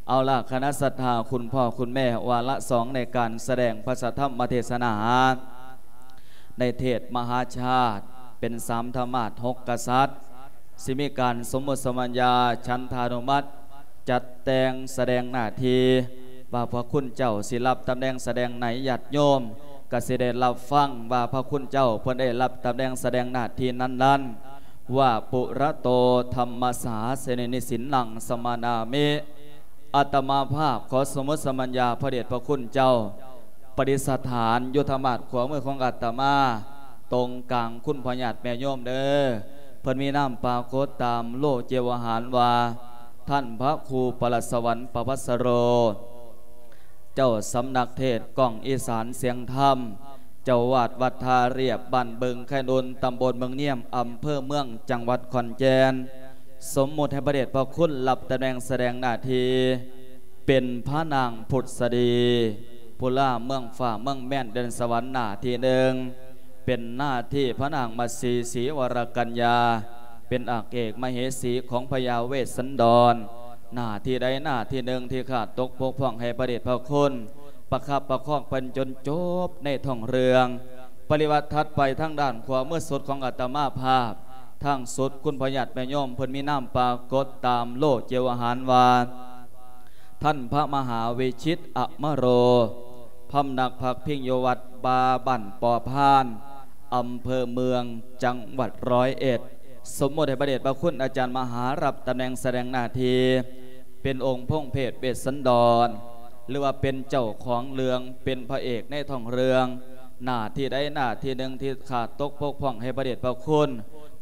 ເອົາລະ ຄະນະສັດທາຄຸນພໍ່ຄຸນແມ່ ວາລະສອງໃນການສະແດງພະສະທຳມະເທສະໜາ ໃນເທດມະຫາຊາດ ເປັນສາມທຳມາດຫົກກະສັດ ຊິມີການສົມມຸດສຳບັນຍາ ສັນທານຸມັດ ຈັດແຕ່ງສະແດງໜ້າທີ່ ວ່າພະຄຸນເຈົ້າຊິຮັບຕຳແໜ່ງສະແດງໃນ ຍາດໂຍມກະຊິໄດ້ຮັບຟັງວ່າພະຄຸນເຈົ້າເພິ່ນໄດ້ຮັບຕຳແໜ່ງສະແດງໜ້າທີ່ນັ້ນໆ ວ່າ ປຸລະໂຕ ທຳມະສາສະນິ ນິສິນນັງ ສະມະນາມິ. ອາດຕະມາພາບຂໍສົມມຸດສຳບັນຍາພະເດດພະຄຸນເຈົ້າ ປະດິດສະຖານຢູ່ທາງດ້ານຂວາມືຂອງອາດຕະມາ ຕົງກາງຄຸນພໍ່ຍາດແມ່ໂຍມເດີ. ເພິ່ນມີນາມປາກົດຕາມໂລເຈວະຫານວ່າ ທ່ານພະຄູປະຫຼາດສະຫວັນ ປະພັດສະໂລ ເຈົ້າສຳນັກເທດກ້ອງອີສານສຽງທຳ ເຈົ້າອາວາດວັດທ່າລຽບ ບ້ານບຶງໄຄນຸນ ຕຳບົນເມືອງນຽມ ອຳເພີເມືອງ ຈັງຫວັດຂອນແກ່ນ ສົມມຸດໃຫ້ພະເດດພະຄຸນຮັບຕຳແໜ່ງສະແດງໜ້າທີ່ ເປັນພະນາງພຸດສະດີ ຜູ້ລ່າເມືອງຟ້າເມືອງແມ່ນແດນສະຫວັນໜ້າທີ່ໜຶ່ງ ເປັນໜ້າທີ່ພະນາງມະສີ ສີວະລະກັນຍາ ເປັນອາກເອກມະເຫສີຂອງພະຍາເວດສັນດອນ ໜ້າທີ່ໃດໜ້າທີ່ໜຶ່ງທີ່ຂາດຕົກບົກຜ່ອງໃຫ້ພະເດດພະຄຸນ ປະຄັບປະຄອງເພິ່ນຈົນຈົບໃນທ້ອງເລື່ອງ. ປະລິວັດຖັດໄປທາງດ້ານຂວາມືສຸດຂອງອາດຕະມາພາບ ທາງສຸດຄຸນພໍ່ຍາດແມ່ໂຍມເພິ່ນມີນາມປາກົດຕາມໂລເຈວະຫານວ່າ ທ່ານພະມະຫາວິຊິດ ອະມະໂລ ພຳນັກພັກພິງຢູ່ວັດປ່າບ້ານປໍພານ ອຳເພີເມືອງ ຈັງຫວັດຮ້ອຍເອັດ ສົມມຸດໃຫ້ພະເດດພະຄຸນອາຈານມະຫາ ຮັບຕຳແໜ່ງສະແດງໜ້າທີ່ ເປັນອົງພົງເພດເວດສັນດອນ ຫຼືວ່າເປັນເຈົ້າຂອງເລື່ອງ ເປັນພະເອກໃນທ້ອງເລື່ອງ ໜ້າທີ່ໃດໜ້າທີ່ໜຶ່ງທີ່ຂາດຕົກບົກຜ່ອງໃຫ້ພະເດດພະຄຸນ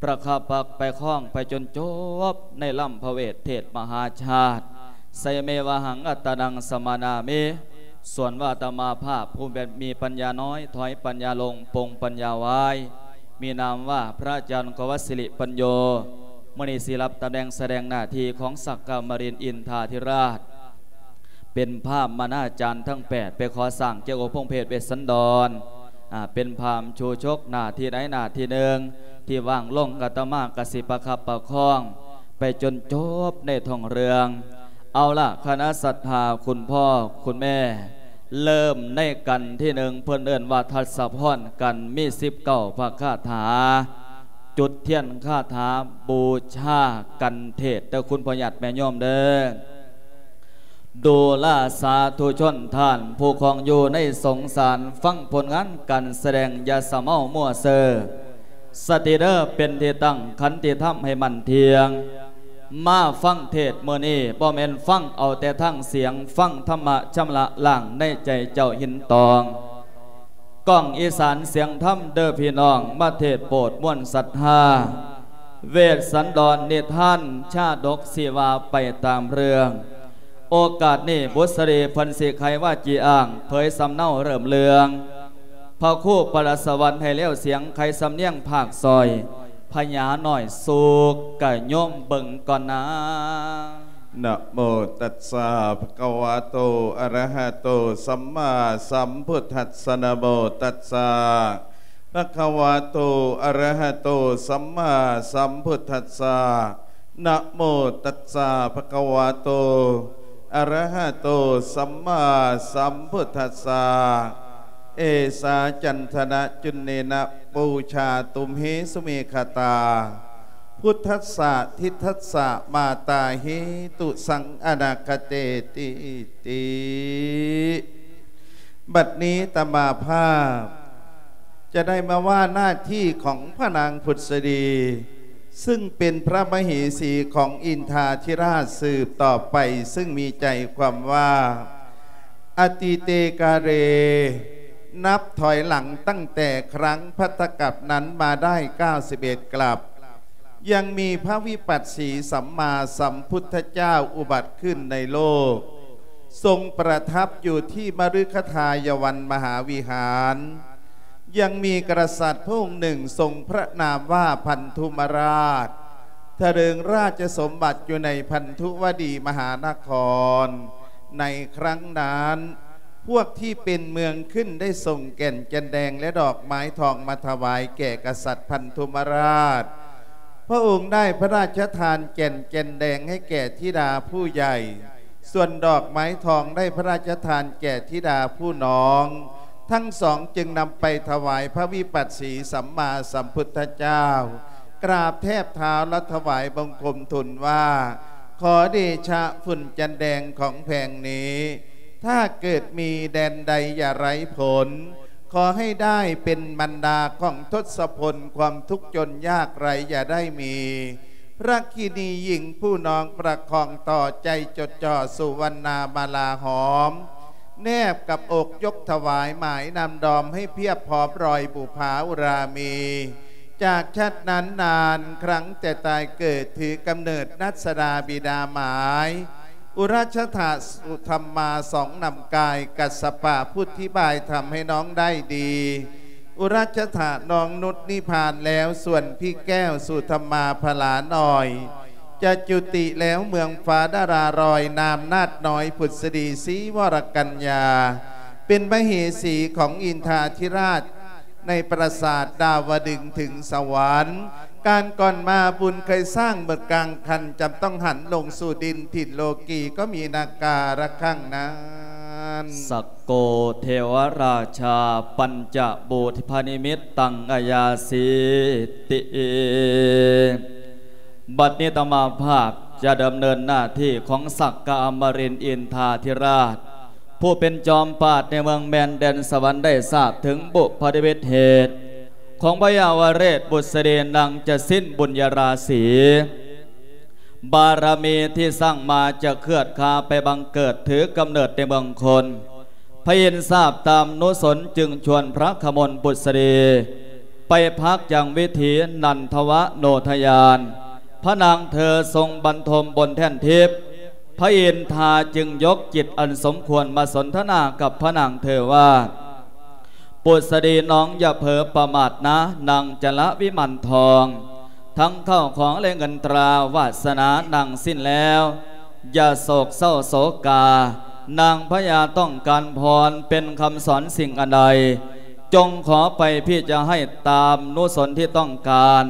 ປະຄັບປະຄອງໄປຈົນຈົບໃນລຳພະເວດເທດມະຫາຊາດ ໄຊເມວະຫັງ ອັດຕະນັງ ສະມະນາມິ. ສ່ວນວ່າອາດຕະມາພາບ ຜູ້ແມ່ນມີປັນຍານ້ອຍ ຖອຍປັນຍາລົງ ປົງປັນຍາໄວ້ ມີນາມວ່າ ພະອາຈານ ໂກວັດ ສິລິປັນໂຍ ມື້ນີ້ຊິຮັບຕຳແໜ່ງສະແດງໜ້າທີ່ຂອງສັກກະມະລິນອິນທາທິລາດ ເປັນພາມມະນາຈານທັງແປດ ໄປຂໍສ້າງຈາກອົງພົງເພດເວດສັນດອນ ອາ ເປັນພາມຊູຊົກໜ້າທີ່ໃດໜ້າທີ່ໜຶ່ງ ທີ່ວ່າງລົງ ອາດຕະມາກະຊິປະຄັບປະຄອງ ໄປຈົນຈົບໃນທ້ອງເລື່ອງ. ເອົາລະ ຄະນະສັດທາຄຸນພໍ່ຄຸນແມ່ ເລີ່ມໃນກັນທີໜຶ່ງ ເພິ່ນເອີ້ນວ່າທັດສະພອນກັນ ມີສິບເກົ້າພະຄາຖາ ຈຸດທຽນຄາຖາບູຊາກັນເທດເດີ ຄຸນພໍ່ຍາດແມ່ໂຍມເດີ. ດູລາສາທຸຊົນທ່ານຜູ້ຄອງຢູ່ໃນສົງສານ ຟັງຜົນງານການສະແດງ ຢ່າສະເມົາມົວເຊີ ສະຕິເດີເປັນທີ່ຕັ້ງ ຂັນຕິທຳໃຫ້ໝັ້ນທ່ຽງ ມາຟັງເທດມື້ນີ້ ບໍ່ແມ່ນຟັງເອົາແຕ່ທາງສຽງ ຟັງທຳມະຊຳລະລ້າງໃນໃຈເຈົ້າຫີນຕອງ ກ້ອງອີສານສຽງທຳເດີພີ່ນ້ອງ ມາເທດໂປດມວນສັດທາ ເວດສັນດອນນິທານຊາດົກ ຊິວ່າໄປຕາມເລື່ອງ. ໂອກາດນີ້ບຸດສະດີເພິ່ນຊິໄຂວາຈີອ້າງ ເຜີຍສຳເນົາເລີ່ມເລື່ອງ ພະຄູປະຫຼາດສະຫວັນໃຫ້ແລ້ວສຽງ ໄຂສຳນຽງພາກຊອຍ ພະຍານ້ອຍສຸກກະໂຍມເບິ່ງກ່ອນນາ. ນະໂມຕັດສະ ພະຄະວະໂຕ ອະລະຫະໂຕ ສຳມາສຳພຸດທັດສະ ນະໂມຕັດສະ ພະຄະວະໂຕ ອະລະຫະໂຕ ສຳມາສຳພຸດທັດສະ ນະໂມຕັດສະ ພະຄະວະໂຕ ອະລະຫະໂຕ ສຳມາສຳພຸດທັດສະ ເອສາຈັນທະນະຈຸນເນນະ ປູຊາຕຸມເຫສຸເມຂະຕາ ພຸດທັດສະ ທິດທັດສະ ມາຕາເຫຕຸສັງ ອະນາຄະເຕຕິ ຕິ. ບັດນີ້ອາດຕະມາພາບຈະໄດ້ມາວ່າໜ້າທີ່ຂອງພະນາງພຸດສະດີ ຊຶ່ງເປັນພະມະເຫສີຂອງອິນທາທິລາດສືບຕໍ່ໄປ ຊຶ່ງມີໃຈຄວາມວ່າ ອະຕິເຕກາເລ ນັບຖອຍຫຼັງຕັ້ງແຕ່ຄັ້ງພັດທະກັບນັ້ນມາໄດ້ເກົ້າສິບເອັດກັບ ຍັງມີພະວິປັດສີສຳມາສຳພຸດທະເຈົ້າອຸບັດຂຶ້ນໃນໂລກ ຊົງປະທັບຢູ່ທີ່ມະລືຄະທາຍະວັນມະຫາວິຫານ ຍັງມີກະສັດພະອົງໜຶ່ງຊົງພະນາມວ່າພັນທຸມະລາດ ຖະເຫຼີງລາຊະສົມບັດຢູ່ໃນພັນທຸວະດີມະຫານະຄອນ ໃນຄັ້ງນັ້ນ ພວກທີ່ເປັນເມືອງຂຶ້ນໄດ້ສົ່ງແກ່ນແກ່ນແດງ ແລະ ດອກໄມ້ທອງມາຖວາຍແກ່ກະສັດພັນທຸມະລາດ ພະອົງໄດ້ພະລາຊະທານແກ່ນແກ່ນແດງໃຫ້ແກ່ທິດາຜູ້ໃຫຍ່ ສ່ວນດອກໄມ້ທອງໄດ້ພະລາຊະທານແກ່ທິດາຜູ້ນ້ອງ ທັງສອງຈຶ່ງນຳໄປຖວາຍພະວິປັດສີສຳມາສຳພຸດທະເຈົ້າ ກາບແທບເທົ້າ ແລະ ຖວາຍບັງຄົມທູນວ່າ ຂໍເດຊະຝຸ່ນຈັນແດງຂອງແຜງນີ້ ຖ້າເກີດມີແດນໃດຢ່າໄຮ້ຜົນ ຂໍໃຫ້ໄດ້ເປັນບັນດາຂອງທົດສະພົນ ຄວາມທຸກຈົນຍາກໄຮ້ຢ່າໄດ້ມີ ພະລັກຂິນີຍິງຜູ້ນ້ອງປະຄອງຕໍ່ໃຈຈົດຈ່ອສູ່ວັນນາມາລາຫອມ ແນບກັບອົກຍົກຖວາຍໝາຍນຳດອມໃຫ້ພຽບພ້ອມລອຍບຸພາອຸຣາມີ ຈາກຊາດນານນານ ຄັ້ງແຕ່ຕາຍເກີດຖືກຳເນີດນັດສະດາບິດາໝາຍ ອຸຣັຊະຖະສຸທຳມາສອງນຳກາຍ ກັດສະປະຜູ້ທິບາຍທຳໃຫ້ນ້ອງໄດ້ດີ ອຸຣັຊະຖະນ້ອງນຸດນິພານແລ້ວ ສ່ວນພີ່ແກ້ວສຸທຳມາພະລານ້ອຍ ຈະຈຸຕິແລ້ວເມືອງຟ້າດາລາລອຍ ນາມນາດນ້ອຍພຸດສະດີສີວໍລະກັນຍາ ເປັນມະເຫສີຂອງອິນທາທິລາດ ໃນປາສາດດາວະດຶງເຖິງສະຫວັນ ການກ່ອນມາບຸນເຄີຍສ້າງໝົດກາງຄັນ ຈຳຕ້ອງຫັນລົງສູ່ດິນຖິ່ນໂລກີ ກໍມີນາກາລະຄັງນັ້ນ ສັກໂກເທວະລາຊາ ປັນຈະບູດພະນິມິດຕັງອາຍາສີຕິ ບັດນີ້ອາດຕະມາພາບຈະດຳເນີນໜ້າທີ່ຂອງສັກກະອະມະລິນອິນທາທິລາດ ຜູ້ເປັນຈອມປາດໃນເມືອງແມ່ນແດນສະຫວັນ ໄດ້ຊາບເຖິງບຸພະນິມິດເຫດ ຂອງພະຍາວະເຣດບຸດສະດີນາງຈະສິນບຸນຍະລາສີ ບາລະມີທີ່ສ້າງມາຈະເຄືອດຄາໄປບັງເກີດຖືກຳເນີດໃນເມືອງຄົນ ພະອິນຊາບຕາມນຸສົນຈຶ່ງຊວນພະຂະມົນບຸດສະດີ ໄປພັກຍັງວິຖີນັນທະວະໂນທະຍານ ພະນາງເທີຊົງບັນທົມບົນແທ່ນທິບ ພະອິນທາຈຶ່ງຍົກຈິດອັນສົມຄວນມາສົນທະນາກັບພະນາງເທີວ່າ ປຸດສະດີນ້ອງຢ່າເຜີປະໝາດນາ ນາງຈະລະວິມານທອງ ທັງເຂົ້າຂອງແລະເງິນຕາວາດສະໜານາງສິ້ນແລ້ວ ຢ່າໂສກເສົ້າໂສກາ ນາງພະຍາຕ້ອງການພອນ ເປັນຄຳສອນສິ່ງອັນໃດ ຈົ່ງຂໍໄປພີ່ຈະໃຫ້ຕາມນຸສົນທີ່ຕ້ອງການ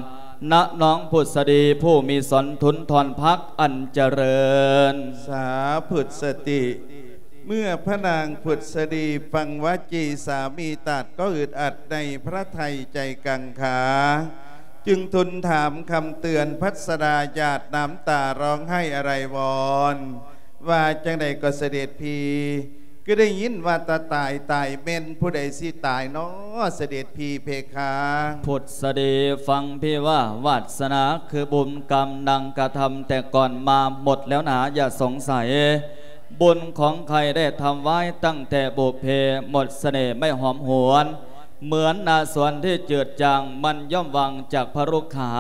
ນະນ້ອງພຸດສະດີຜູ້ມີສອນທຸນທອນພັກອັນຈະເລີນ ສາພຸດສະຕິ ເມື່ອພະນາງພຸດສະດີຟັງວາຈີສາມີຕາດກໍອຶດອັດໃນພະໄທໃຈກັງຂາ ຈຶ່ງທູນຖາມຄຳເຕືອນພັດສະດາ ຫຍາດນ້ຳຕາຮ້ອງໄຫ້ອາໄລວອນ ວ່າຈັ່ງໃດກໍສະເດັດພີ່ ຄືໄດ້ຍິນວ່າຕາຕາຍຕາຍແມ່ນ ຜູ້ໃດຊິຕາຍນໍສະເດັດພີ່ເພຄາ? ພຸດສະດີ ຟັງພີ່ວ່າ ວາດສະໜາຄືບຸນກຳນາງກະທຳແຕ່ກ່ອນມາໝົດແລ້ວໜາ ຢ່າສົງໄສ ບຸນຂອງໃຄໄດ້ທຳໄວ້ຕັ້ງແຕ່ບຸບເພ ໝົດສະເໜ່ໄມ້ຫອມຫວນ ເໝືອນນາສວນທີ່ຈືດຈາງ ມັນຍ່ອມຫວ່າງຈາກພະລຸກຂາ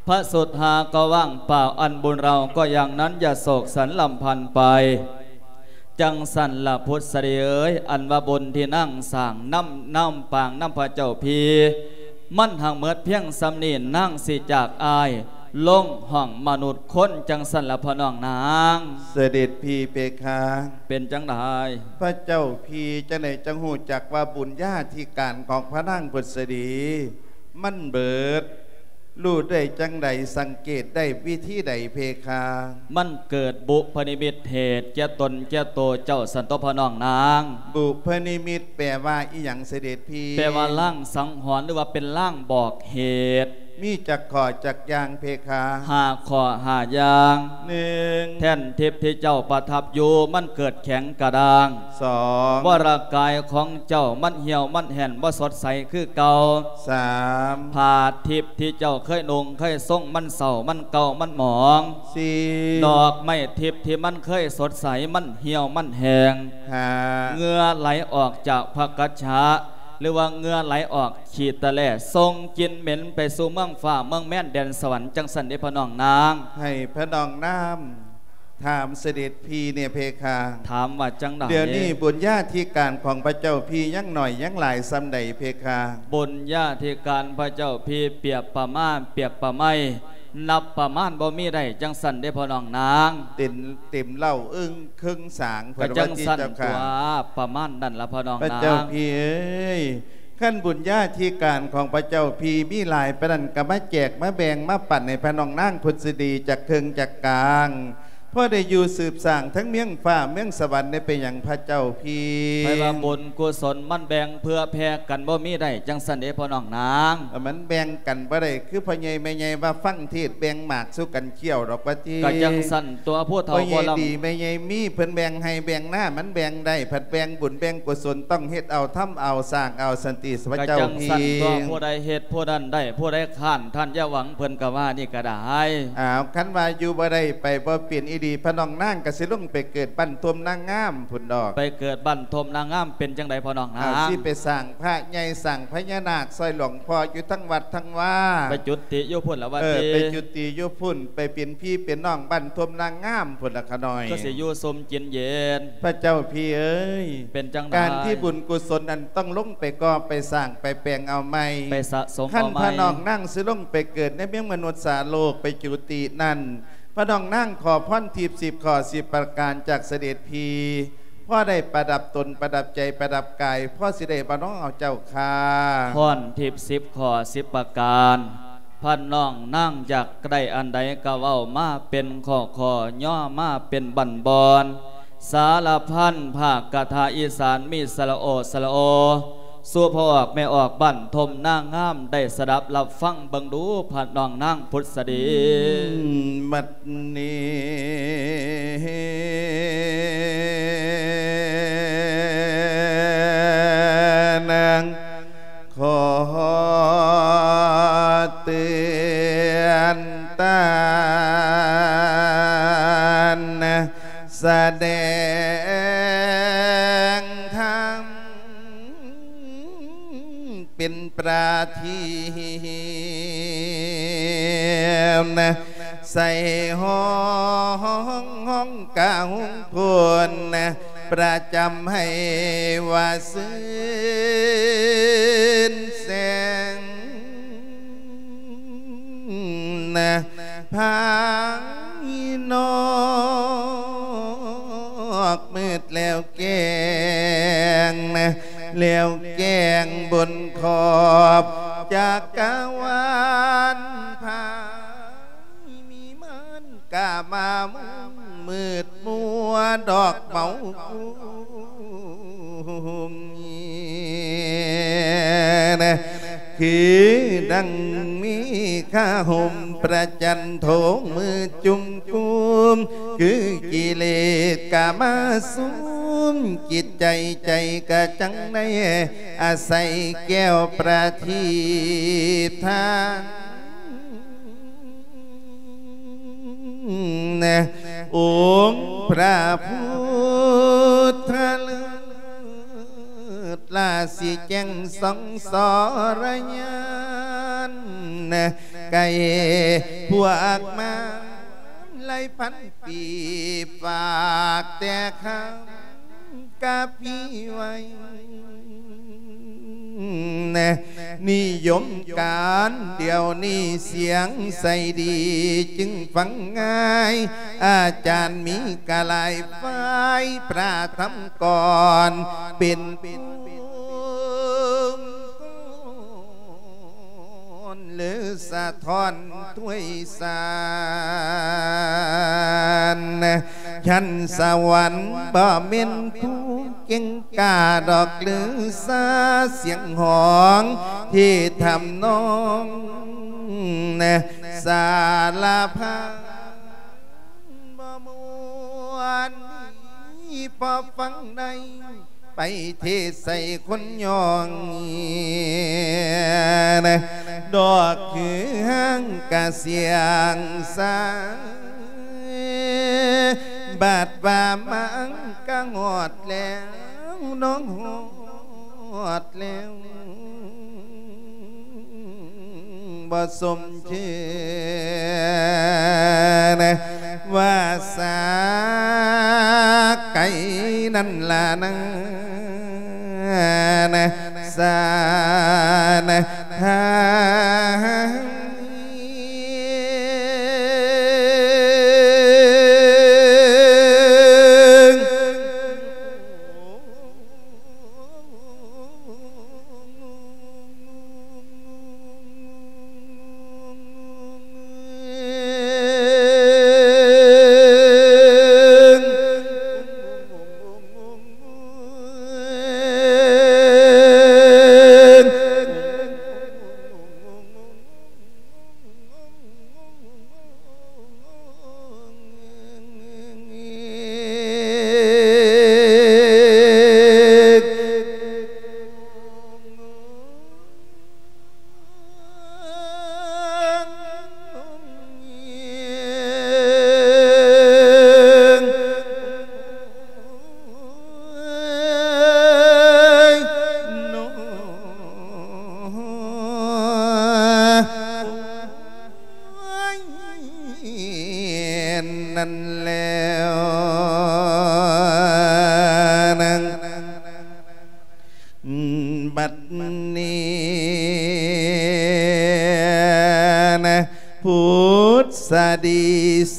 ພະສຸດທາກໍວ່າງເປົ່າ ອັນບຸນເຮົາກໍຢ່າງນັ້ນ ຢ່າໂສກສັນລຳພັນໄປ ຈັ່ງຊັ້ນລະພຸດສະດີເອີຍ ອັນວ່າບຸນທີ່ນາງສ້າງນຳ ນຳປາງນຳພະເຈົ້າພີ ມັນຫາກໝົດພຽງສ່ຳນີ້ ນາງຊິຈາກອ້າຍລົງຫ້ອງມະນຸດຄົນ ຈັ່ງຊັ້ນລະພໍ່ນ້ອງນາງ ສະເດັດພີເພຄາ ເປັນຈັ່ງໃດ ພະເຈົ້າພີຈັ່ງໃດຈັ່ງຮູ້ຈັກວ່າບຸນຍາທິການຂອງພະນາງພຸດສະດີ ມັນເບີດ ຮູ້ໄດ້ຈັ່ງໃດ ສັງເກດໄດ້ວິທີໃດເພຄາ? ມັນເກີດບຸພະນິມິດເຫດແກ່ຕົນແກ່ໂຕເຈົ້າ ສັນຕົວພໍ່ນ້ອງນາງ ບຸພະນິມິດແປວ່າອີ່ຫຍັງສະເດັດພີ? ແປວ່າລາງສັງຫອນ ຫຼືວ່າເປັນລາງບອກເຫດ ມີຈັກຂໍ້ຈັກຢ່າງເພຄາ? ຫ້າຂໍ້ຫ້າຢ່າງ ໜຶ່ງ ແທ່ນທິບທີ່ເຈົ້າປະທັບຢູ່ ມັນເກີດແຂງກະດ້າງ ສອງ ວະລະກາຍຂອງເຈົ້າມັນຫ່ຽວມັນແຫ້ນບໍ່ສົດໃສຄືເກົ່າ ສາມ ຜ້າທິບທີ່ເຈົ້າເຄີຍນຸ່ງເຄີຍຊົງມັນເສົ້າມັນເກົ່າມັນໝອງ ສີ່ ດອກໄມ້ທິບທີ່ມັນເຄີຍສົດໃສມັນຫ່ຽວມັນແຫ້ງ ຫ້າ ເຫື່ອໄຫຼອອກຈາກພະກັດສະ ຫຼືວ່າເຫື່ອໄຫຼອອກຂີ້ຕະແຫຼ ສົ່ງກິ່ນເໝັນໄປສູ່ເມືອງຟ້າເມືອງແມ່ນແດນສະຫວັນ ຈັ່ງຊັ້ນເດ້ພໍ່ນ້ອງນາງ ໃຫ້ພໍ່ນ້ອງນາງ ຖາມສະເດັດພີແດ່ເພຄາ ຖາມວ່າຈັ່ງໃດ? ດຽວນີ້ບຸນຍາທິການຂອງພະເຈົ້າພີຍັງໜ້ອຍຍັງຫຼາຍສ່ຳໃດເພຄາ? ບຸນຍາທິການພະເຈົ້າພີປຽບປະມານ ປຽບປະໄມ ນັບປະມານບໍ່ມີໄດ້ ຈັ່ງຊັ້ນເດ້ພໍ່ນ້ອງນາງ ເຕັມ ເຕັມເລົ້າເອິ້ງເຄິ່ງສາງ ກໍຈັ່ງຊັ້ນຕົວະ ປະມານນັ້ນລະພໍ່ນ້ອງນາງ ພະເຈົ້າພີເອີຍ ຄັນບຸນຍາທິການຂອງພະເຈົ້າພີມີຫຼາຍປານນັ້ນ ກໍມາແຈກມາແບ່ງມາປັນໃຫ້ພະນ້ອງນາງພຸດສະດີຈັກເຄິ່ງຈັກກາງ ພໍໄດ້ຢູ່ສືບສ້າງທັງເມືອງຟ້າເມືອງສະຫວັນ ໄດ້ເປັນຫຍັງພະເຈົ້າພີ່? ໃຜວ່າບຸນກຸສົນມັນແບ່ງເພື່ອແຜ່ກັນບໍ່ມີໄດ້ ຈັ່ງຊັ້ນເດ້ພໍ່ນ້ອງນາງ. ເອີ ມັນແບ່ງກັນບໍ່ໄດ້ ຄືພໍ່ໃຫຍ່ແມ່ໃຫຍ່ວ່າຟັງເທດແບ່ງໝາກສູ່ກັນຄ້ຽວດອກວ່າຕິ. ກະຈັ່ງຊັ້ນຕົວະ ຜູ້ເຖົ້າພໍ່ໃຫຍ່ດີ ແມ່ໃຫຍ່ມີ ເພິ່ນແບ່ງໄຮ່ແບ່ງນາ ມັນແບ່ງໄດ້ ພັດແບ່ງບຸນແບ່ງກຸສົນ ຕ້ອງເຮັດເອົາ ທຳເອົາ ສ້າງເອົາ ສັນຕິພະເຈົ້າພີ່. ກະຈັ່ງຊັ້ນຕົວະ ຜູ້ໃດເຮັດຜູ້ນັ້ນໄດ້ ຜູ້ໃດຄ້ານທ່ານຢ່າຫວັງ ເພິ່ນກະວ່ານີ້ກະໄດ້. ອ້າວ ຄັນວ່າຢູ່ບໍ່ໄດ້ໄປບໍ່ເປັນອີ່ຫຼີ ພະນ້ອງນາງກະຊິລົງໄປເກີດບ້ານທົ່ມນາງາມພຸ້ນດອກ. ໄປເກີດບ້ານທົ່ມນາງາມ ເປັນຈັ່ງໃດພໍ່ນ້ອງນາງ? ອ້າວ ຊິໄປສ້າງພະໃຫຍ່ ສ້າງພະຍານາກຊ່ອຍຫຼວງພໍ່ຢູ່ທັງວັດທັງວາ. ໄປຈຸຕິຢູ່ພຸ້ນລະວ່າຕິ. ເອີ ໄປຈຸຕິຢູ່ພຸ້ນ ໄປເປັນພີ່ເປັນນ້ອງບ້ານທົ່ມນາງາມພຸ້ນລະຂະນ້ອຍ. ຄືຊິຢູ່ຊຸ່ມກິນເຢັນ. ພະເຈົ້າພີ່ເອີຍ ເປັນຈັ່ງໃດ? ການທີ່ບຸນກຸສົນນັ້ນ ຕ້ອງລົງໄປກໍ່ໄປສ້າງໄປແປງເອົາໃໝ່ ໄປສະສົມເອົາໃໝ່. ຄັນພະນ້ອງນາງຊິລົງໄປເກີດໃນເມືອງມະນຸດສາໂລກ ໄປຈຸຕິນັ້ນ ພະນ້ອງນາງຂໍພອນທິບສິບຂໍ້ສິບປະການຈາກສະເດັດພີ່ ພໍໄດ້ປະດັບຕົນປະດັບໃຈປະດັບກາຍ ພໍຊິໄດ້ບໍ່ນໍເຈົ້າຂ້າ? ພອນທິບສິບຂໍ້ສິບປະການ ພະນ້ອງນາງຢາກໄດ້ອັນໃດກະເວົ້າມາເປັນຂໍ້ໆ ຍໍມາເປັນບັ້ນບ່ອນ. ສາລະພັນພາກກະຖາອີສານມີສະຫຼະໂອສະຫຼະໂອ ສູ່ພໍ່ອອກແມ່ອອກບ້ານທົ່ມນາງາມໄດ້ສະດັບຮັບຟັງເບິ່ງດູ ພະນ້ອງນາງພຸດສະດີ. ບັດນີ້ນາງ ຂໍເຕືອນຕານ ສະແດງທຳ ເປັນປະທີບ ໃສ່ຫ້ອງ ຫ້ອງກະຫົງໂພນ ປະຈຳໃຫ້ວ່າຊື່ນແສງ ພາຍນອກມືດແລ້ວແຈ້ງ ແລ້ວແຈ້ງບົນຂອບຈັກກະວານ ພາຍມີມານກາມາມຸງ ມືດມົວດອກເມົາກຸງ ຄືດັ່ງມີຄາຫົມປະຈັນໂທງມືຈຸ່ມກຸມ ຄືກິເລດກາມາສຸມ ຈິດໃຈໃຈກະຈັ່ງໄດ້ອາໄສແກ້ວປະທີບທານ ອົງພະພຸດທະເລີດລາຊິແຈ້ງສ່ອງສອລະຍານ ໄກ່ພວກມານຫຼາຍພັນປີ ຝາກແຕ່ຄຳ ກະພີໄວ້ ນິຍົມການດຽວນີ້ສຽງໃສດີຈຶ່ງຟັງງ່າຍ ອາຈານມີກະຫຼາຍຝ່າຍ ພະທຳກອນເປັນພູມ ຫຼືສະທ້ອນຖ້ວຍສານ ຊັ້ນສະຫວັນບໍ່ແມ່ນຜູ້ເກັ່ງກ້າດອກ ຫຼືສາສຽງຮ້ອງທີ່ທຳນອງ ສາລະພັນບໍ່ມ່ວນ ພໍຟັງໄດ້ ໄປເທໃສ່ຄົນຍ່ອງ ດອກຄືຫາງກະສຽງສາ ບາດວ່າມາກະຮອດແລ້ວ ນ້ອງຮອດແລ້ວ ບໍ່ສົມຊື່ນະ ວາສາໄກນັ້ນລະນະ ນະ ສານະ ທາ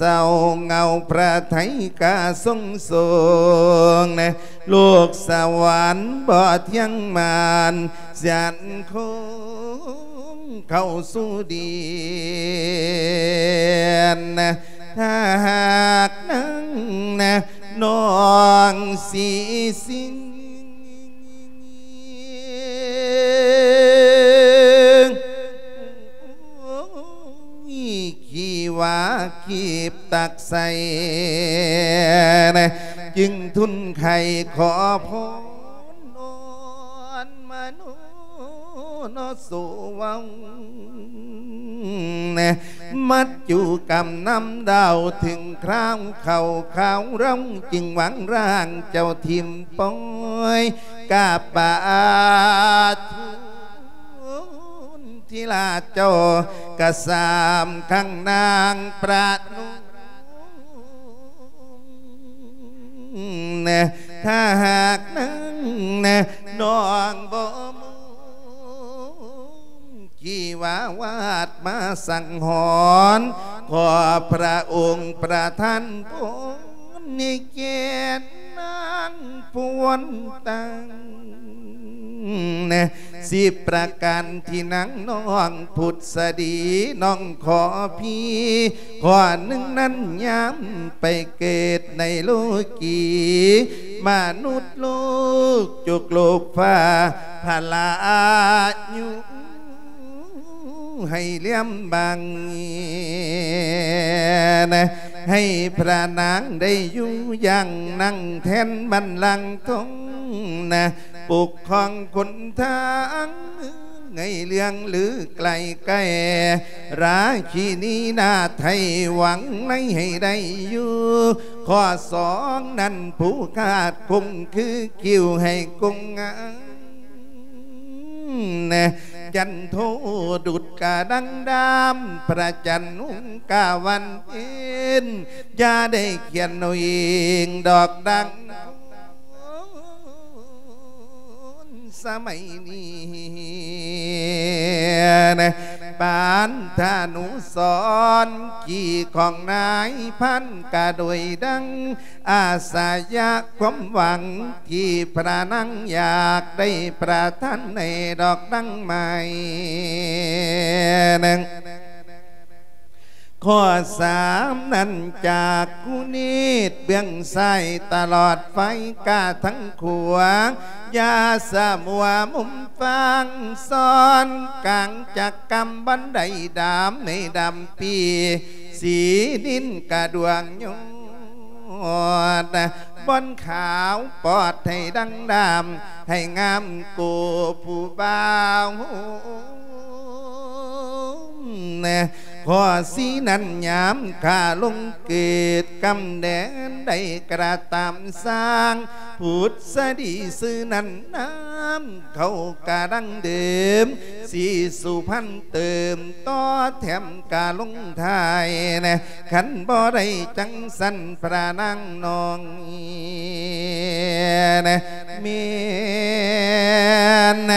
ເຕົ້າເງົາພະໄທກະຊົງຊົງ ໂລກສະຫວັນບໍ່ທ່ຽງໝານ ສັນຄົງເຂົ້າສູ່ດິນ ຖ້າຫາກນາງນະ ນ້ອງສີສິງ ໂອ້ຍ ຂີ້ຫວ້າຄີບຕັກໃສ່ ຈຶ່ງທູນໄຄຂໍພອນ ອ່ອນມະໂນເນາະ ໂສເວົ້າ ມັດຈຸກຳນຳດາວ ເຖິງຄາວເຂົ້າຄາວເຮົາ ຈຶ່ງວາງຮ່າງເຈົ້າຖິ້ມປ່ອຍ ກາບບາດທູນ ທີລາເຈົ້າກະສາມຄັ້ງນາງປະນົມ ຖ້າຫາກນາງນະ ນ້ອງບໍ່ມຸງ ທີ່ວ່າວາດມາສັງຫອນ ຂໍພະອົງປະທານພອນ ໃຫ້ແກ່ນາງພວນຕັ້ງ ສິບປະການທີ່ນາງນ້ອງພຸດສະດີ ນ້ອງຂໍພີ ຂໍ້ໜຶ່ງນັ້ນ ຍາມໄປເກີດໃນໂລກີ ມະນຸດໂລກ ຈຸກໂລກຟ້າ ພະລາອາຍຸ ໃຫ້ລຽມບັງ ໃຫ້ພະນາງໄດ້ຢູ່ຢ່າງນັ່ງແທນບັນລັງທອງນະ ປົກຄອງຄົນທາງ ໃຫ້ເລື່ອງລືໄກລໆ ລາຊິນີນາໄທຫວັງໃນໃຫ້ໄດ້ຢູ່ ຂໍ້ສອງນັ້ນ ຜູ້ຂາດຄົງຄືຄິວໃຫ້ກົງງາມ ຈັນໂທດຸດກະດັງດາມ ພະຈັນຮຸ່ງກະວັນເພັນ ຢ່າໄດ້ຂຽນເອົາເອງດອກດັງ ສະໄໝນີ້ ປານທະນຸສອນ ກີຂອງນາຍພັນກະໂດຍດັງ ອາສະຍະຄວາມຫວັງ ທີ່ພະນາງຢາກໄດ້ປະທານໃຫ້ດອກດັງໃໝ່ ຂໍ້ສາມນັ້ນ ຈາກກຸເນດເບື້ອງຊ້າຍຕະຫຼອດໄຟກາທາງຂວາ ຢ່າສະມົວມຸມຟັງ ຊ້ອນກາງຈັກກຳບັນໄດດຳໃນດຳປີ ສີນິນກະດວງຍອດ ບ່ອນຂາວປອດໃຫ້ດັງດຳ ໃຫ້ງາມໂກຜູ້ບ່າວ ຂໍ້ສີ່ນັ້ນ ຍາມຂ້າລົງເກີດກຳແດນໃດກະຕາມ ສ້າງພຸດສະດີຊື່ນັ້ນ ນາມເຂົ້າກະດັງເດີມ ສີສຸພັນເຕີມຕໍ່ແຖມກະລົງທ້າຍ ຄັນບໍ່ໄດ້ຈັ່ງຊັ້ນພະນາງນ້ອງ ແມ່ນ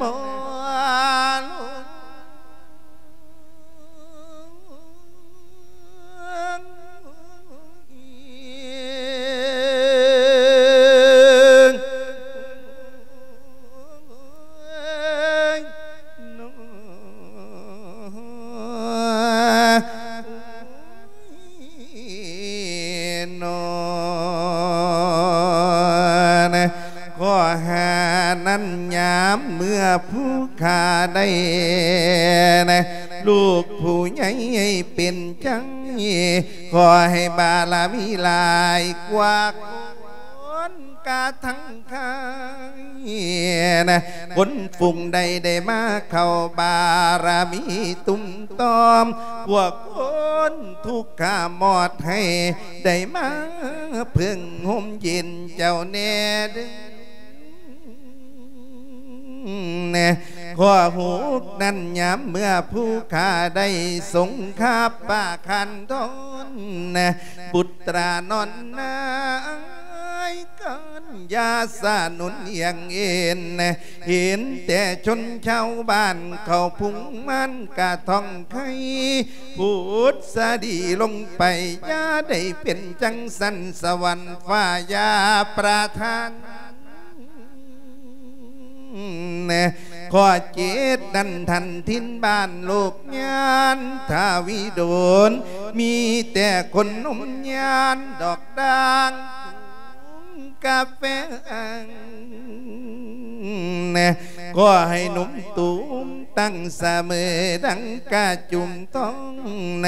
ບໍ່ລວງ ນອນ ຂໍຫານັ້ນຍາມເມື່ອຜູ້ຂ້າໄດ້ນະ ລູກຜູ້ໃຫຍ່ເປັນໃຈ ຂໍໃຫ້ບາລະມີຫຼາຍກວ່າຄົນກະທັງຄາຍນະ ຄົນຝູງໃດໄດ້ມາເຂົ້າບາລະມີຕຸ້ມຕອມ ພວກຄົນທຸກຂະມອດໃຫ້ໄດ້ມາເພິ່ງຮົ່ມເຢັນເຈົ້າແດ່ເດີ. ຂໍ້ຫົກນັ້ນ ຍາມເມື່ອຜູ້ຂ້າໄດ້ຊົງຄາບປະຄັນທອນ ບຸດຕານອນນາຍກັນ ຢ່າສະໜຸນອຽງເອັນ ເຫັນແຕ່ຊົນຊາວບ້ານເຂົາພຸງມານກະທ່ອງໄຄ ພຸດສະດີລົງໄປ ຢ່າໄດ້ເປັນຈັ່ງຊັ້ນ ສະຫວັນຟ້າຢ່າປະທານ ຂໍ້ເຈັດນັ້ນ ທ່ານຖິ່ນບ້ານໂລກຍານ ຖ້າວິດົນ ມີແຕ່ຄົນນົມຍານ ດອກດ່າງ ກາແຟ ແນ ຂໍໃຫ້ໜຸ່ມຕູມຕັ້ງສະເໝີ ດັ່ງກະຈຸມທອງ ແນ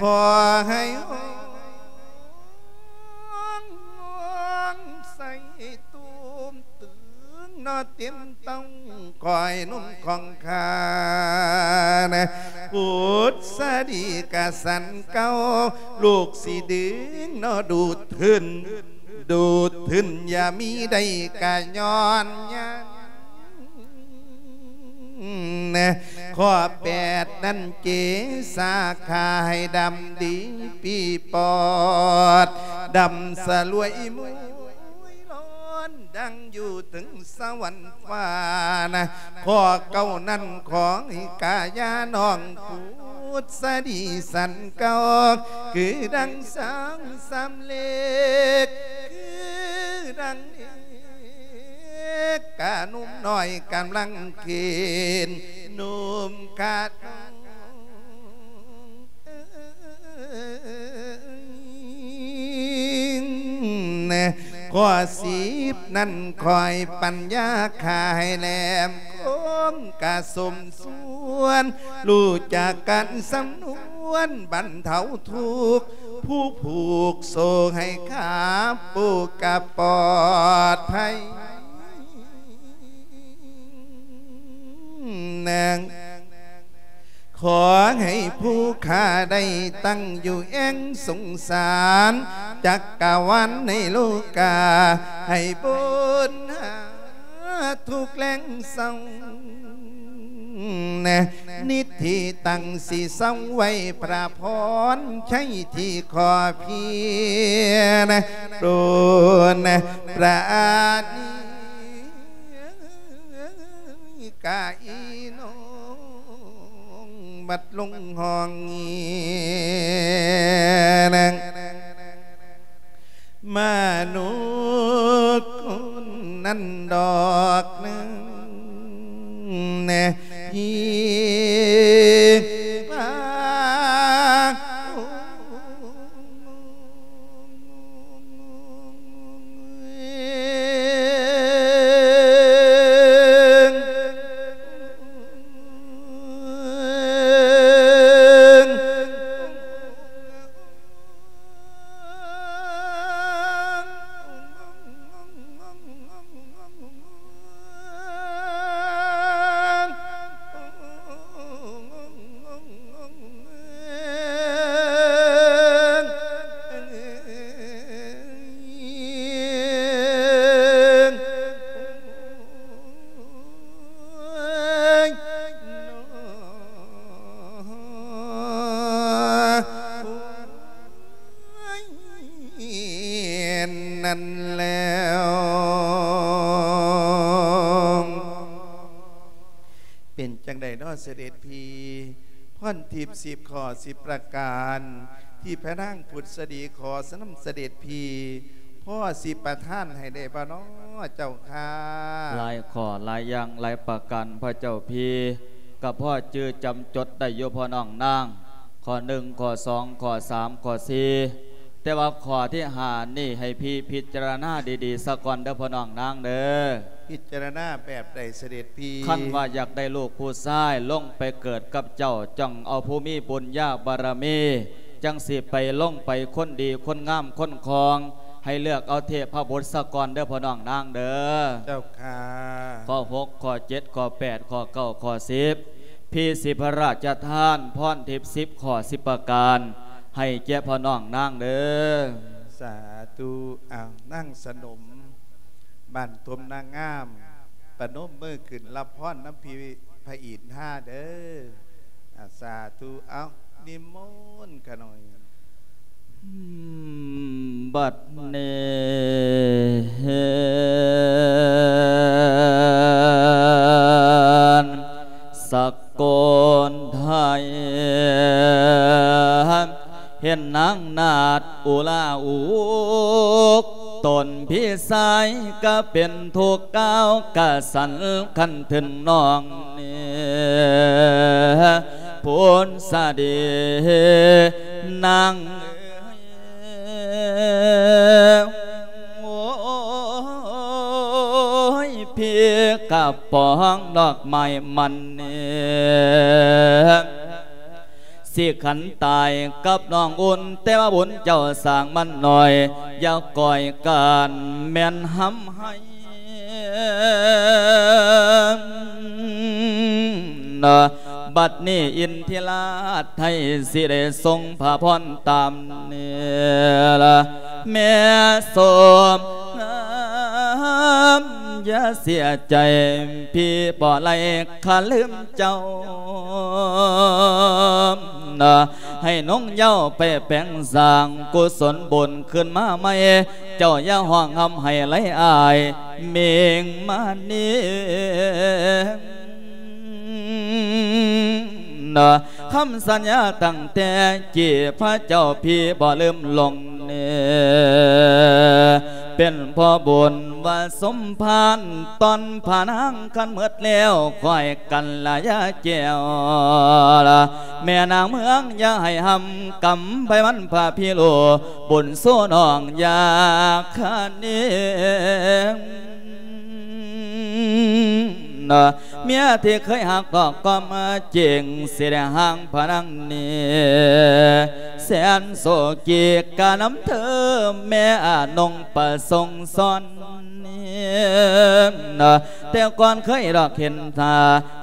ຂໍໃຫ້ຮອງ ຮອງໃສ່ຕູມຕຶງ ເນາະເຕັມຕ້ອງ ຂໍໃຫ້ໜຸ່ມຂອງຂ້າ ແນ ພຸດສະດີກະສັນເກົ່າ ລູກຊິດຶງ ເນາະດູດຂຶ້ນ ດູດຂຶ້ນ ຢ່າມີໄດ້ກະຍ້ອນຍານ ແນ ຂໍ້ແປດນັ້ນ ເກສາຂ້າໃຫ້ດຳດີປີປອດ ດຳສະຫຼວຍມຸຍລ້ອນ ດັ່ງຢູ່ເທິງສະຫວັນຟ້ານະ ຂໍ້ເກົ້ານັ້ນ ຂໍໃຫ້ກາຍານ້ອງພຸດສະດີສັນເກົ່າ ຄືດັ່ງສາງສຳເລັກ ຄືດັ່ງເອກ ກະໜຸ່ມນ້ອຍກຳລັງເຂນ ໜຸ່ມຂະນ້ອງ ແນ ຂໍ້ສິບນັ້ນ ຂໍໃຫ້ປັນຍາຂ້າໃຫ້ແຫຼມຄົມ ກະສົມສ່ວນ ຮູ້ຈັກການສຳນວນ ບັນເທົາທຸກ ຜູ້ຜູກໂສ້ໃຫ້ຂ້າປູກກະປອດໄພ ແນ ຂໍໃຫ້ຜູ້ຂ້າໄດ້ຕັ້ງຢູ່ແອ່ງສົງສານ ຈັກກະວານໃນໂລກາ ໃຫ້ບົນຫາທຸກແລງເສົ້າ ແນ ນິດທີ່ຕັ້ງຊິເຊົາໄວ້ ພະພອນໄຊທີ່ຂໍພຽນ ໂປດປານີ ກະອີນ້ອງບັດລົງຫ້ອງເງຍ ມະນຸດຄົນນັ້ນດອກໜຶ່ງ ທີ່ວ່າ ນັ້ນແລ້ວ ເປັນຈັ່ງໃດເນາະ ສະເດັດພີ່? ພອນທິບສິບຂໍ້ສິບປະການ ທີ່ພະນາງພຸດສະດີຂໍນຳສະເດັດພີ່ ພໍຊິປະທານໃຫ້ໄດ້ບໍ່ເນາະ ເຈົ້າຂ້າ? ຫຼາຍຂໍ້ຫຼາຍຢ່າງຫຼາຍປະການ ພະເຈົ້າພີ່ ກະພໍຈື່ຈຳຈົດໄດ້ຢູ່ພໍ່ນ້ອງນາງ ຂໍ້ໜຶ່ງ ຂໍ້ສອງ ຂໍ້ສາມ ຂໍ້ສີ່ ແຕ່ວ່າຂໍ້ທີຫ້ານີ້ໃຫ້ພີ່ພິຈາລະນາດີໆສາກ່ອນເດີພໍ່ນ້ອງນາງເດີ. ພິຈາລະນາແບບໃດສະເດັດພີ່? ຄັນວ່າຢາກໄດ້ລູກຜູ້ຊາຍລົງໄປເກີດກັບເຈົ້າ ຈັ່ງເອົາຜູ້ມີບຸນຍາບາລະມີ ຈັ່ງຊິໄປລົງໄປຄົນດີຄົນງາມຄົນຄອງ ໃຫ້ເລືອກເອົາເທບພະບຸດສາກ່ອນເດີພໍ່ນ້ອງນາງເດີ. ເຈົ້າຂ້າ. ຂໍ້ຫົກ ຂໍ້ເຈັດ ຂໍ້ແປດ ຂໍ້ເກົ້າ ຂໍ້ສິບ ພີ່ຊິພະລາຊະທານພອນທິບສິບຂໍ້ສິບປະການ ໃຫ້ແກ່ພໍ່ນ້ອງນາງເດີ. ສາທຸ. ອ້າວ ນາງສະໜົມ ບ້ານທົ່ມນາງາມ ປະນົມມືຂຶ້ນຮັບພອນນຳພີ່ພະອິນທາເດີ. ອາ ສາທຸ. ເອົາ ນິມົນຂະນ້ອຍ. ບັດນີ້ ກະເປັນທຸກກ່າວກະສັນຄັນເຖິງນ້ອງນີ້ ຜົນສະດີນາງເອີຍ ໂອ້ຍ ພີ່ກະປອງດອກໄມ້ມັນນີ້ ຊິຂັນຕາຍກັບນ້ອງອຸ່ນ ແຕ່ວ່າບຸນເຈົ້າສ້າງມັນໜ້ອຍ ຢ່າກ່ອຍການແມ່ນຮຳໄຫ້ ບັດນີ້ອິນທິລາດໄທຊິໄດ້ສົ່ງພະພອນຕາມນີ້ລະ ແມ່ສົມງາມ ຢ່າເສຍໃຈ ພີ່ບໍ່ໄດ້ຄະລືມເຈົ້າ ໃຫ້ນົງເຍົາໄປແປງສ້າງກຸສົນບຸນຄືນມາໃໝ່ ເຈົ້າຢ່າຮ້ອງຮຳໄຫ້ໄຫຼອາຍ ເມງມານີ ຄຳສັນຍາຕັ້ງແຕ່ກີ້ ພະເຈົ້າພີ່ບໍ່ລືມລົງເນ ເປັນພໍ່ບຸນວ່າສົມພານ ຕອນພະນາງຄັນໝົດແລ້ວ ຂ້ອຍກັນລະຢ່າແຈວລະ ແມ່ນາງເມືອງຢ່າໃຫ້ຫ້ຳ ກຳໄພມັນພະພິໂລ ບຸນສູ່ນ້ອງຢ່າຄະເນ ເມຍທີ່ເຄີຍຮັກດອກກໍມາຈິງ ຊິໄດ້ຮ່າງພະນັງນີ້ ແສນໂສກີກະນຳເທີ ແມ່ອານົງປະສົງສອນ ແຕ່ກ່ອນເຄີຍດອກເຫັນທ່າ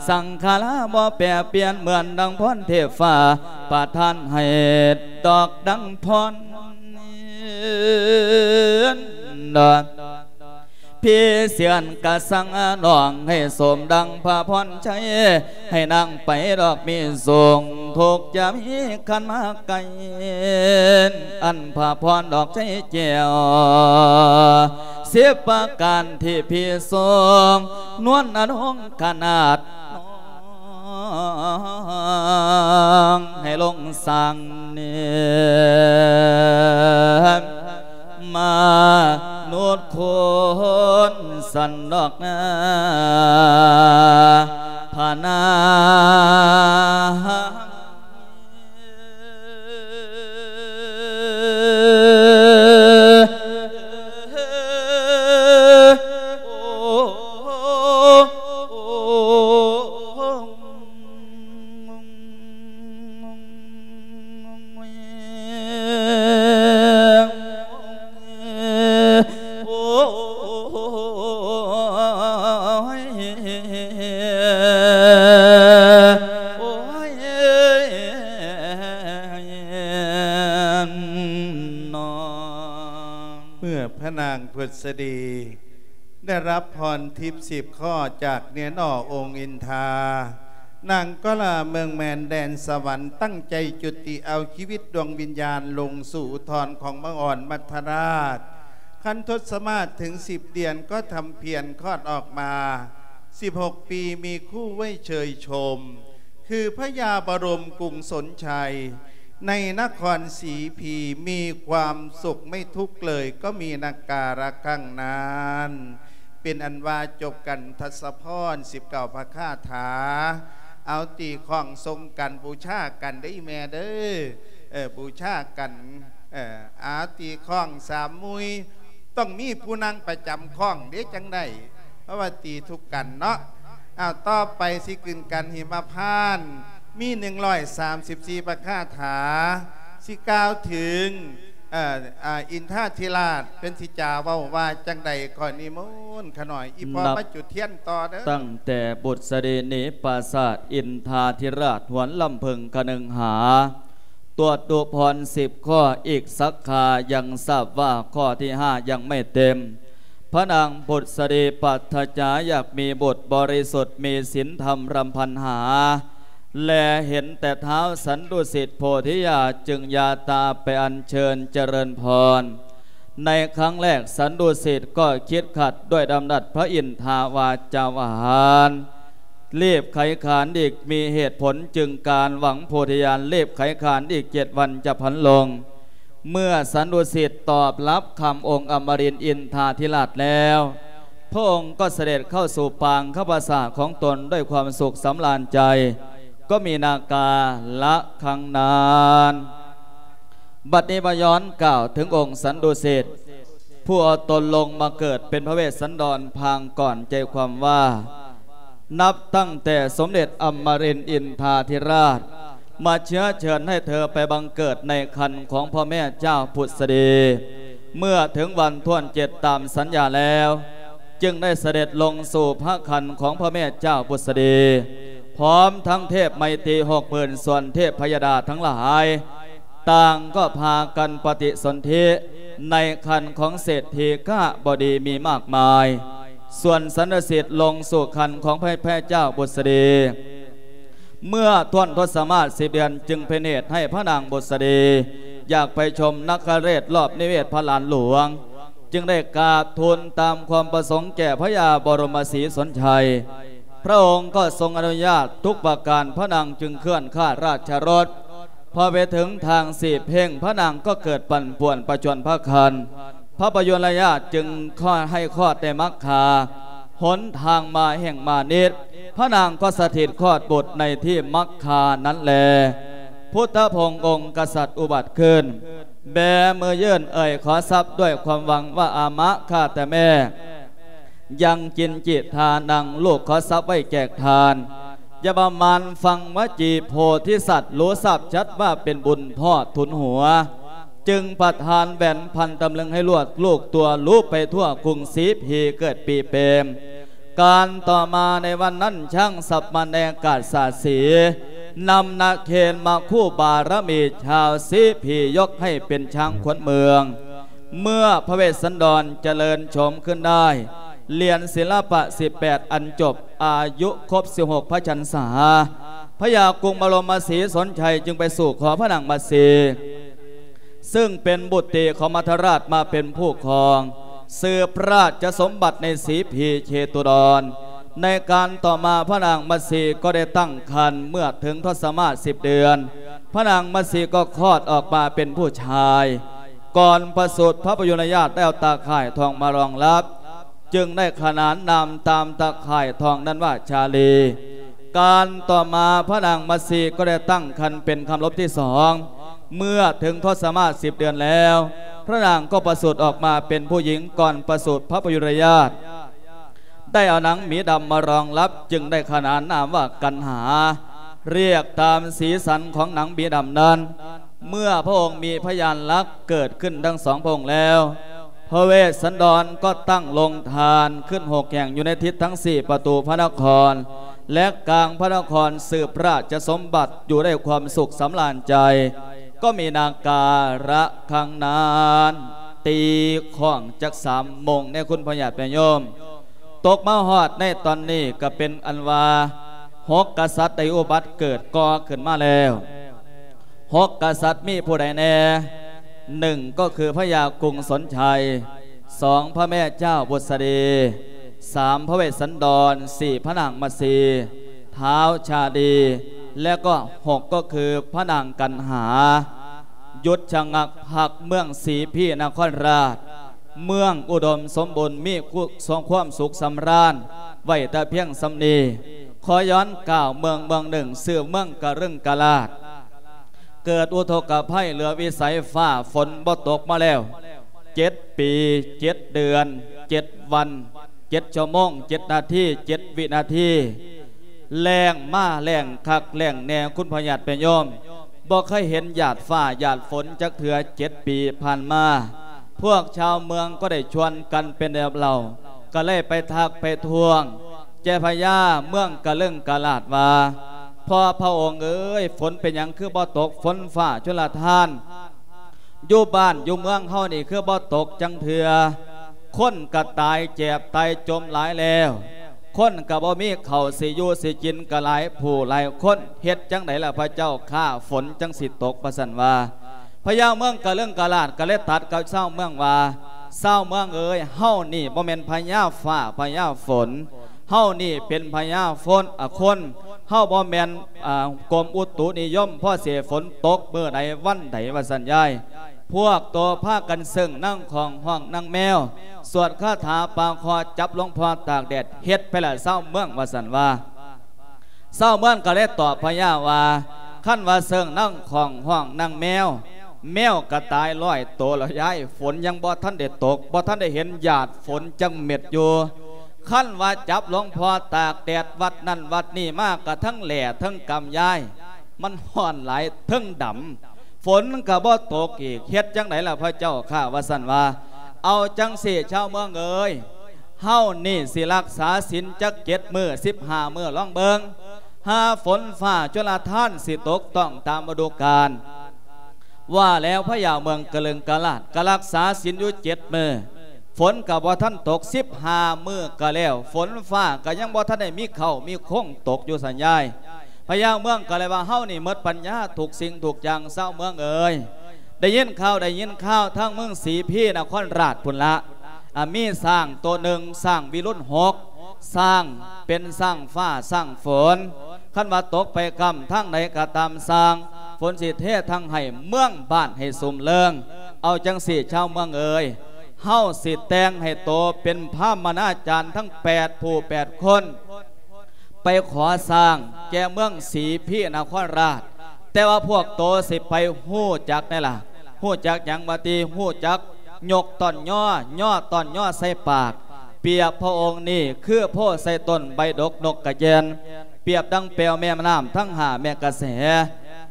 ສັງຂາລາບໍ່ແປປ່ຽນ ເໝືອນດັ່ງພອນເທບຟ້າ ປະທານໃຫ້ດອກດັ່ງພອນ ພີ່ເຊື່ອນກະສັ່ງນ້ອງໃຫ້ສົມດັ່ງພະພອນໄຊ ໃຫ້ນາງໄປດອກມີສຸກ ທຸກຢ່າມີຄັນມາໃກ້ ອັນພະພອນດອກໄຊແກ້ວ ສິບປະການທີ່ພີ່ຊົງ ນວນອະນົງຂະໜາດ ໃຫ້ລົງສ້າງເນ ມະນຸດຄົນສັນດອກນາ ພະນາ ເມື່ອພະນາງພຸດສະດີ ໄດ້ຮັບພອນທິບສິບຂໍ້ຈາກເນນອອງອົງອິນທາ ນາງກໍລາເມືອງແມນແດນສະຫວັນ ຕັ້ງໃຈຈຸຕິເອົາຊີວິດດວງວິນຍານລົງສູ່ອຸທອນຂອງບັງອອນມັດທະລາດ ຄັນທົດສະມາດເຖິງສິບເດືອນກໍທຳພຽນຄອດອອກມາ ສິບຫົກປີມີຄູ່ໄວ້ເຊີຍຊົມ ຄືພະຍາບະລົມກຸງສົນໄຊ ໃນນະຄອນສີພີ ມີຄວາມສຸກໄມ່ທຸກເລີຍ ກໍມີນັກກາລະຄັ້ງນັ້ນ ເປັນອັນວ່າຈົບກັນທັດສະພອນສິບເກົ້າພະຄາຖາ ເອົາຕີຄ້ອງສົ່ງກັນບູຊາກັນເດີ້ອີ່ແມ່ເດີ້ ເອີ ບູຊາກັນ ເອີ ເອົາຕີຄ້ອງສາມມຸ້ຍ ຕ້ອງມີຜູ້ນັ່ງປະຈຳຄ້ອງເດ້ ຈັ່ງໄດ້ ເພາະວ່າຕີທຸກກັນເນາະ. ອ້າວ ຕໍ່ໄປຊິຂຶ້ນກັນຫິມະພານ ມີໜຶ່ງຮ້ອຍສາມສິບສີ່ພະຄາຖາ ຊິກ່າວເຖິງ ເອີ ອາ ອິນທາທິລາດ ເພິ່ນຊິຈາເວົ້າວ່າຈັ່ງໃດ ຂໍນິມົນຂະໜ້ອຍ ອີ່ພໍ່ມາຈຸດທຽນຕໍ່ເດີ້. ຕັ້ງແຕ່ບຸດສະດີໜີປາສາດ ອິນທາທິລາດຫວນລຳເພິ່ງຄະນຶງຫາ ຕວດດຸພອນສິບຂໍ້ ອີກສັກຄາຍັງຊາບວ່າຂໍ້ທີຫ້າຍັງໄມ່ເຕັມ. ພະນາງບຸດສະດີປາດຖະຈາຢາກມີບຸດບໍລິສຸດ ມີສິນທຳລຳພັນຫາ ແລເຫັນແຕ່ທ້າວສັນດຸສິດໂພທິຍາ ຈຶ່ງຢາຕາໄປອັນເຊີນຈະເລີນພອນ. ໃນຄັ້ງແລກສັນດຸສິດກໍຄິດຂັດດ້ວຍດຳລັດພະອິນທາວາຈາຫວານ ລີບໄຂຂານອີກມີເຫດຜົນຈຶ່ງການຫວັງໂພທິຍານ ລີບໄຂຂານອີກເຈັດວັນຈະພັນລົງ. ເມື່ອສັນດຸສິດຕອບຮັບຄຳອົງອຳມະລິນອິນທາທິລາດແລ້ວ ພະອົງກໍສະເດັດເຂົ້າສູ່ປາງຄຳປາສາດຂອງຕົນດ້ວຍຄວາມສຸກສຳລານໃຈ ກໍມີນາກາລະຄັງນານ. ບັດນີ້ມາຍ້ອນກ່າວເຖິງອົງສັນດຸສິດ ຜູ້ເອົາຕົນລົງມາເກີດເປັນພະເວດສັນດອນພາງກ່ອນ ໃຈຄວາມວ່າ ນັບຕັ້ງແຕ່ສົມເດັດອຳມະລິນອິນທາທິລາດ ມາເຊື້ອເຊີນໃຫ້ເທີໄປບັງເກີດໃນຄັນຂອງພະແມ່ເຈົ້າພຸດສະດີ ເມື່ອເຖິງວັນຖ້ວນເຈັດຕາມສັນຍາແລ້ວ ຈຶ່ງໄດ້ສະເດັດລົງສູ່ພະຄັນຂອງພະແມ່ເຈົ້າພຸດສະດີ ພ້ອມທັງເທບໄມຕີຫົກໝື່ນ ສ່ວນເທບພະຍະດາທັງຫຼາຍ ຕ່າງກໍພາກັນປະຕິສົນທິໃນຄັນຂອງເສດຖີກະບໍດີມີມາກມາຍ ສ່ວນສັນນະສິດລົງສູ່ຄັນຂອງພະແມ່ເຈົ້າບຸດສະດີ ເມື່ອຖ້ວນທົດສະມາດສິບເດືອນ ຈຶ່ງເປັນເຫດໃຫ້ພະນາງບຸດສະດີຢາກໄປຊົມນະຄະເລດລອບນິເວດພະລານຫຼວງ ຈຶ່ງໄດ້ກາບທູນຕາມຄວາມປະສົງແກ່ພະຍາບໍລົມມະສີສົນໄຊ. ພະອົງກໍຊົງອະນຸຍາດທຸກປະການ ພະນາງຈຶ່ງເຄື່ອນຂ້າລາຊະລົດ. ພໍໄປເຖິງທາງສີເພັງ ພະນາງກໍເກີດປັ່ນປ່ວນປະຈວນພະຄັນ ພະປະຍຸລະຍາດຈຶ່ງຂໍໃຫ້ຄອດໃນມັກຄາ ຫົນທາງມາແຫ່ງມານິດ ພະນາງກໍສະຖິດຄອດບຸດໃນທີ່ມັກຄານັ້ນແລ. ພຸດທະພົງອົງກະສັດອຸບັດຂຶ້ນ ແບມືຍື່ນເອີ່ຍຂໍຊັບດ້ວຍຄວາມຫວັງວ່າ ອາມະ ຂ້າແຕ່ແມ່ ຍັງກິນຈິທານັງ ລູກຂໍຊັບໄວ້ແຈກທານ ຢ່າປະມານຟັງວະຈີໂພທິສັດ ຮູ້ຊາບຊັດວ່າເປັນບຸນພໍ່ທຸນຫົວ ຈຶ່ງປະທານແຫວນພັນຕຳລຶງໃຫ້ລວດລູກຕົວ ລູບໄປທົ່ວກຸງສີພີເກີດປີເປມ. ການຕໍ່ມາໃນວັນນັ້ນ ຊ້າງສັບມະແນກາດສາສີ ນຳນາເຄນມາຄູ່ບາລະມີ ຊາວສີພີຍົກໃຫ້ເປັນຊ້າງຂວັນເມືອງ. ເມື່ອພະເວດສັນດອນຈະເລີນໂສມຂຶ້ນໄດ້ ລຽນສິລະປະສິບແປດອັນຈົບ ອາຍຸຄົບສິບຫົກພະສັນສາ ພະຍາກຸງບະລົມມະສີສົນໄຊຈຶ່ງໄປສູ່ຂໍພະນາງມັດສີ ຊຶ່ງເປັນບຸດຕີຂອງມັດທະລາດມາເປັນຜູ້ຄອງ ສືບພະລາຊະສົມບັດໃນສີພີເຊຕຸດອນ. ໃນການຕໍ່ມາພະນາງມັດສີກໍໄດ້ຕັ້ງຄັນ ເມື່ອເຖິງທົດສະມາດສິບເດືອນ ພະນາງມັດສີກໍຄອດອອກມາເປັນຜູ້ຊາຍ. ກ່ອນປະສູດ ພະປະຍຸລະຍາດໄດ້ເອົາຕາຂ່າຍທອງມາລອງລັບ ຈຶ່ງໄດ້ຂະໜານນາມຕາມຕາຂ່າຍທອງນັ້ນວ່າ ຊາລີ. ການຕໍ່ມາພະນາງມັດສີກໍໄດ້ຕັ້ງຄັນເປັນຄຳລົບທີສອງ. ເມື່ອເຖິງທົດສະມາດສິບເດືອນແລ້ວ ພະນາງກໍປະສູດອອກມາເປັນຜູ້ຍິງ. ກ່ອນປະສູດ ພະປະຍຸລະຍາດ ໄດ້ເອົານາງໝີດຳມາລອງລັບ ຈຶ່ງໄດ້ຂະໜານນາມວ່າກັນຫາ ລຽກຕາມສີສັນຂອງນາງໝີດຳນັ້ນ. ເມື່ອພະອົງມີພະຍານລັກເກີດຂຶ້ນທັງສອງພະອົງແລ້ວ ພະເວດສັນດອນກໍຕັ້ງໂລງທານຂຶ້ນຫົກແຫ່ງຢູ່ໃນທິດທັງສີ່ປະຕູພະນະຄອນ ແລະ ກາງພະນະຄອນ ສືບພະລາຊະສົມບັດຢູ່ໄດ້ຄວາມສຸກສຳລານໃຈ ກໍມີນາກາລະຄັງນານ ຕີຂ້ອງຈັກສາມໂມງແດ່ ຄຸນພໍ່ຍາດແມ່ໂຍມ. ຕົກມາຮອດໃນຕອນນີ້ກໍເປັນອັນວ່າ ຫົກກະສັດໄດ້ອຸບັດເກີດກໍ່ຂຶ້ນມາແລ້ວ. ຫົກກະສັດມີຜູ້ໃດແດ່? ໜຶ່ງ ກໍຄືພະຍາກຸງສົນໄຊ, ສອງ ພະແມ່ເຈົ້າບຸດສະດີ, ສາມ ພະເວດສັນດອນ, ສີ່ ພະນາງມະສີ, ທ້າວຊາດີ ແລະ ກໍ ຫົກ ກໍຄືພະນາງກັນຫາ. ຢຸດຊະງັກພັກເມືອງສີພີນະຄອນລາດ ເມືອງອຸດົມສົມບູນ ມີຄວາມສຸກສຳລານໄວ້ແຕ່ພຽງສ່ຳນີ້. ຂໍຍ້ອນກ່າວເມືອງເມືອງໜຶ່ງ ຊື່ເມືອງກະລຶງກະລາດ ເກີດອຸທົກກະໄພເຫຼືອວິໄສ, ຟ້າຝົນບໍ່ຕົກມາແລ້ວ ເຈັດປີ ເຈັດເດືອນ ເຈັດວັນ ເຈັດຊົ່ວໂມງ ເຈັດນາທີ ເຈັດວິນາທີ. ແລ້ງມາແລ້ງຄັກແລ້ງແນ່ ຄຸນພໍ່ຍາດແມ່ໂຍມ, ບໍ່ເຄີຍເຫັນຫຍາດຟ້າຫຍາດຝົນຈັກເທື່ອ ເຈັດປີຜ່ານມາ. ພວກຊາວເມືອງກໍໄດ້ຊວນກັນເປັນແບບເຫຼົ່າ ກໍເລີຍໄປທັກໄປທ້ວງແຈພະຍາເມືອງກະເລິງກະລາດວ່າ ພໍ່ພະອົງເອີຍ, ຝົນເປັນຫຍັງຄືບໍ່ຕົກ? ຝົນຟ້າຊົນລະທານ ຢູ່ບ້ານຢູ່ເມືອງເຮົານີ້ຄືບໍ່ຕົກຈັກເທື່ອ? ຄົນກະຕາຍແຈບຕາຍຈົມຫຼາຍແລ້ວ, ຄົນກະບໍ່ມີເຂົ້າຊິຢູ່ຊິກິນກະຫຼາຍຜູ້ຫຼາຍຄົນ, ເຮັດຈັ່ງໃດລະພະເຈົ້າຂ້າ ຝົນຈັ່ງຊິຕົກ? ວ່າຊັ້ນວ່າ. ພະຍາເມືອງກະເລິງກະລາດກໍເລີຍຕັດກັບຊາວເມືອງວ່າ ຊາວເມືອງເອີຍ, ເຮົານີ້ບໍ່ແມ່ນພະຍາຟ້າພະຍາຝົນ, ເຮົານີ້ເປັນພະຍາຝົນ ອາ ຄົນ, ເຮົາບໍ່ແມ່ນ ອາ ກົມອຸຕຸນິຍົມ ພໍຊິໃຫ້ຝົນຕົກມື້ໃດວັນໃດ ວ່າຊັ້ນຍາຍ. ພວກໂຕພາກັນເຊິ່ງນາງຂ້ອງຮ້ອງນາງແມວ ສວດຄາຖາປາເຄາະ ຈັບຫຼວງພໍ່ຕາກແດດ ເຮັດໄປລະຊາວເມືອງ ວ່າຊັ້ນວ່າ. ຊາວເມືອງກໍເລີຍຕອບພະຍາວ່າ ຄັນວ່າເຊິ່ງນາງຂ້ອງຮ້ອງນາງແມວ ແມວກະຕາຍຮ້ອຍໂຕແລ້ວຍາຍ, ຝົນຍັງບໍ່ທັນໄດ້ຕົກ ບໍ່ທັນໄດ້ເຫັນຫຍາດຝົນຈັກເມັດຢູ່. ຄັນວ່າຈັບຫຼວງພໍ່ຕາກແດດວັດນັ້ນວັດນີ້ມາ ກະທັງແຫຼ້ທັງກຳຍາຍ, ມັນຮ້ອນຫຼາຍເທິງດຳ ຝົນກະບໍ່ຕົກອີກ ເຮັດຈັ່ງໃດລະພະເຈົ້າຂ້າ ວ່າຊັ້ນວ່າ. ເອົາຈັ່ງຊີ້ຊາວເມືອງເອີຍ ເຮົານີ້ຊິລັກສາສິນຈັກເຈັດມື້ ສິບຫ້າມື້ລອງເບິ່ງ ຫາຝົນຟ້າຈຸລະທານຊິຕົກຕ້ອງຕາມລະດູການ. ວ່າແລ້ວພະຍາເມືອງກະລຶງກະລາດກະລັກສາສິນຢູ່ເຈັດມື້ ຝົນກະບໍ່ທັນຕົກ ສິບຫ້າມື້ກະແລ້ວ ຝົນຟ້າກະຍັງບໍ່ທັນໄດ້ມີເຄົ້າມີຄົງຕົກຢູ່ຊັ້ນຍາຍ. ພະຍາເມືອງກໍເລີຍວ່າ ເຮົານີ້ໝົດປັນຍາທຸກສິ່ງທຸກຢ່າງຊາວເມືອງເອີຍ. ໄດ້ຍິນຂ່າວ ໄດ້ຍິນຂ່າວທາງເມືອງສີພີນະຄອນລາດພຸ້ນລະ ອາ ມີຊ້າງໂຕໜຶ່ງ ຊ້າງວິລຸນຫົກ ຊ້າງເປັນຊ້າງຟ້າຊ້າງຝົນ. ຄັນວ່າຕົກໄປກ້ຳທາງໃດກໍຕາມຊ່າງ ຝົນຊິເທທັງໃຫ້ເມືອງບ້ານໃຫ້ຊຸ່ມເລີງ. ເອົາຈັ່ງຊີ້ຊາວເມືອງເອີຍ ເຮົາຊິແຕ່ງໃຫ້ໂຕເປັນພາມະນາຈານທັງແປດຜູ້ແປດຄົນ ໄປຂໍສ້າງແກ່ເມືອງສີພີນະຄອນລາດ. ແຕ່ວ່າພວກໂຕຊິໄປຮູ້ຈັກແດ່ລະ ຮູ້ຈັກຫຍັງວ່າຕິ? ຮູ້ຈັກຍົກຕ້ອນຍໍ ຍໍຕ້ອນຍໍໃສ່ປາກ. ປຽບພະອົງນີ້ຄືໂພໃສ່ຕົ້ນໃບດົກນົກກະແກ່ນ ປຽບດັ່ງແປວແມ່ນ້ຳທັງຫ້າແມ່ກະແສ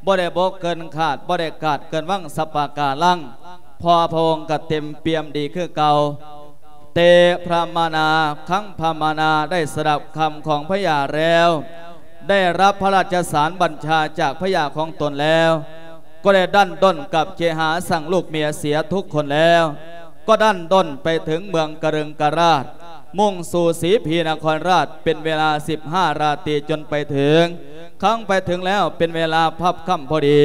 ບໍ່ໄດ້ບົກເກີນຄາດ ບໍ່ໄດ້ກາດເກີນວັງສັບປະກາລັງ ເພາະພະອົງກະເຕັມປ່ຽມດີຄືເກົ່າ. ເຕ ພຣະມະນາ ຄັງພຣະມະນາ ໄດ້ສະດັບຄຳຂອງພະຍາແລ້ວ ໄດ້ຮັບພະລາຊະສານບັນຊາຈາກພະຍາຂອງຕົນແລ້ວ ກໍໄດ້ດັ້ນດົນກັບເຄຫາສັງລູກເມຍເສຍທຸກຄົນແລ້ວ ກໍດັ້ນດົນໄປເຖິງເມືອງກະລຶງກະລາດ ມຸ່ງສູ່ສີພີນະຄອນລາດ ເປັນເວລາສິບຫ້າລາຕີຈົນໄປເຖິງ. ຄັ້ງໄປເຖິງແລ້ວເປັນເວລາພາບຄ່ຳພໍດີ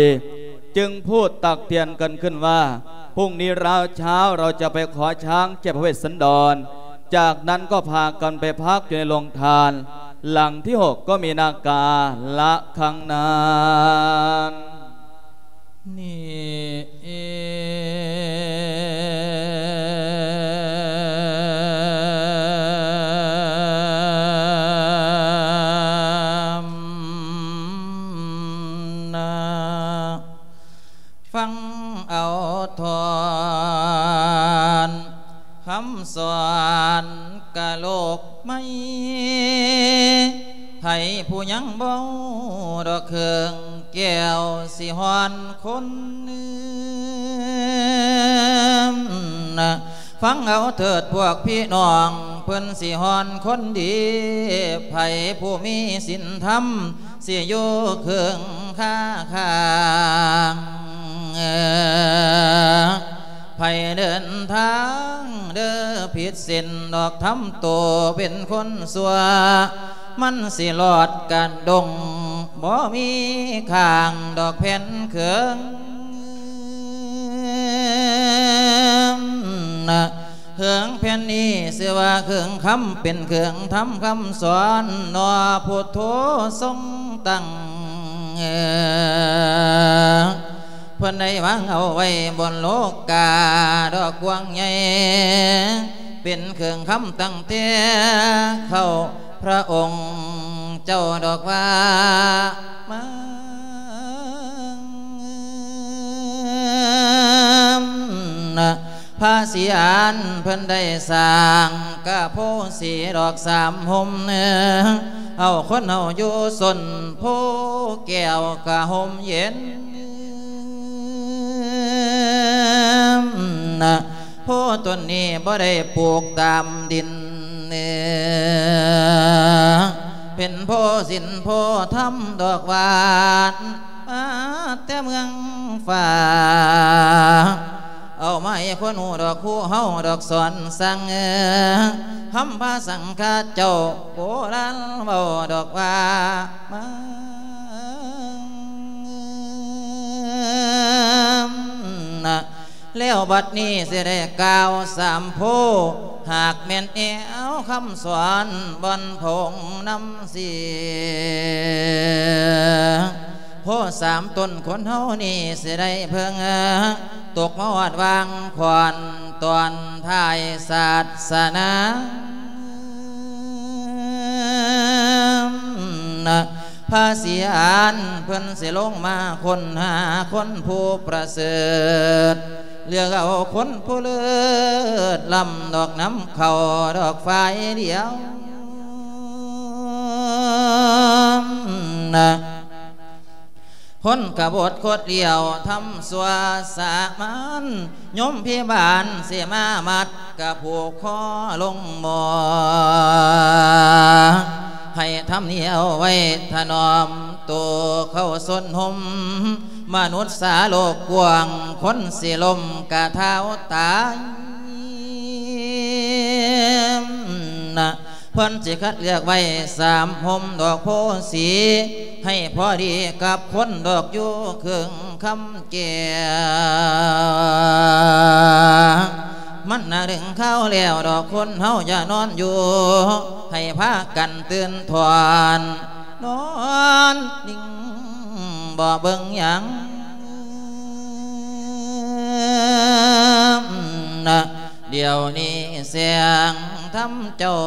ຈຶ່ງພູດຕັກເຕືອນກັນຂຶ້ນວ່າ ພຸ່ງນີ້ລາວເຊົ້າເຮົາຈະໄປຂໍຊ້າງແກ່ພະເວດສັນດອນ ຈາກນັ້ນກໍພາກັນໄປພັກຢູ່ໃນໂລງທານ. ຫຼັງທີຫົກກໍມີນາກາລະຄັງນັ້ນ. ນີ້ ນະ ຟັງເອົາທ່ອນຄຳສອນກະໂລກໃໝ່ ໃຜຜູ້ຍັງບໍ່ດອກເຄື່ອງແກ້ວ ຊິຮ້ອນຄົນນະ. ຟັງເອົາເຖີດພວກພີ່ນ້ອງ ເພິ່ນຊິຮ້ອນຄົນດີ ໃຜຜູ້ມີສິນທຳ ຊິຢູ່ເຄິ່ງຄາຂ້າງ. ໃຜເດີນທາງເດີຜິດເສັ້ນດອກ ທຳໂຕເປັນຄົນຊົ່ວ ມັນຊິລອດກະດົງ ບໍ່ມີຂ້າງດອກແຜ່ນເຄິ່ງ. ເຄິ່ງແຜ່ນນີ້ຊື່ວ່າເຄິ່ງຄຳ ເປັນເຄິ່ງທຳຄຳສອນ ເນາະ ພຸດໂທຊົງຕັ້ງ ເພິ່ນໄດ້ວາງເອົາໄວ້ບົນໂລກາດອກກວ້າງໃຫຍ່ ເປັນເຄື່ອງຄຳຕັ້ງແຕ່ເຄົ້າ ພະອົງເຈົ້າດອກວ່າມາ ພະສີອານເພິ່ນໄດ້ສ້າງກະໂພສີດອກສາມຮົ່ມ ເຮົາຄົນເຮົາຢູ່ຊົນໂພແກ້ວກະຮົ່ມເຢັນ. ໂພຕົ້ນນີ້ບໍ່ໄດ້ປູກຕາມດິນ ເປັນໂພສິນໂພທຳດອກຫວານ ມາແຕ່ເມືອງຟ້າ ເອົາມາໃຫ້ຄົນຮູ້ດອກ ຄູເຮົາດອກສອນສັ່ງ ຄຳພາສັງຄະເຈົ້າໂບລານເວົ້າດອກວ່າ ມາ ແລ້ວບັດນີ້ຊິໄດ້ກ່າວສາມໂພ ຫາກແມ່ນແອວຄຳສອນບ່ອນພະອົງນຳເສຍ ໂພສາມຕົ້ນຄົນເຮົານີ້ຊິໄດ້ເພິ່ງ ຕົກມາຮອດວາງຂອນຕອນທ້າຍສາດສະໜາ ພະສີອານເພິ່ນຊິລົງມາຄົ້ນຫາຄົນຜູ້ປະເສີດ ເລືອກເອົາຄົນຜູ້ເລີດລ້ຳ ດອກນຳເຂົ້າດອກຝ່າຍດຽວ ຄົນຂະບົດຄົດລ້ຽວທຳຊົ່ວສາມານ ໂຍມພິບານຊິມາມັດກະຜູກຄໍລົງໝໍ ໃຫ້ທຳນີ້ເອົາໄວ້ຖະໜອມໂຕເຂົ້າຊົນຮົ່ມ ມະນຸດສາໂລກກວ້າງ ຄົນຊິລົ້ມກະທ້າວຕາຍນະ ເພິ່ນຊິຄັດເລືອກໄວ້ສາມຮົ່ມດອກໂພສີ ໃຫ້ພໍດີກັບຄົນດອກຢູ່ເຄິ່ງຄຳແກ່ ມັນນະເຖິງຄາວແລ້ວດອກ ຄົນເຮົາຢ່ານອນຢູ່ ໃຫ້ພາກັນຕື່ນຖອນ ນອນນິ່ງບໍ່ເບິ່ງຫຍັງ ດຽວນີ້ແສງທຳເຈົ້າ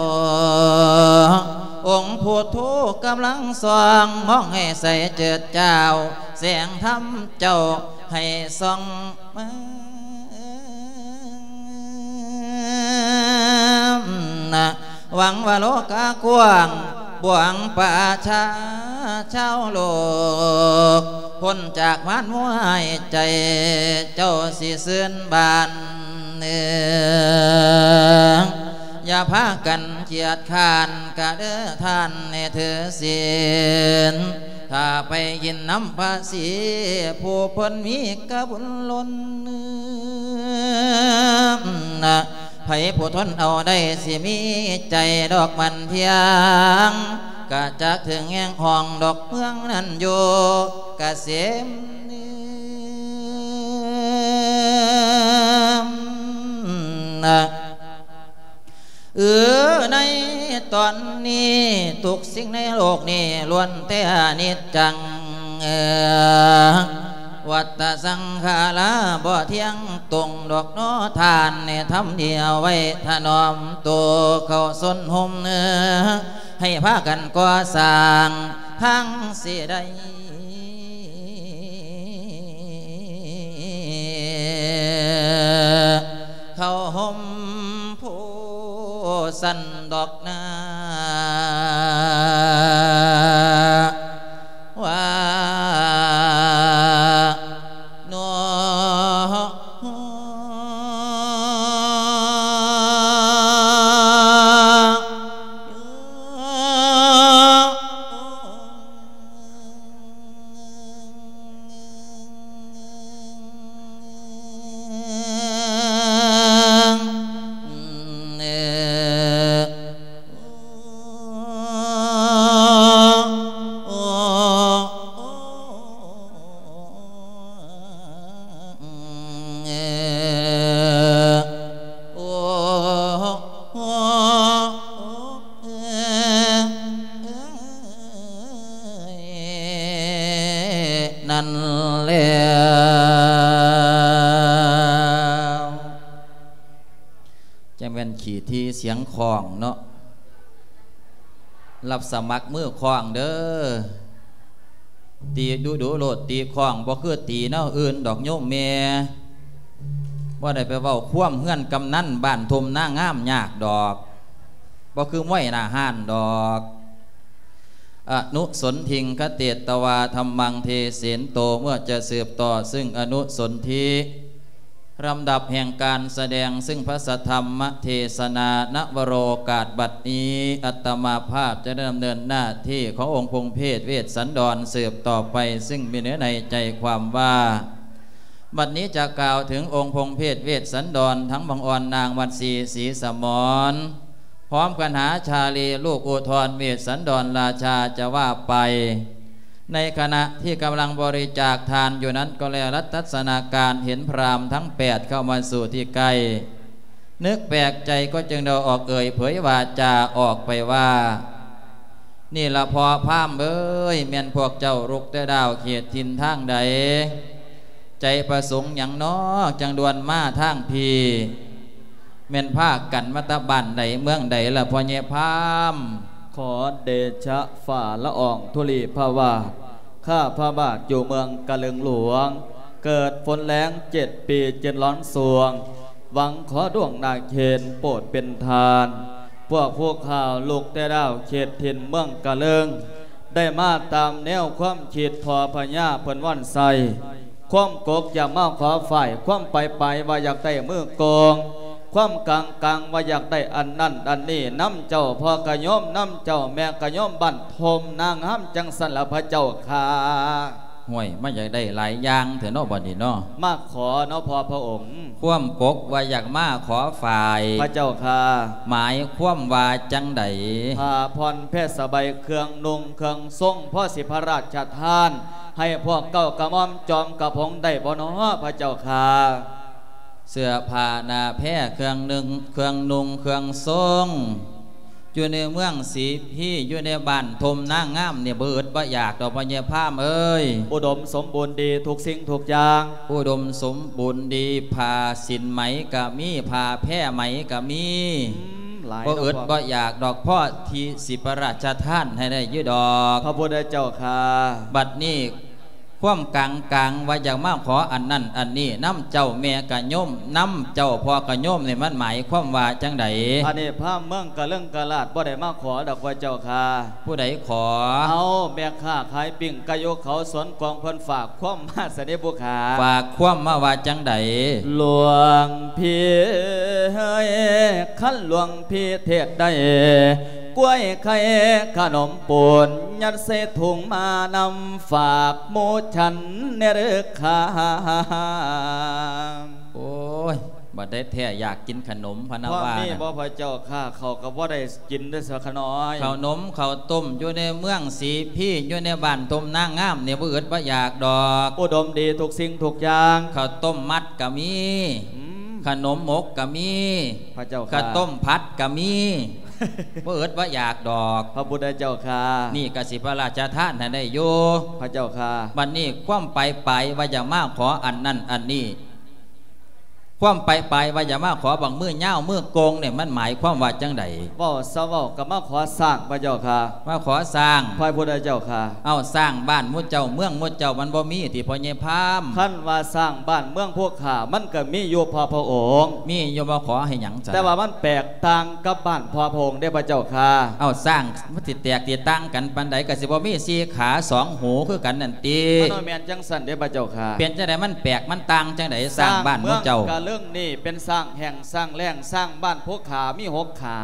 ອົງພຸດໂທກຳລັງສ່ອງ ມອງໃຫ້ໃສເຈີດຈ້າວ ແສງທຳເຈົ້າໃຫ້ສ່ອງມາ ຫວັງວ່າໂລກະກວ້າງ ບວງປະຊາຊາວໂລກ ພົ້ນຈາກມານວາຍໃຈ ເຈົ້າຊິຊື່ນບານເອີ ຢ່າພາກັນຂຽດຄ້ານກະເດີທ່ານໃຫ້ຖືສິນ ຖ້າໄປກິນນຳພະສີ ຜູ້ເພິ່ນມີກະບຸນລົ້ນ ໃຜຜູ້ທົນເອົາໄດ້ ຊິມີໃຈດອກໝັ້ນທ່ຽງ ກະຈັກເຖິງແຫ່ງຫ້ອງດອກເມືອງນັ້ນຢູ່ກະເສມ ເອີ ໃນຕອນນີ້ ທຸກສິ່ງໃນໂລກນີ້ລ້ວນແຕ່ອະນິດຈັງ ເອີ ວັດຕະສັງຂາລາບໍ່ທ່ຽງຕົງດອກນໍ ທ່ານໃຫ້ທຳດີເອົາໄວ້ຖະໜອມໂຕເຂົ້າຊົນຮົ່ມ ເອີ ໃຫ້ພາກັນກໍ່ສ້າງທາງຊິໄດ້ ເຂົ້າຮົ່ມໂພສັນດອກນາ ວ່ານໍ. ນັ້ນແລ້ວ ຈັ່ງແມ່ນຂີ້ຖີ່ສຽງຄ້ອງເນາະ ຮັບສະໝັກມືຄ້ອງເດີ້ ຕີດຸໆໂລດ ຕີຄ້ອງ ບໍ່ຄືຕີແນວອື່ນດອກໂຍມແມ່ ບໍ່ໄດ້ໄປເວົ້າຄວາມເຮືອນກຳນັນບ້ານທົ່ມນາງາມຍາກດອກ ບໍ່ຄືມວຍໜ້າຮ້ານດອກ. ອະນຸສົນທິງຄະເຕດຕະວາ ທຳມັງເທເສນໂຕ ເມື່ອຈະສືບຕໍ່ຊຶ່ງອະນຸສົນທິ ລຳດັບແຫ່ງການສະແດງຊຶ່ງພະສະທຳມະເທສະນາ ນະວະໂລກາດບັດນີ້ ອາດຕະມາພາບຈະດຳເນີນໜ້າທີ່ຂອງອົງພົງເພດເວດສັນດອນສືບຕໍ່ໄປ ຊຶ່ງມີເນື້ອໃນໃຈຄວາມວ່າ ບັດນີ້ຈະກ່າວເຖິງອົງພົງເພດເວດສັນດອນ ທັງບັງອອນນາງວັດສີ ສີສະໝອນ ພ້ອມກັນຫາຊາລີລູກອຸທອນເວດສັນດອນລາຊາຈະວ່າໄປ. ໃນຂະນະທີ່ກຳລັງບໍລິຈາກທານຢູ່ນັ້ນກໍແລ ລັດທັດສະນາການເຫັນພຣາມທັງແປດເຂົ້າມາສູ່ທີ່ໃກ້ ນຶກແປກໃຈກໍຈຶ່ງໄດ້ອອກເອີ່ຍເຜີຍວາຈາອອກໄປວ່າ ນີ້ລະພໍ່ພາມເອີຍ ແມ່ນພວກເຈົ້າລຸກແຕ່ດາວເຂດຖິ່ນທາງໃດ? ໃຈປະສົງຫຍັງນໍ ຈັ່ງດ່ວນມາທາງພີ້? ແມ່ນພາກັນມາແຕ່ບ້ານໃດເມືອງໃດລະພໍ່ໃຫຍ່ພາມ? ຂໍເດຊະຟ້າລະອອງທຸລີພະວາດ ຂ້າພະບາດຢູ່ເມືອງກະເລິງຫຼວງ ເກີດຝົນແລ້ງເຈັດປີເຈັດລອນຊ່ວງ ຫວັງຂໍດວງນາເຄນໂປດເປັນທານ ພວກພວກຂ້າລຸກແຕ່ດາວເຂດຖິ່ນເມືອງກະເລິງ ໄດ້ມາຕາມແນວຄວາມຄິດພໍ່ພະຍາເພິ່ນວັນໄຊ ຄວາມກົກຢາກມາຂໍຝ້າຍ ຄວາມໄປໄປວ່າຢາກໄດ້ມືກອງ ຄວາມກາງກາງວ່າຢາກໄດ້ອັນນັ້ນອັນນີ້ນຳເຈົ້າພໍ່ກະໂຍມ ນຳເຈົ້າແມ່ກະໂຍມບ້ານທົ່ມນາງາມ ຈັ່ງຊັ້ນລະພະເຈົ້າຂ້າ. ຫ້ວຍ ມັນຢາກໄດ້ຫຼາຍຢ່າງແທ້ເນາະ ບັດນີ້ເນາະ ມາຂໍເນາະພໍ່ພະອົງ. ຄວາມກົກວ່າຢາກມາຂໍຝ້າຍ ພະເຈົ້າຂ້າ. ໝາຍຄວາມວ່າຈັ່ງໃດ? ຜ້າຜ່ອນແພສະໄບ ເຄື່ອງນຸ່ງເຄື່ອງຊົງ ພໍຊິພະລາຊະທານໃຫ້ພວກເກົ້າກະໝ່ອມຈອມກະຜົງໄດ້ບໍ່ເນາະ ພະເຈົ້າຂ້າ? ເສື້ອຜ້າໜ້າແພ ເຄື່ອງໜຶ່ງ ເຄື່ອງນຸ່ງເຄື່ອງຊົງ ຢູ່ໃນເມືອງສີພີ ຢູ່ໃນບ້ານທົ່ມນາງາມນີ້ ບໍ່ອຶດບໍ່ຢາກດອກ ພໍ່ໃຫຍ່ພາມເອີຍ. ອຸດົມສົມບູນດີທຸກສິ່ງທຸກຢ່າງ. ອຸດົມສົມບູນດີ ຜ້າສິ້ນໄໝກະມີ ຜ້າແພໄໝກະມີ. ອືມ ຫຼາຍ ບໍ່ອຶດ ເນາະ ບໍ່ຢາກດອກ ພໍທີ່ຊິພະລາຊະທານໃຫ້ໄດ້ຢູ່ດອກ ພະພຸດທະເຈົ້າຂ້າ. ບັດນີ້ ຄວາມກາງກາງວ່າຢາກມາຂໍອັນນັ້ນອັນນີ້ນຳເຈົ້າແມ່ກະໂຍມ ນຳເຈົ້າພໍ່ກະໂຍມນີ້ ມັນໝາຍຄວາມວ່າຈັ່ງໃດ? ອັນນີ້ພາມເມືອງກະເລິງກະລາດບໍ່ໄດ້ມາຂໍດອກ ພະເຈົ້າຂ້າ. ຜູ້ໃດຂໍ? ເອົາ ແມ່ຄ້າຂາຍປີ້ງໄກ່ຢູ່ເຂົາສວນກວາງ ເພິ່ນຝາກຄວາມມາຊະເດຜູ້ຂ້າ. ຝາກຄວາມມາວ່າຈັ່ງໃດ? ຫຼວງພີ່ເອີຍ ຄັນຫຼວງພີ່ເທດໄດ້ ກ້ວຍໄຂ່ຂະໜົມປູນ ຍັດໃສ່ຖົງມານຳ ຝາກໝູ່ສັນແດ່ເດີຂ້າ. ໂອ້ຍ ບັດໃດແທ້ຢາກກິນຂະໜົມພະນະວ່ານະ. ມີບໍ່ພະເຈົ້າຂ້າ? ເຂົ້າກໍບໍ່ໄດ້ກິນເດີ້ສະຂະນ້ອຍ. ເຂົ້າໜົມເຂົ້າຕົ້ມຢູ່ໃນເມືອງສີພີ ຢູ່ໃນບ້ານທົ່ມນາງາມນີ້ ບໍ່ອຶດບໍ່ຢາກດອກ. ອຸດົມດີທຸກສິ່ງທຸກຢ່າງ. ເຂົ້າຕົ້ມມັດກໍມີ ອືມ ຂະໜົມໝົກກໍມີ ພະເຈົ້າຂ້າ. ເຂົ້າຕົ້ມຜັດກໍມີ ບໍ່ອຶດບໍ່ຢາກດອກ ພະພຸດທະເຈົ້າຂ້າ. ນີ້ກໍຊິພະລາຊະທານໃຫ້ໄດ້ຢູ່ ພະເຈົ້າຂ້າ. ບັດນີ້ຄວາມໄປປາຍວ່າຢາກມາຂໍອັນນັ້ນອັນນີ້ ຄວາມໄປປາຍວ່າຢາກມາຂໍບັກມືຍາວມືໂກ່ງນີ້ ມັນໝາຍຄວາມວ່າຈັ່ງໃດ? ເວົ້າຊະເວົ້າ ກໍມາຂໍສ້າງ ພະເຈົ້າຂ້າ. ມາຂໍສ້າງ ພະພຸດທະເຈົ້າຂ້າ. ເອົ້າ ສ້າງບ້ານໝູ່ເຈົ້າເມືອງໝູ່ເຈົ້າ ມັນບໍ່ມີຕິ ພໍ່ໃຫຍ່ພາມ? ຄັນວ່າສ້າງບ້ານເມືອງພວກຂ້າ ມັນກໍມີຢູ່ ພໍ່ພະອົງ. ມີຢູ່ບໍ່? ຂໍໃຫ້ຫຍັງຊັ້ນ? ແຕ່ວ່າມັນແຕກຕ່າງກັບບ້ານພໍ່ພະອົງເດ້ ພະເຈົ້າຂ້າ. ເອົ້າ ສ້າງມັນຊິແຕກຊິຕ່າງກັນປານໃດ? ກໍຊິບໍ່ມີສີ່ຂາສອງຫູຄືກັນນັ້ນຕິ? ມັນບໍ່ແມ່ນຈັ່ງຊັ້ນເດ້ ພະເຈົ້າຂ້າ. ເປັນຈັ່ງໃດ? ມັນແປກມັນຕ່າງຈັ່ງໃດ? ສ້າງບ້ານໝູ່ເຈົ້າ. ສ້າງເມືອງກະເລິງນີ້ເປັນສ້າງແຫ້ງສ້າງແລ້ງ, ສ້າງບ້ານພວກຂ້າມີຫົກຂາ.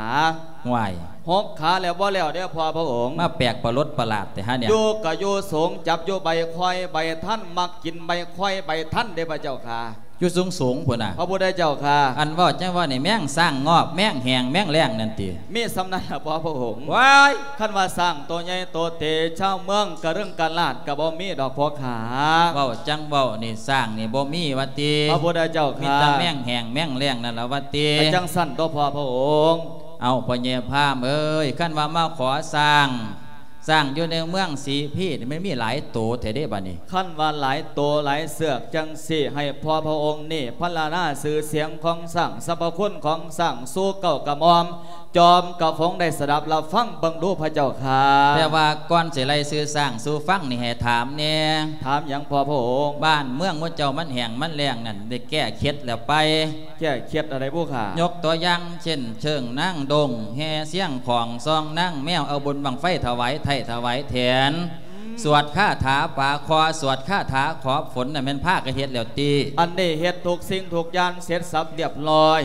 ຫ້ວຍ ຫົກຂາແລ້ວບໍ່ແລ້ວເດ້ ພໍ່ພະອົງ. ມາແປກປະຫຼົດປະຫຼາດແທ້ຫານີ້. ຢູ່ກໍຢູ່ສູງ, ຈັບຢູ່ໃບຄອຍໃບທັນ, ມັກກິນໃບຄອຍໃບທັນເດ້ ພະເຈົ້າຂ້າ. ຢູ່ສູງໆພຸ້ນນະ ພະພຸດທະເຈົ້າຂ້າ. ອັນເວົ້າຈັ່ງວ່ານີ້ ແມງສ້າງງອບ ແມງແຫ້ງແມງແລ້ງນັ້ນຕິ? ມີສ່ຳນັ້ນລະ ພໍ່ພະອົງ. ວ້າຍ ຄັນວ່າຊ້າງໂຕໃຫຍ່ໂຕເຕ ຊາວເມືອງກະເລິງກະລາດກະບໍ່ມີດອກ ພໍ່ຂ້າ. ເວົ້າຈັ່ງເວົ້ານີ້ ຊ້າງນີ້ບໍ່ມີວ່າຕິ? ພະພຸດທະເຈົ້າຂ້າ. ມີແຕ່ແມງແຫ້ງແມງແລ້ງນັ້ນລະວ່າຕິ? ກະຈັ່ງຊັ້ນຕົວະ ພໍ່ພະອົງ. ເອົ້າ ພໍ່ໃຫຍ່ພາມເອີຍ ຄັນວ່າມາຂໍຊ້າງ ຊ້າງຢູ່ໃນເມືອງສີພີນີ້ ມັນມີຫຼາຍໂຕແທ້ເດ້ບາດນີ້. ຄັນວ່າຫຼາຍໂຕຫຼາຍເຊືອກຈັ່ງຊີ້ ໃຫ້ພໍ່ພະອົງນີ້ພັນລະນາຊື່ສຽງຂອງຊ້າງ, ສັບພະຄຸນຂອງຊ້າງສູ່ເກົ້າກະໝ່ອມ ຈອມກະຜົງໄດ້ສະດັບລະຟັງເບິ່ງດູ ພະເຈົ້າຂ້າ. ແຕ່ວ່າກ່ອນຊິໄລ່ຊື່ຊ້າງສູ່ຟັງນີ້ ໃຫ້ຖາມແດ່. ຖາມຫຍັງ ພໍ່ພະອົງ? ບ້ານເມືອງໝູ່ເຈົ້າມັນແຫ້ງມັນແລ້ງນັ້ນ ໄດ້ແກ້ເຄັດແລ້ວໄປ? ແກ້ເຄັດອັນໃດບຸຂ້າ? ຍົກຕົວຢ່າງເຊັ່ນ ເຊີງນາງດົງ ແຫ່ຊຽງຂອງ ຊອງນາງແມວ ເອົາບຸນບັ້ງໄຟຖວາຍໄທ້ຖວາຍແຖນ ອືມ ສວດຄາຖາປາຄໍ່ ສວດຄາຖາຂອບຝົນ ນັ້ນແມ່ນພາກັນເຮັດແລ້ວຕິ? ອັນນີ້ເຮັດທຸກສິ່ງທຸກຢ່າງເສັດສັບລຽບລ້ອຍ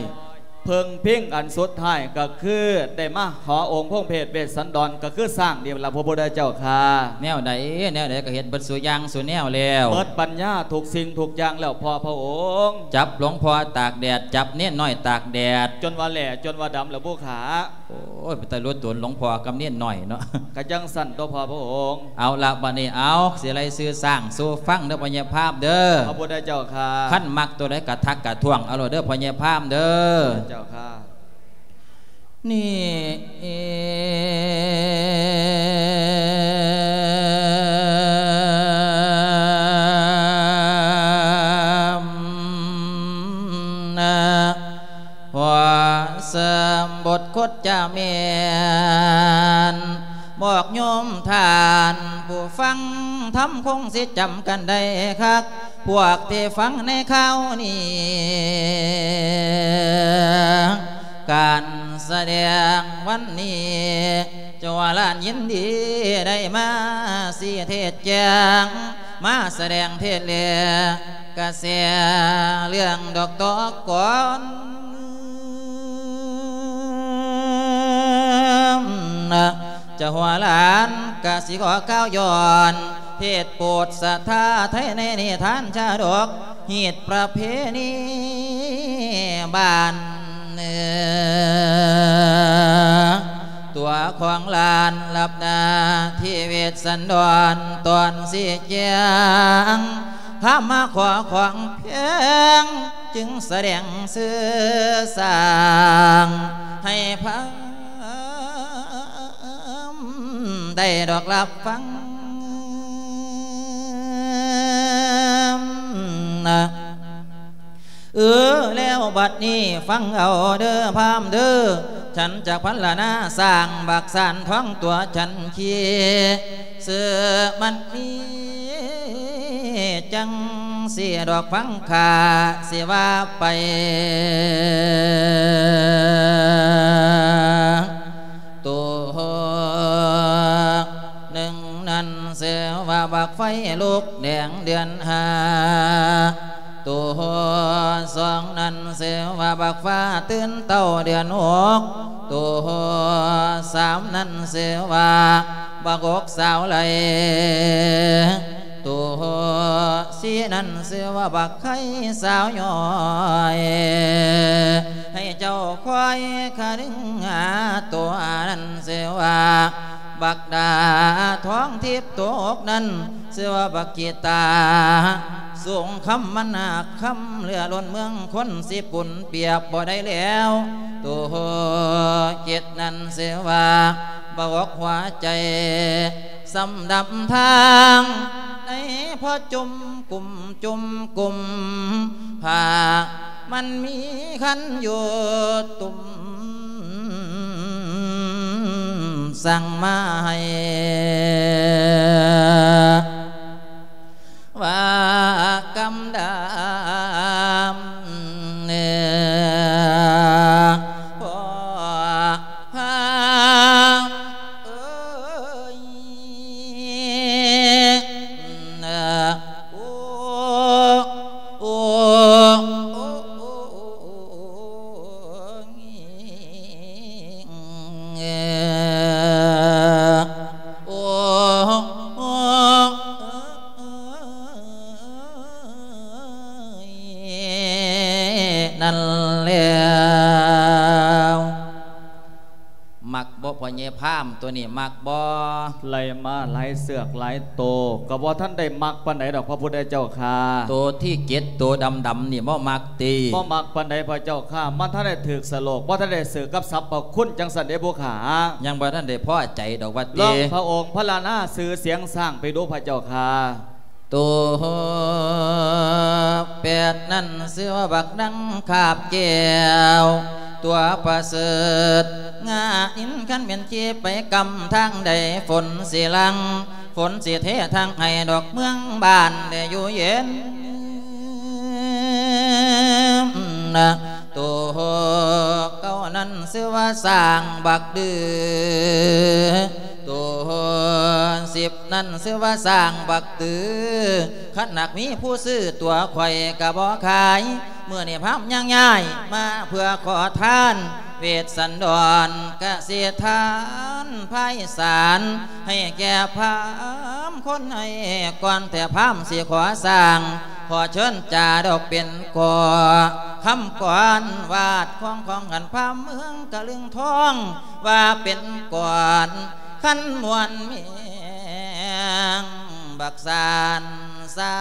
ເພິ່ງພິງອັນສຸດທ້າຍກໍຄືໄດ້ມາຂໍອົງພົງເພດເວດສັນດອນ ກໍຄືຊ້າງນີ້ລະ ພະພຸດທະເຈົ້າຂ້າ. ແນວໃດແນວໃດກໍເຮັດເບິດສູ່ຢ່າງສູ່ແນວແລ້ວ ເບິດປັນຍາທຸກສິ່ງທຸກຢ່າງແລ້ວ ພໍ່ພະອົງ. ຈັບຫຼວງພໍ່ຕາກແດດ ຈັບເນນນ້ອຍຕາກແດດ ຈົນວ່າແຫຼ້ ຈົນວ່າດຳແລ້ວບຸຂ້າ. ໂອ້ຍ ເປັນຕາລຸດຕົນຫຼວງພໍ່ກັບເນນນ້ອຍເນາະ. ກະຈັ່ງຊັ້ນຕົວະ ພໍ່ພະອົງ. ເອົາລະ ບາດນີ້ ເອົາ ຊິໄລ່ຊື່ຊ້າງສູ່ຟັງເດີ ພໍ່ໃຫຍ່ພາມເດີ ພະພຸດທະເຈົ້າຂ້າ. ຄັນມັກຕົວໃດກະທັກກະທ້ວງເອົາໂລດເດີ ພໍ່ໃຫຍ່ພາມເດີ ພະພຸດທະເຈົ້າຂ້າ. ນີ້ ນ ບອກໂຍມທ່ານຜູ້ຟັງທຳ ຄົງຊິຈຳກັນໄດ້ຄັກ ພວກທີ່ຟັງໃນຄາວນີ້ ການສະແດງວັນນີ້ ເຈົ້າວ່າຫຼານຍິນດີໄດ້ມາຊີ້ເທດແຈງ ມາສະແດງເທດແລກະແສເລື່ອງດອກຕອກກອນ ເຈົ້າວ່າຫຼານກະຊິຂໍກ່າວຍ້ອນ ເທດໂປດສັດທາໄທໃນນິທານຊາດົກ ຮີດປະເພນີບ້ານເໜືອ ຕົວຂອງຫຼານລັບໜ້າທີ່ເວດສັນດອນ ຕອນຊີ້ແຈງ ພາມາຂໍຂອງແພງ ຈຶ່ງສະແດງຊື່ສ້າງ ໃຫ້ພາມໄດ້ດອກຮັບຟັງ. ເອີ ແລ້ວບັດນີ້ຟັງເອົາເດີພາມເດີ ສັນຈະພັນລະນາສ້າງບັກສານທອງຕົວສັນຄີ ເສືອມັນມີຈັ່ງຊີ້ດອກ ຟັງຂ້າຊິວ່າໄປ. ໂຕໜຶ່ງນັ້ນຊື່ວ່າບັກໄຟລຸກແດງເດືອນຫ້າ ໂຕສອງນັ້ນຊື່ວ່າບັກຟ້າຕື່ນເຕົ້າເດືອນຫົກ ໂຕສາມນັ້ນຊື່ວ່າບັກອົກສາວໄຫຼ ໂຕສີ່ນັ້ນຊື່ວ່າບັກໄຂ່ສາວຍ້ອຍ ໃຫ້ເຈົ້າຄອຍຄະນຶງຫາ ໂຕຫ້ານັ້ນຊື່ວ່າບັກດາທອງທິບ ໂຕຫົກນັ້ນຊື່ວ່າບັກກີຕາ ສູງຄຳມັນນາກຄຳເຫຼືອລົ້ນເມືອງ ຄົນຊິປຸນປຽບບໍ່ໄດ້ແລ້ວ ໂຕເຈັດນັ້ນຊື່ວ່າບັກອົກຫົວໃຈ ສຳດຳທາງ ໃນພໍຈຸ່ມກຸມຈຸ່ມກຸມ ຜ້າມັນມີຄັນຢູ່ຕຸ່ມ ສັ່ງມາໃຫ້ວ່າກຳດຳ ເອີ ພໍ່ພາມເອີຍ ໂອ້ ໂອ້ ໂອ້ ໂອ້ ນັ້ນແລ້ວ ມັກບໍ່ ພໍ່ໃຫຍ່ພາມ ໂຕນີ້ມັກບໍ່? ໄລ່ມາຫຼາຍເຊືອກຫຼາຍໂຕ ກໍບໍ່ທັນໄດ້ມັກປານໃດດອກ ພະພຸດທະເຈົ້າຂ້າ. ໂຕທີເຈັດ ໂຕດຳໆນີ້ບໍ່ມັກຕິ? ບໍ່ມັກປານໃດພະເຈົ້າຂ້າ ມັນທັນໄດ້ຖືກສະໂລກ ບໍ່ທັນໄດ້ຖືກກັບສັບພະຄຸນ ຈັ່ງຊັ້ນເດ້ຜູ້ຂ້າ. ຍັງບໍ່ທັນໄດ້ພໍໃຈດອກວ່າຕິ? ລອງພະອົງພາລະນາຊື່ສຽງຊ້າງໄປດູພະເຈົ້າຂ້າ. ໂຕແປດນັ້ນຊື່ວ່າບັກດັງຄາບແກ້ວ ຕົວປະເສີດງາອິນ ຄັນແມ່ນຂີ່ໄປກຳທາງໃດ ຝົນຊິຫຼັ່ງ ຝົນຊິເທທາງໃຫ້ດອກເມືອງບ້ານໄດ້ຢູ່ເຢັນ. ໂຕເກົ້ານັ້ນຊື່ວ່າຊ້າງບັກດື. ໂຕສິບນັ້ນຊື່ວ່າຊ້າງບັກຕື. ຄັນຫາກມີຜູ້ຊື້ຕົວຂ້ອຍກະບໍ່ຂາຍ. ມື້ນີ້ພາມຍັງຍ້າຍມາເພື່ອຂໍທານ ເວດສັນດອນກະສິທານພາຍສານ ໃຫ້ແກ່ພາມຄົນໃຫ້ກ່ອນ ແຕ່ພາມຊິຂໍສ້າງ ຂໍເຊີນຈາດອກເປັນກໍຄຳກອນ ວາດຄອງຂອງກັນພາມເມືອງກະລຶງທອງ ວ່າເປັນກອນຄັນມ່ວນແມງ ບັກສານຊ້າ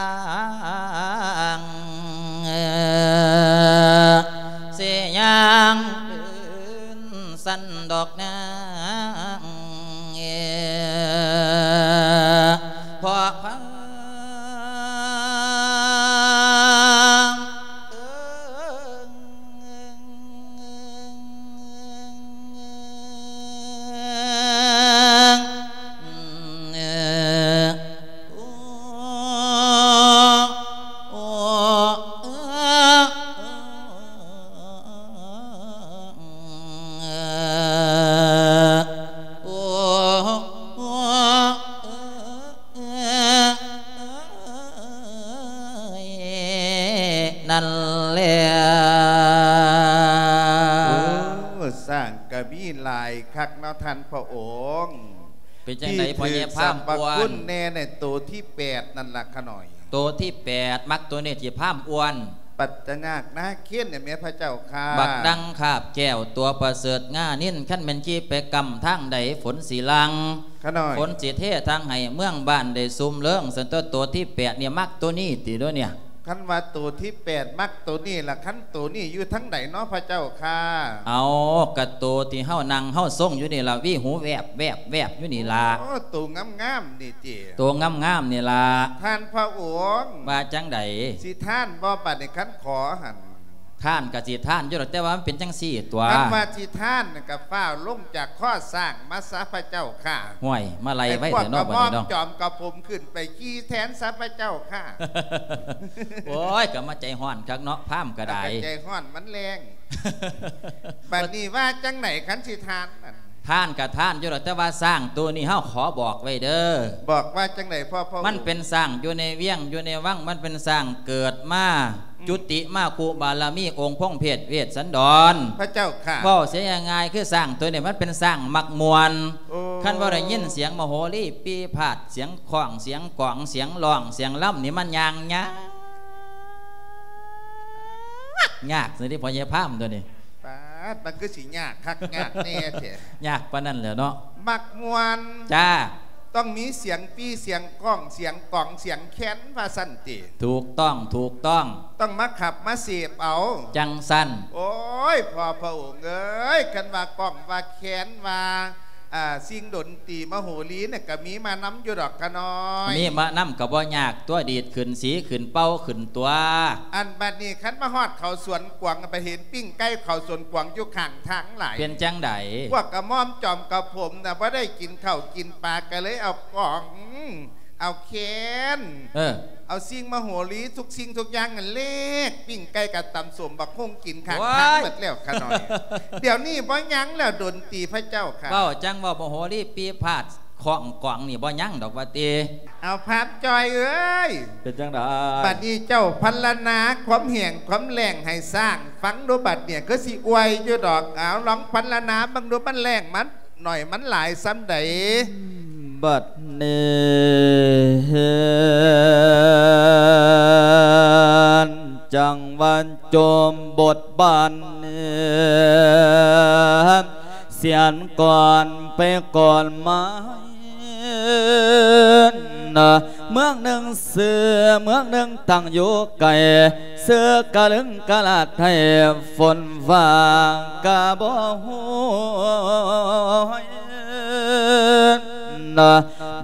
ງ ຊິຍ່າງເດີນ ສັນດອກນາງ ເອີ ເພາະພາມ ເອີ ເນາະທ່ານພະອົງ. ເປັນຈັ່ງໃດພໍ່ໃຫຍ່ພາມອ້ວນ? ທີ່ຖືກສັບພະຄຸນແດ່ໃນໂຕທີແປດນັ້ນລະຂະນ້ອຍ. ໂຕທີແປດ ມັກໂຕນີ້ທີ່ພາມອ້ວນ. ປັດຈະຍາກນາເຄນນີ້ແມ່ພະເຈົ້າຂ້າ. ບັກດັງຄາບແກ້ວຕົວປະເສີດງານິນ ຄັນແມ່ນຂີ່ໄປກຳທາງໃດຝົນຊິຫຼັ່ງ. ຂະນ້ອຍ ຝົນຊິເທທາງໃຫ້ເມືອງບ້ານໄດ້ຊຸ່ມເລິງ. ຊັ້ນຕົວະ ໂຕທີແປດນີ້ມັກໂຕນີ້ຕິໂດເນຍ? ຄັນວ່າໂຕທີແປດມັກໂຕນີ້ລະ ຄັນໂຕນີ້ຢູ່ທາງໃດເນາະພະເຈົ້າຂ້າ? ເອົາ ກະໂຕທີ່ເຮົານັ່ງເຮົາຊົງຢູ່ນີ້ລະ ຫວີຫູແວບໆໆຢູ່ນີ້ລະ. ໂອ້ ໂຕງາມໆນີ້ຕິ? ໂຕງາມໆນີ້ລະ. ທ່ານພະອົງ ວ່າຈັ່ງໃດ? ຊິທານບໍ່ບາດນີ້ ຄັນຂໍຫັ້ນ? ທານກະຊິທານຢູ່ດອກ ແຕ່ວ່າມັນເປັນຈັ່ງຊີ້ຕົວະ. ຄັນວ່າຊິທານກະຟ້າວລົງຈາກຄໍຊ້າງມາຊະພະເຈົ້າຂ້າ. ຫ້ວຍ ມາໄລ່ໄວແທ້ເນາະບັດນີ້ເນາະ. ໃຫ້ພວກກະໝ່ອມຈອມກະຜົມຂຶ້ນໄປຂີ່ແທນຊະພະເຈົ້າຂ້າ. ໂອ້ຍ ກະມາໃຈຮ້ອນຄັກເນາະ ພາມກະໄດ້. ກະໃຈຮ້ອນມັນແຮງ. ບັດນີ້ວ່າຈັ່ງໃດຄັນຊິທານນັ້ນ? ທານກະທານຢູ່ດອກ ແຕ່ວ່າຊ້າງໂຕນີ້ເຮົາຂໍບອກໄວ້ເດີ. ບອກວ່າຈັ່ງໃດພໍ່? ມັນເປັນຊ້າງຢູ່ໃນວຽງຢູ່ໃນວັງ ມັນເປັນຊ້າງເກີດມາ ອືມ ຈຸຕິມາຄູ່ບາລະມີອົງພົງເພດເວດສັນດອນ. ພະເຈົ້າຂ້າ. ເວົ້າເສຍງ່າຍໆ ຄືຊ້າງໂຕນີ້ມັນເປັນຊ້າງມັກມ່ວນ. ໂອ້ ຄັນບໍ່ໄດ້ຍິນສຽງມະໂຫຣີປີພາດ ສຽງຄ້ອງ ສຽງກອງ ສຽງຮ້ອງ ສຽງລຳນີ້ ມັນຍ່າງຍາກ ຍາກຊິຕິພໍ່ໃຫຍ່ພາມໂຕນີ້. ປາດ ມັນຄືຊິຍາກຄັກຍາກແນ່ແທ້. ຍາກປານນັ້ນແຫຼະເນາະ. ມັກມ່ວນ. ຈ້າ. ຕ້ອງມີສຽງປີ ສຽງກ້ອງ ສຽງກອງ ສຽງແຄນວ່າຊັ້ນຕິ? ຖືກຕ້ອງ ຖືກຕ້ອງ. ຕ້ອງມາຂັບມາເສບເອົາ ຈັ່ງຊັ້ນ. ໂອ້ຍ ພໍ່ພະອົງເອີຍ ຄັນວ່າກ້ອງວ່າແຄນວ່າ ອ່າ ສິ່ງດົນຕີມະໂຫຣີນີ້ກະມີມານຳຢູ່ດອກຂະນ້ອຍ. ມີມານຳກະບໍ່ຍາກຕົວະ ດີດຂຶ້ນ ສີຂຶ້ນ ເປົ່າຂຶ້ນຕົວະ. ອັນບັດນີ້ຄັນມາຮອດເຂົາສວນກວາງ ໄປເຫັນປີ້ງໄກ່ເຂົາສວນກວາງຢູ່ຂ້າງທາງຫຼາຍ. ເປັນຈັ່ງໃດ? ພວກກະໝ່ອມຈອມກະຜົມນະ ບໍ່ໄດ້ກິນເຂົ້າກິນປາ ກະເລີຍເອົາກ້ອງ ເອົາແຄນ ເອີ ເອົາສິ່ງມະໂຫຣີທຸກສິ່ງທຸກຢ່າງນັ້ນແລກ ປີ້ງໄກ່ກັບຕຳສົ້ມບັກຫຸ່ງກິນຂ້າງທາງ ໂອ້ຍ ໝົດແລ້ວຂະນ້ອຍ. ດຽວນີ້ບໍ່ຍັງແລ້ວດົນຕີພະເຈົ້າຂ້າ. ເວົ້າຈັ່ງເວົ້າ ມະໂຫຣີປີພາດຄ້ອງກອງນີ້ບໍ່ຍັງດອກວ່າຕິ. ເອົາພາມຈ່ອຍເອີຍ ເປັນຈັ່ງໃດ? ບັດນີ້ເຈົ້າພັນລະນາຄວາມແຫ້ງຄວາມແລ້ງໃຫ້ຊ້າງຟັງດູບັດນີ້ ຄືຊິອວຍຢູ່ດອກ. ເອົາ ລອງພັນລະນາເບິ່ງດູ ມັນແລ້ງມັນ ໜ້ອຍມັນຫຼາຍສ່ຳໃດ? ບັດນີ້ ຈັງຫວັດໂຈມບົດບານ ສຽນກ່ອນໄປກ່ອນມາ ເມືອງໜຶ່ງຊື່ເມືອງໜຶ່ງຕັ້ງຢູ່ໄກ ເສືອກະລຶງກະລາດໃຫ້ຝົນຟ້າກະບໍ່ໂຫຍ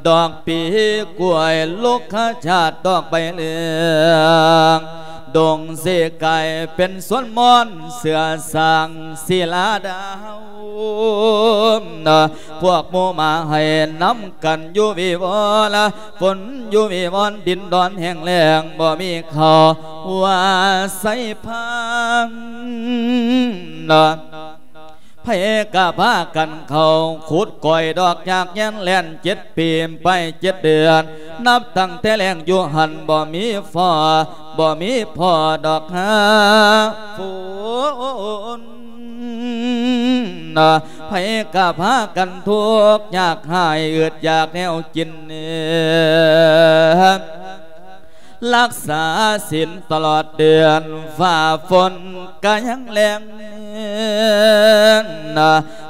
ດອກປີກ້ວຍ ລຸກຂະຈາດດອກໃບເຫຼືອງ ດົງເສກາຍເປັນສວນມ່ອນ ເສືອສາງສີລາດາວ ພວກໝູ່ໝາໃຫ້ນຳກັນຢູ່ວິວອລ ຝົນຢູ່ວິວອນ ດິນດອນແຫ້ງແລ້ງ ບໍ່ມີເຂົ້າວ່າໃສ່ພານ ໃຜກະພາກັນເຂົ້າຂຸດກ້ອຍດອກຢາກແຍ່ນແລ່ນ ເຈັດປີໄປເຈັດເດືອນ ນັບຕັ້ງແຕ່ແລ້ງຢູ່ຫັ້ນ ບໍ່ມີພໍ້ ບໍ່ມີພໍ້ດອກຫາຝົນ ໃຜກະພາກັນທຸກຍາກຮ້າຍ ອຶດຢາກແນວກິນ ລັກສາສິນຕະຫຼອດເດືອນ ຟ້າຝົນກະຍັງແລ້ງ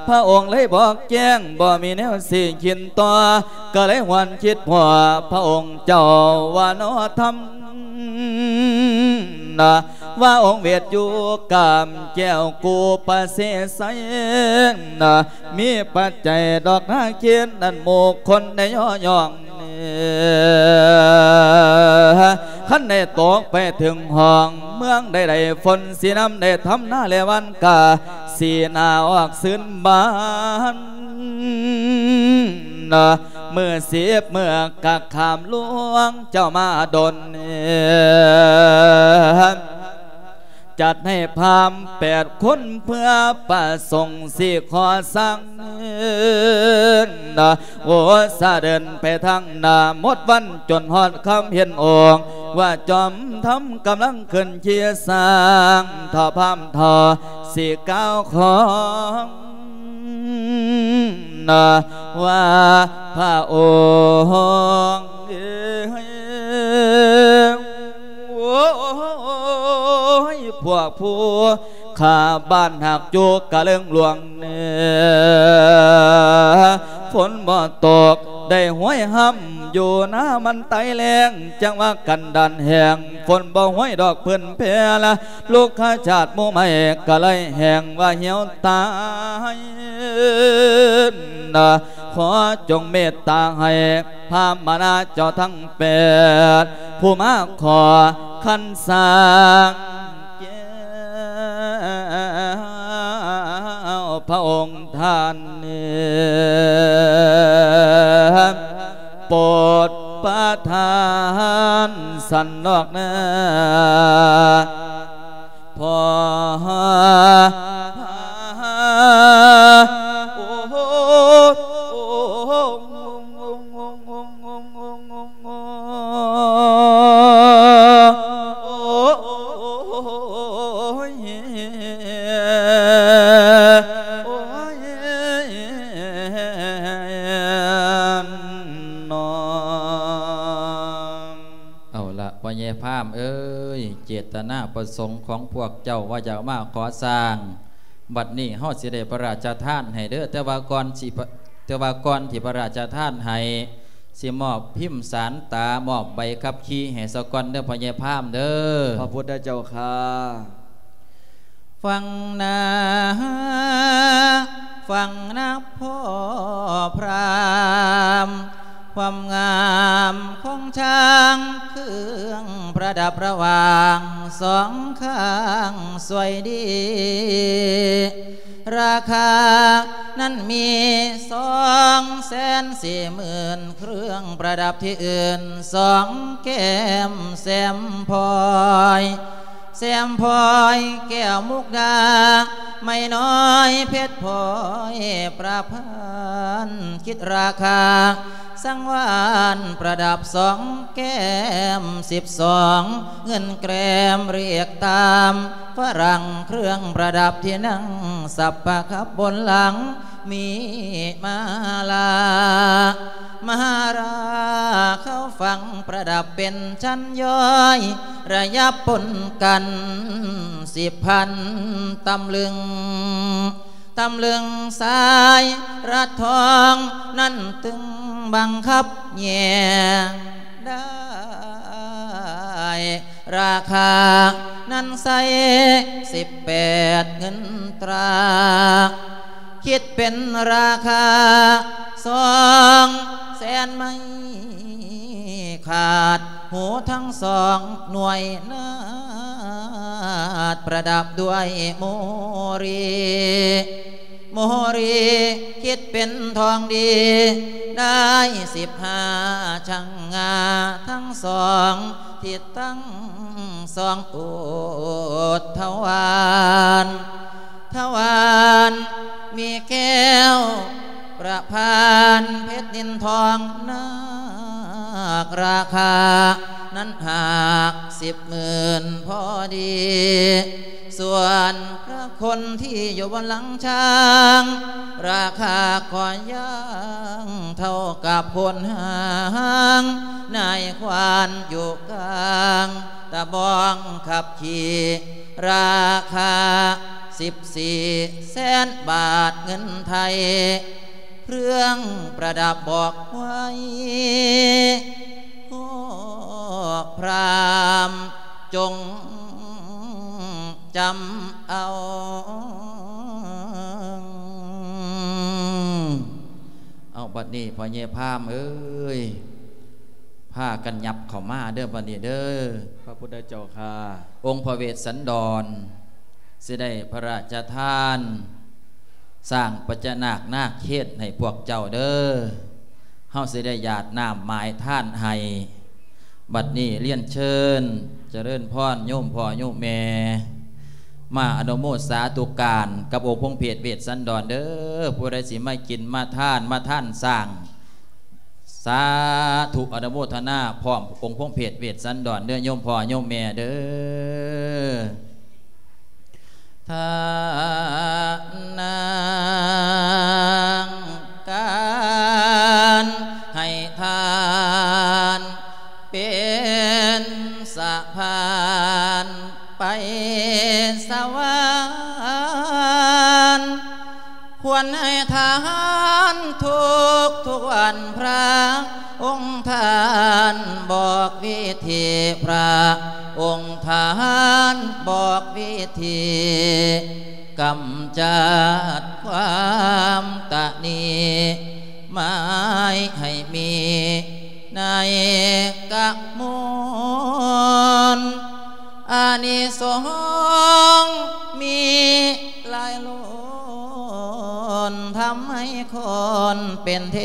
ພະອົງເລີຍບອກແຈ້ງ ບໍ່ມີແນວຊິຄິດຕໍ່ ກະເລີຍຫວນຄິດພໍ້ ພະອົງເຈົ້າວ່າໜໍທຳ ວ່າອົງເວດຢູ່ກາມແກ້ວກູປະເສໄຊ ມີປັດໄຈດອກນາເຄນ ອັນໝູ່ຄົນໄດ້ຍໍຍ້ອງ ຄັນໄດ້ຕົກໄປເຖິງຫ້ອງເມືອງໃດໆ ຝົນຊິນຳໄດ້ທຳນາແລະຫວ່ານກາ ສີໜ້າອອກຊື່ນບານ ມື້ສິບມື້ກະຂ້າມຫຼວງເຈົ້າມາດົນ ຈັດໃຫ້ພາມແປດຄົນເພື່ອປະສົງຊິຂໍສ້າງ ໂອສະເດີນໄປທາງໜ້າໝົດວັນຈົນຮອດຄ່ຳເຫັນອົງ ວ່າຈອມທຳກຳລັງຂຶ້ນຂີ່ຊ້າງ ຖ້າພາມຖ້າຊິກ່າວຂອງ ນະວ່າພະອົງເອີຍ ໂອ້ຍ ພວກຜູ້ຂ້າບ້ານຮັກຢູ່ກະເລີງຫຼວງເໜືອ ຝົນບໍ່ຕົກໄດ້ຫ້ວຍຮ່ຳ ຢູ່ນາມັນໄຕແລ້ງ ຈັ່ງວ່າກັນດານແຫ້ງ ຝົນບໍ່ຫ້ວຍດອກພື້ນແຜ່ລະ ລຸກຂະຈາດໝູ່ໄມ້ກະໄລແຫ້ງວ່າຫ່ຽວຕາຍນະ ຂໍຈົ່ງເມດຕາໃຫ້ພາມະນາເຈົ້າທັງແປດ ຜູ້ມາຂໍຄັນສ້າງແກ້ວພະອົງທ່ານນີ້ ໂປດປະທານສັນດອກນາ ພໍ່ ໂອ້ ເອົາລະ ພໍ່ໃຫຍ່ພາມເອີຍ ເຈດຕະນາປະສົງຂອງພວກເຈົ້າວ່າຢາກມາຂໍສ້າງ ບັດນີ້ເຮົາຊິໄດ້ພະລາຊະທານໃຫ້ເດີ ແຕ່ວ່າກ່ອນຊິ ແຕ່ວ່າກ່ອນທີ່ພະລາຊະທານໃຫ້ ຊິມອບພິມສານຕາ ມອບໃບຂັບຂີ່ໃຫ້ສາກ່ອນເດີ ພໍ່ໃຫຍ່ພາມເດີ. ພະພຸດທະເຈົ້າຂ້າ. ຟັງນາ ຟັງນາພໍ່ພຣາມ ຄວາມງາມຂອງຊ້າງ ເຄື່ອງປະດັບລະຫວ່າງສອງຂ້າງສວຍດີ ລາຄານັ້ນມີສອງແສນສີ່ໝື່ນ ເຄື່ອງປະດັບທີ່ອື່ນສອງແກ້ມແຊມພອຍ ແຊມພອຍແກ້ວມຸກດາ ໄມ້ນ້ອຍເພັດພອຍປະພັນ ຄິດລາຄາສັງວານປະດັບສອງແກ້ມສິບສອງ ເງິນແກຣມລຽກຕາມຝຣັ່ງ ເຄື່ອງປະດັບທີ່ນັ່ງສັບປະຂັບບົນຫຼັງ ມີມາລາ ມະຫາລາເຂົ້າຝັ່ງປະດັບເປັນຊັ້ນຍ້ອຍ ລະຍັບປົນກັນສິບພັນຕຳລຶງ ຕຳລຶງສາຍລັດທອງ ນັ້ນຕຶງບັງຄັບແຍງໄດ້ ລາຄານັ້ນໃສ່ສິບແປດເງິນຕາ ຄິດເປັນລາຄາສອງແສນໄມ້ຂາດ ຫູທັງສອງໜ່ວຍນາດ ປະດັບດ້ວຍໂມລີ ໂມລີຄິດເປັນທອງດີ ໄດ້ສິບຫ້າຊັ່ງງາ ທັງສອງທິດທັງສອງໂອດທະຫວານ ທະຫວານມີແກ້ວປະພານເພັດນິນທອງນາກ ລາຄານັ້ນຫາກສິບໝື່ນພໍດີ ສ່ວນພະຄົນທີ່ຢູ່ບົນຫຼັງຊ້າງ ລາຄາກໍຢ່າງເທົ່າກັບໂຄນຫາງ ນາຍຄວານຢູ່ກາງຕະບອງຂັບຂີ່ ລາຄາສິບສີ່ແສນບາດເງິນໄທ ເຄື່ອງປະດັບບອກໄວ້ ພໍ່ພຣາມຈົ່ງຈຳເອົາ. ເອົາ ບັດນີ້ພໍ່ໃຫຍ່ພາມເອີຍ ພາກັນຫຍັບເຂົ້າມາເດີ ບັດນີ້ເດີ. ພະພຸດທະເຈົ້າຂ້າ. ອົງພະເວດສັນດອນ ຊິໄດ້ພະລາຊະທານສ້າງພະຍານາກນາກເຄດໃຫ້ພວກເຈົ້າເດີ. ເຮົາຊິໄດ້ຢາດນ້ຳໝາຍທານໃຫ້. ບັດນີ້ລຽນເຊີນຈະເລີນພອນໂຍມພໍ່ໂຍມແມ່ ມາອະນຸໂມສາທຸການກັບອົງພົງເພດເວດສັນດອນເດີ. ຜູ້ໃດຊິມາກິນມາທານ ມາທານສ້າງ ສາທຸ ອະນຸໂມທະນາພ້ອມອົງພົງເພດເວດສັນດອນເດີ ໂຍມພໍ່ໂຍມແມ່ເດີ. ທານັງ ທຸກໆວັນພະ ອົງທ່ານບອກວິທີ ພະອົງທ່ານບອກວິທີ ກຳຈັດຄວາມຕະໜີ ໝາຍໃຫ້ມີໃນກະມວນ ອານິສົງມີຫຼາຍລ້ນ ທຳໃຫ້ຄົນເປັນເທ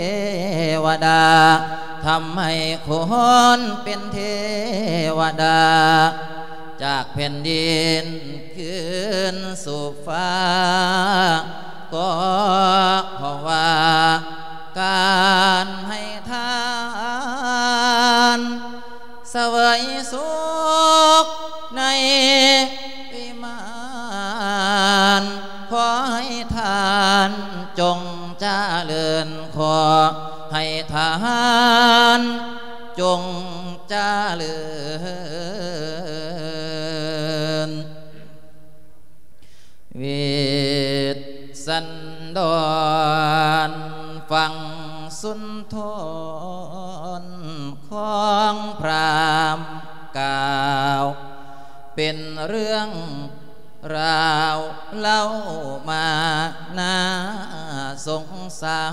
ວະດາ ທຳໃຫ້ຄົນເປັນເທວະດາ ຈາກແຜ່ນດິນຄືນສູ່ຟ້າ ກໍເພາະວ່າການໃຫ້ທານ ສະເຫວີຍສຸກໃນວິມານ ຂໍໃຫ້ທ່ານຈົ່ງຈະເລີນ ຂໍໃຫ້ທ່ານຈົ່ງຈະເລີນ. ເວດສັນດອນ ຟັງສຸນທົນຂອງພຣາມກ່າວ ເປັນເລື່ອງລາວເລົ່າມາໜ້າສົງສາ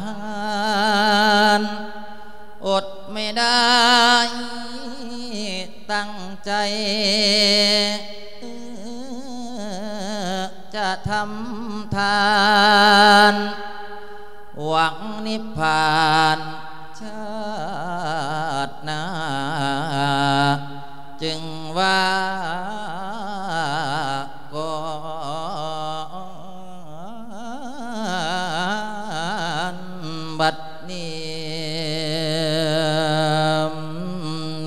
ນ ອົດໄມ່ໄດ້ຕັ້ງໃຈ ຈະທຳທານ ຫວັງນິບພານຊາດໜ້າ ຈຶ່ງວ່າກ່ອນບັດນີ້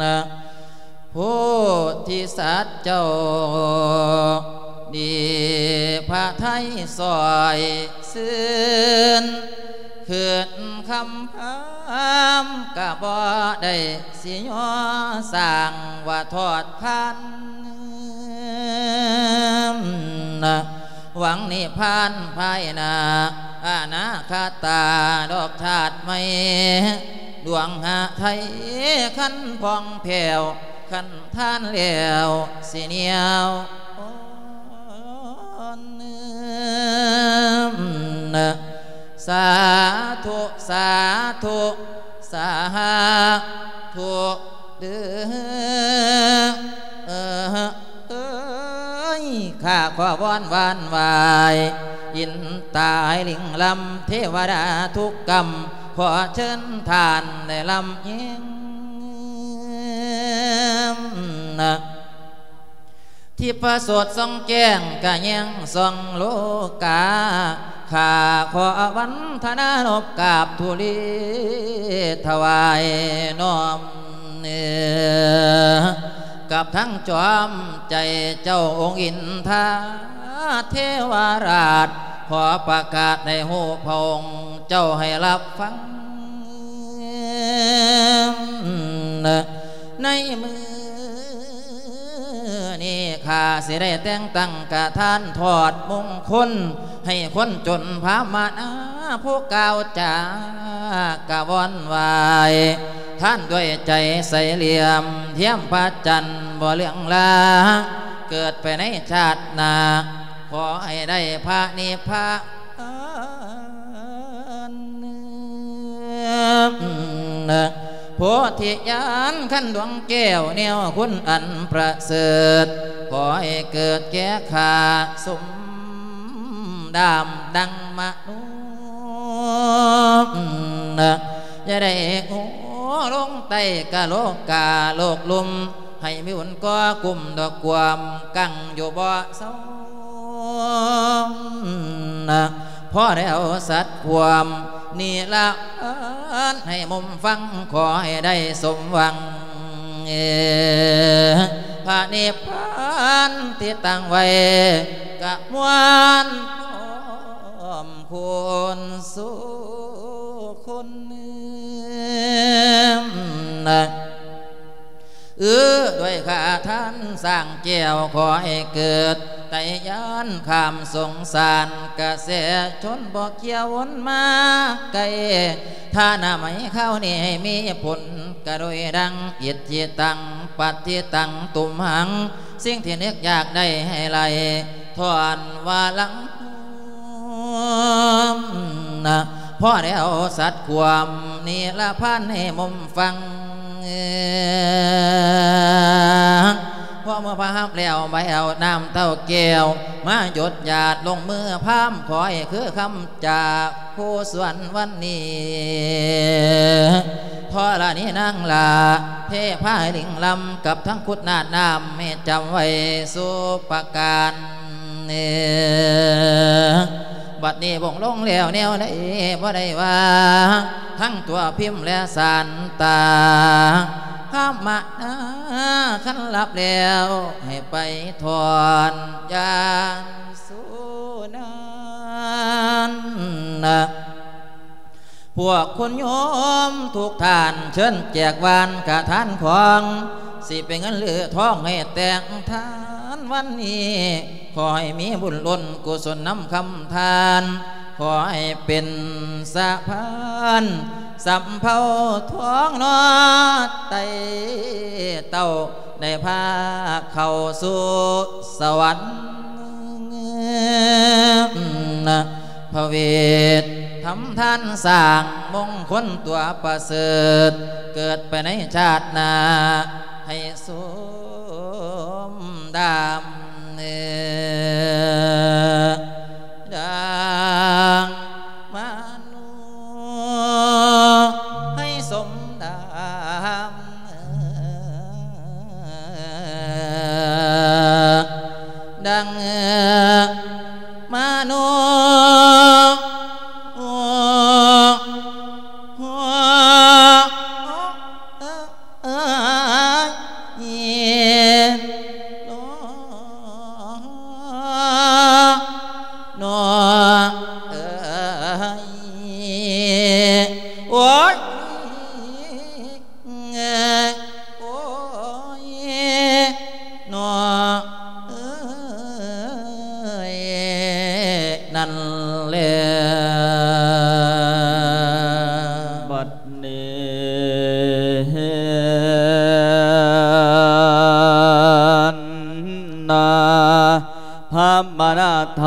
ນະ. ໂພທິສັດເຈົ້າ ດີພະໄທຊ່ອຍຊື່ນ ຂຶ້ນຄຳພາມກະບໍ່ໄດ້ຊິຍໍສ້າງວ່າທອດພັນ ຫວັງນິບພານພາຍໜ້າ ອະນາຄະຕາດອກຊາດໃໝ່ ດວງຫະໄທຄັນຜ່ອງແຜ້ວ ຄັນທານແລ້ວຊິໜຽວອ່ອນ. ສາທຸ ສາທຸ ສາທຸເດີ ເອີຍ ຂ້າຂໍວອນຫວານຫວາຍ ອິນຕາຍລິງລຳ ເທວະດາທຸກກຳ ຂໍເຊີນທ່ານໄດ້ລຳເອີງ ທິບພະໂສດສ່ອງແຈ້ງກະແຍງສ່ອງໂລກາ ຂ້າຂໍວັນທະນານົບກາບທຸລີຖວາຍນ້ອມເໜືອ ກັບທັງຈອມໃຈເຈົ້າອົງອິນທາເທວະລາດ ຂໍປະກາດໃຫ້ຮູ້ພະອົງເຈົ້າໃຫ້ຮັບຟັງ ໃນມື້ນີ້ຂ້າຊິໄດ້ແຕ່ງຕັ້ງກະທານທອດມຸງຄຸນ ໃຫ້ຄົນຈົນພາມະນາ ຜູ້ກ່າວຈາກະວອນໄຫວ້ ທ່ານດ້ວຍໃຈໃສຫຼ່ຽມ ທຽມພະຈັນບໍ່ເລືອງລາ ເກີດໄປໃນຊາດໜ້າ ຂໍໃຫ້ໄດ້ພະນິບພານ ໂພທິຍານຄັນດວງແກ້ວ ແນວຄຸນອັນປະເສີດ ຂໍໃຫ້ເກີດແກ່ຂ້າສົມດາມດັ່ງມະໂນ ຢ່າໄດ້ໂງ່ລົງໃຕ້ກະໂລກາໂລກລຸ່ມ ໃຫ້ມີບຸນກໍ່ກຸ້ມດອກກວມ ກັ້ງຢູ່ບໍ່ເຊົາ ພໍແລ້ວສັດຄວາມນິລະພັນ ໃຫ້ມຸມຟັງ ຂໍໃຫ້ໄດ້ສົມຫວັງ ພະນິບພານທີ່ຕັ້ງໄວ້ ກະມວນພ້ອມຄູນສູ່ຄົນ ເອີ ດ້ວຍຂ້າທ່ານຊ້າງແກ້ວ ຂໍໃຫ້ເກີດ ໄຕຢ້ານຂ້າມສົງສານ ກະແສຊົນບໍ່ກ່ຽວວົນມາໄກ ທ່ານາໄມຄາວນີ້ໃຫ້ມີຜົນ ກະໂດຍດັ່ງ ອິດທິຕັງ ປັດທິຕັງ ຕຸມຫັງ ສິ່ງທີ່ນຶກຢາກໄດ້ໃຫ້ໄຫຼ ຖອນວ່າຫຼັງ ພໍແລ້ວສັດຄວາມນິລະພັນໃຫ້ມຸມຟັງ. ພໍເມື່ອພະຮັບແລ້ວ ໃບເອົານ້ຳເຕົ້າແກ້ວ ມາຢົດຢາດລົງມືພາມ ຂໍໃຫ້ຄືຄຳຈາກ ຜູ້ສວນວັນນີ້ ທໍລະນີນາງຫຼ້າ ເທພາລິງລຳ ກັບທັງຄຸດນາດນ້ຳ ໃຫ້ຈຳໄວ້ສູ່ປະການ. ບັດນີ້ວົງລົງແລ້ວແນວໃດບໍ່ໄດ້ວ່າ ທັງຕົວພິມແລະສານຕາ ພາມມະນາຄັນຫຼັບແລ້ວ ໃຫ້ໄປຖອນຢານ ສຸນັນນະ ພວກຄຸນໂຍມທຸກທ່ານ ເຊີນແຈກວານກະທານຂອງ ຊິເປັນເງິນຫຼືທອງໃຫ້ແຕ່ງທານວັນນີ້ ຂໍໃຫ້ມີບຸນລົ້ນກຸສົນນຳຄຳທານ ຂໍໃຫ້ເປັນສະພານ ສຳເພົາທອງເນາະ ໄຕ່ເຕົ້າ ໄດ້ພາເຂົ້າສູ່ສະຫວັນ ພະເວດທຳທານສ້າງມົງຄົນຕົວປະເສີດ ເກີດໄປໃນຊາດໜ້າໃຫ້ສົມດາມ ເອີ ດັ່ງມະໂນໃຫ້ສົມດາມ ດັ່ງມະໂນ ເອີຍ ໂນ ເອີຍ ໂອ້ຍ ໂອ້ຍ ເນາະ ເອີຍ ນັ້ນແຫຼະ ບັດນີ້ນະ ພາມມະນາທ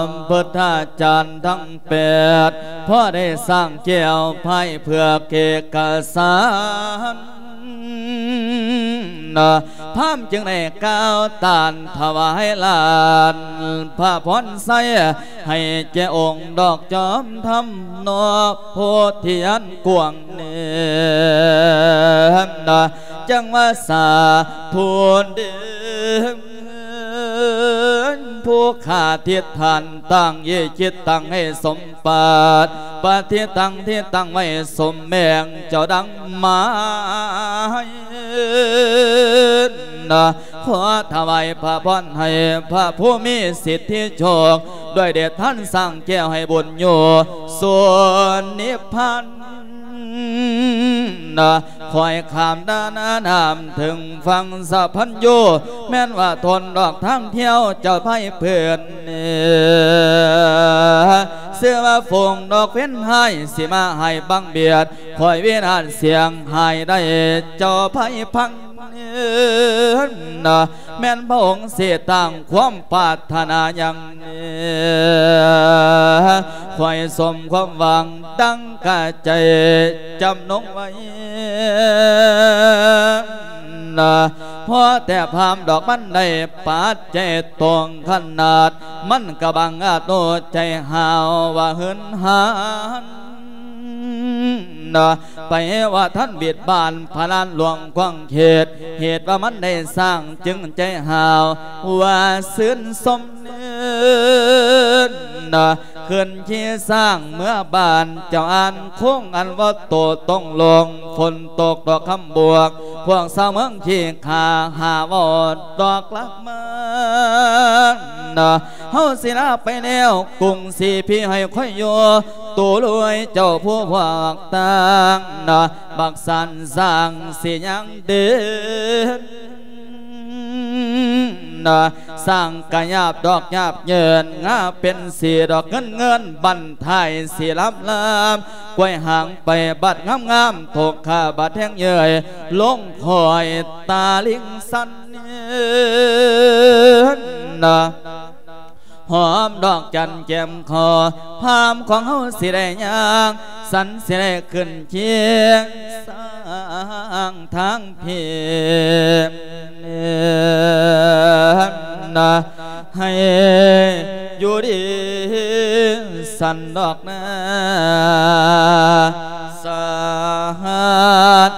ຳພຸດທາຈານທັງແປດ ພໍໄດ້ສ້າງແກ້ວພາຍເຜືອກເອກະສານ ພາມຈຶ່ງໄດ້ກ່າວຕ້ານຖວາຍຫຼານພະພອນໄຊ ໃຫ້ແກ່ອົງດອກຈອມທຳເນາະ ໂພທິຍານກວ້າງເນີນ ຈັ່ງວ່າສາທຸເດີ ຜູ້ຂ້າທິດຖານຕັ້ງເອຈິດຕັ້ງໃຫ້ສົມ ປາດປະທິຕັງທີ່ຕັ້ງໄວ້ສົມແມງເຈົ້າດັ່ງໝາຍ ຂໍຖວາຍພະພອນໃຫ້ພະຜູ້ມີສິດທິໂຊກ ດ້ວຍເດດທານສ້າງແກ້ວໃຫ້ບຸນໂຍ ສ່ວນນິບພານ ຂ້ອຍຂ້າມດານານ້ຳເຖິງຝັ່ງສະພັນໂຍ ແມ່ນວ່າທົນດອກທາງທ່ຽວເຈົ້າໄພເພິ່ນ ຊື່ວ່າຝູງດອກເຟັນຮ້າຍ ຊິມາໃຫ້ບັງບຽດ ຂ້ອຍວິນາດສຽງຫາຍໄດ້ເຈົ້າໄພພັງ ແມ່ນພະອົງຊິຕັ້ງຄວາມປາດຖະໜາຫຍັງ ຂ້ອຍສົມຄວາມຫວັງ ດັ່ງກະໃຈຈຳນົງໄວ້ ພໍແຕ່ພາມດອກມັນໄດ້ປາດໃຈຕົງຂະໜາດ ມັນກະບັງອາດໂນໃຈຫາວວ່າຫຶນຫານ ໄປວ່າທ່ານບິດບ້ານພະລານຫຼວງຂອງເຂດ ເຫດວ່າມັນໄດ້ສ້າງຈຶ່ງໃຈຫາວວ່າຊື່ນຊົມ ເນາະ ຂຶ້ນຂີ່ຊ້າງເມືອບ້ານ ເຈົ້າອ່ານໂຄ້ງອັນວ່າໂຕຕົງລົງ ຝົນຕົກດອກຄຳບວກ ພວກຊາວເມືອງຂີ້ຂ້າຫາເວົ້າດອກລັກມາ ເນາະ ເຮົາຊິລາໄປແລ້ວ ກຸງສີພີໃຫ້ຄອຍຢູ່ ໂຕລວຍເຈົ້າຜູ້ພວກຕ່າງ ເນາະ ບັກສັນສ້າງຊິຍັງເດີນ ນະ ສ້າງກະຫຍາບດອກຫຍາບເຍີນ ງາເປັນສີດອກເງິນເງິນ ບັ້ນທ້າຍສີລຳລຳ ກວຍຫາງໄປບັດງາມໆ ຕົກຂາບັດແຮງເຍີຍ ລົງຄອຍຕາລິງສັນນະ ຫອມດອກຈັນແກ້ມຄໍ ພາມຂອງເຮົາຊິໄດ້ຍ່າງ ສັນຊິໄດ້ຂຶ້ນຄຽງ ສ້າງທາງພີ້ ນະ ໃຫ້ຢູ່ດີສັນດອກນາ ສາດ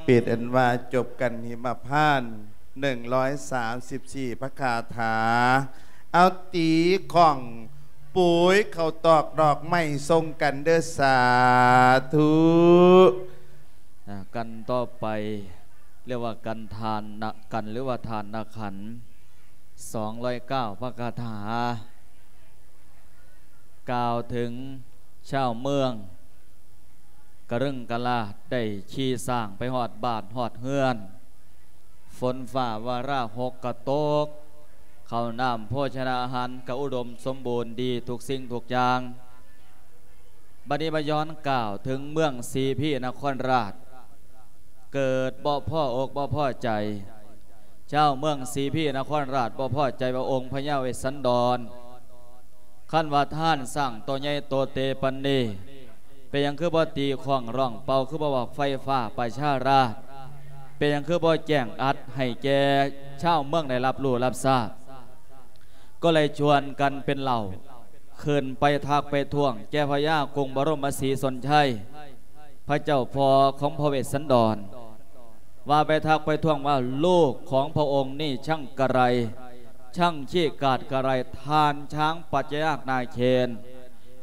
ເປັນອັນວ່າຈົບກັນຫິມະພານ ໜຶ່ງຮ້ອຍສາມສິບສີ່ ພະຄາຖາ ເອົາຕີຂ້ອງ ປຸຍເຂົ້າຕອກດອກໄມ້ສົ່ງກັນເດີ້ ສາທຸ. ອ່າ ກັນຕໍ່ໄປ ເອີ້ນວ່າກັນທານນະ ກັນ ຫຼືວ່າທານນະຂັນ ສອງຮ້ອຍເກົ້າ ພະຄາຖາ ກ່າວເຖິງຊາວເມືອງກະເລິງກະລາດ ໄດ້ຂີ່ຊ້າງໄປຮອດບ້ານຮອດເຮືອນ ຝົນຟ້າວາລາຫົກກະຕົກ ເຂົ້ານ້ຳໂພຊະນາອາຫານກະອຸດົມສົມບູນດີທຸກສິ່ງທຸກຢ່າງ. ບັດນີ້ມາຍ້ອນກ່າວເຖິງເມືອງສີພີນະຄອນລາດ ເກີດບໍ່ພໍອົກບໍ່ພໍໃຈ ຊາວເມືອງສີພີນະຄອນລາດບໍ່ພໍໃຈວ່າອົງພະຍາເວດສັນດອນ ຄັນວ່າທ່ານຊ້າງໂຕໃຫຍ່ໂຕເຕປານນີ້ ເປັນຫຍັງຄືບໍ່ຕີຄ້ອງຮ້ອງເປົ່າ ຄືບໍ່ບອກໄຟຟ້າປະຊາລາດ ເປັນຫຍັງຄືບໍ່ແຈ້ງອັດໃຫ້ແກ່ຊາວເມືອງໄດ້ຮັບຮູ້ຮັບຊາບ? ກໍເລີຍຊວນກັນເປັນເຫຼົ່າ ຂຶ້ນໄປທັກໄປທ້ວງແກ່ພະຍາກຸງບະລົມມະສີຊົນໄຊ ພະເຈົ້າພໍ່ຂອງພະເວດສັນດອນ ວ່າໄປທັກໄປທ້ວງວ່າ ລູກຂອງພະອົງນີ້ຊ່າງກະໄລ ຊ່າງຂີ້ກາດກະໄລ ທ່ານຊ້າງປັດຈະຍາກນາເຄນ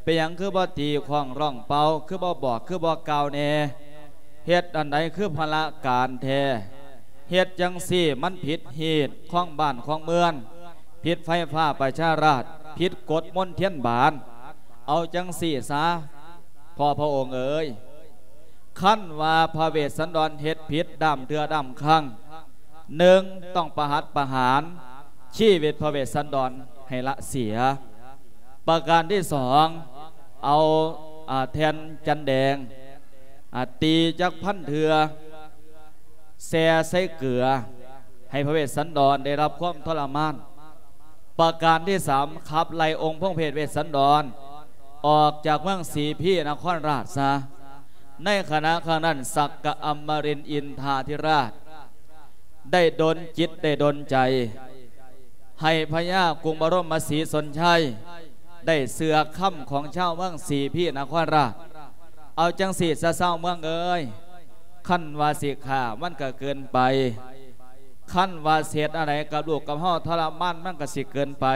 ເປັນຫຍັງຄືບໍ່ຕີຄ້ອງຮ້ອງເປົ່າ ຄືບໍ່ບອກ ຄືບໍ່ກ່າວແດ່? ເຮັດອັນໃດຄືພະລະການແທ້? ເຮັດຈັ່ງຊີ້ມັນຜິດຮີດຄອງບ້ານຄອງເມືອງ ຜິດໄຟຟ້າປະຊາລາດ ຜິດກົດມົນທຽນບານ. ເອົາຈັ່ງຊີ້ຊະ ພໍ່ພະອົງເອີຍ ຄັນວ່າພະເວດສັນດອນເຮັດຜິດດ້າມເທື່ອດ້າມຄັ້ງ ໜຶ່ງ ຕ້ອງປະຫັດປະຫານຊີວິດພະເວດສັນດອນໃຫ້ລະເສຍ. ປະການທີສອງ ເອົາ ອາ ແທ່ນຈັນແດງ ອາ ຕີຈັກພັນເທື່ອ ແຊ່ໃສ່ເກືອ ໃຫ້ພະເວດສັນດອນໄດ້ຮັບຄວາມທໍລະມານ. ປະການທີສາມ ຂັບໄລ່ອົງພົງເພດເວດສັນດອນ ອອກຈາກເມືອງສີພີນະຄອນລາດຊະ. ໃນຂະນະຄັ້ງນັ້ນ ສັກກະອຳມະລິນອິນທາທິລາດ ໄດ້ດົນຈິດໄດ້ດົນໃຈ ໃຫ້ພະຍາກຸງບະລົມມະສີຊົນໄຊ ໄດ້ເຊື່ອຄຳຂອງຊາວເມືອງສີພີນະຄອນລາດ. ເອົາຈັ່ງຊີ້ຊະຊາວເມືອງເອີຍ ຄັນວ່າຊິຂ້າມັນກະເກີນໄປ ຄັນວ່າຊິເຮັດອັນໃດກັບລູກກັບເຮົາທໍລະມານມັນກະຊິເກີນໄປ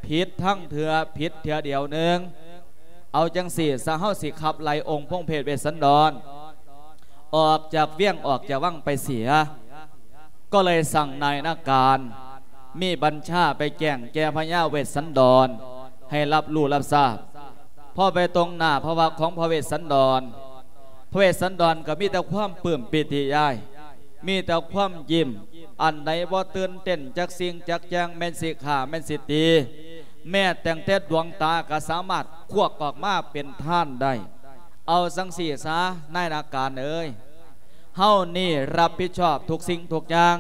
ຜິດທັງເທື່ອ ຜິດເທື່ອດຽວໜຶ່ງ. ເອົາຈັ່ງຊີ້ຊະ ເຮົາຊິຂັບໄລ່ອົງພົງເພດເວດສັນດອນ ອອກຈາກວຽງອອກຈາກວັງໄປເສຍ. ກໍເລີຍສັ່ງນາຍນາການ ມີບັນຊາໄປແຈ້ງແກ່ພະຍາເວດສັນດອນ ໃຫ້ຮັບຮູ້ຮັບຊາບ. ພໍໄປຕົງໜ້າພະພັກຂອງພະເວດສັນດອນ ພະເວດສັນດອນກໍມີແຕ່ຄວາມປຶ້ມປີຕິໃຈ ມີແຕ່ຄວາມຍິ້ມ ອັນໃດບໍ່ຕື່ນເຕັ້ນຈັກສິ່ງຈັກຢ່າງ ແມ່ນຊິຂ້າແມ່ນຊິຕີ ແມ້ແຕ່ງແຕ່ດວງຕາກໍສາມາດຄວັກອອກມາເປັນທານໄດ້. ເອົາຈັ່ງຊີ້ຊະ ນາຍນາການເອີຍ ເຮົານີ້ຮັບຜິດຊອບທຸກສິ່ງທຸກຢ່າງ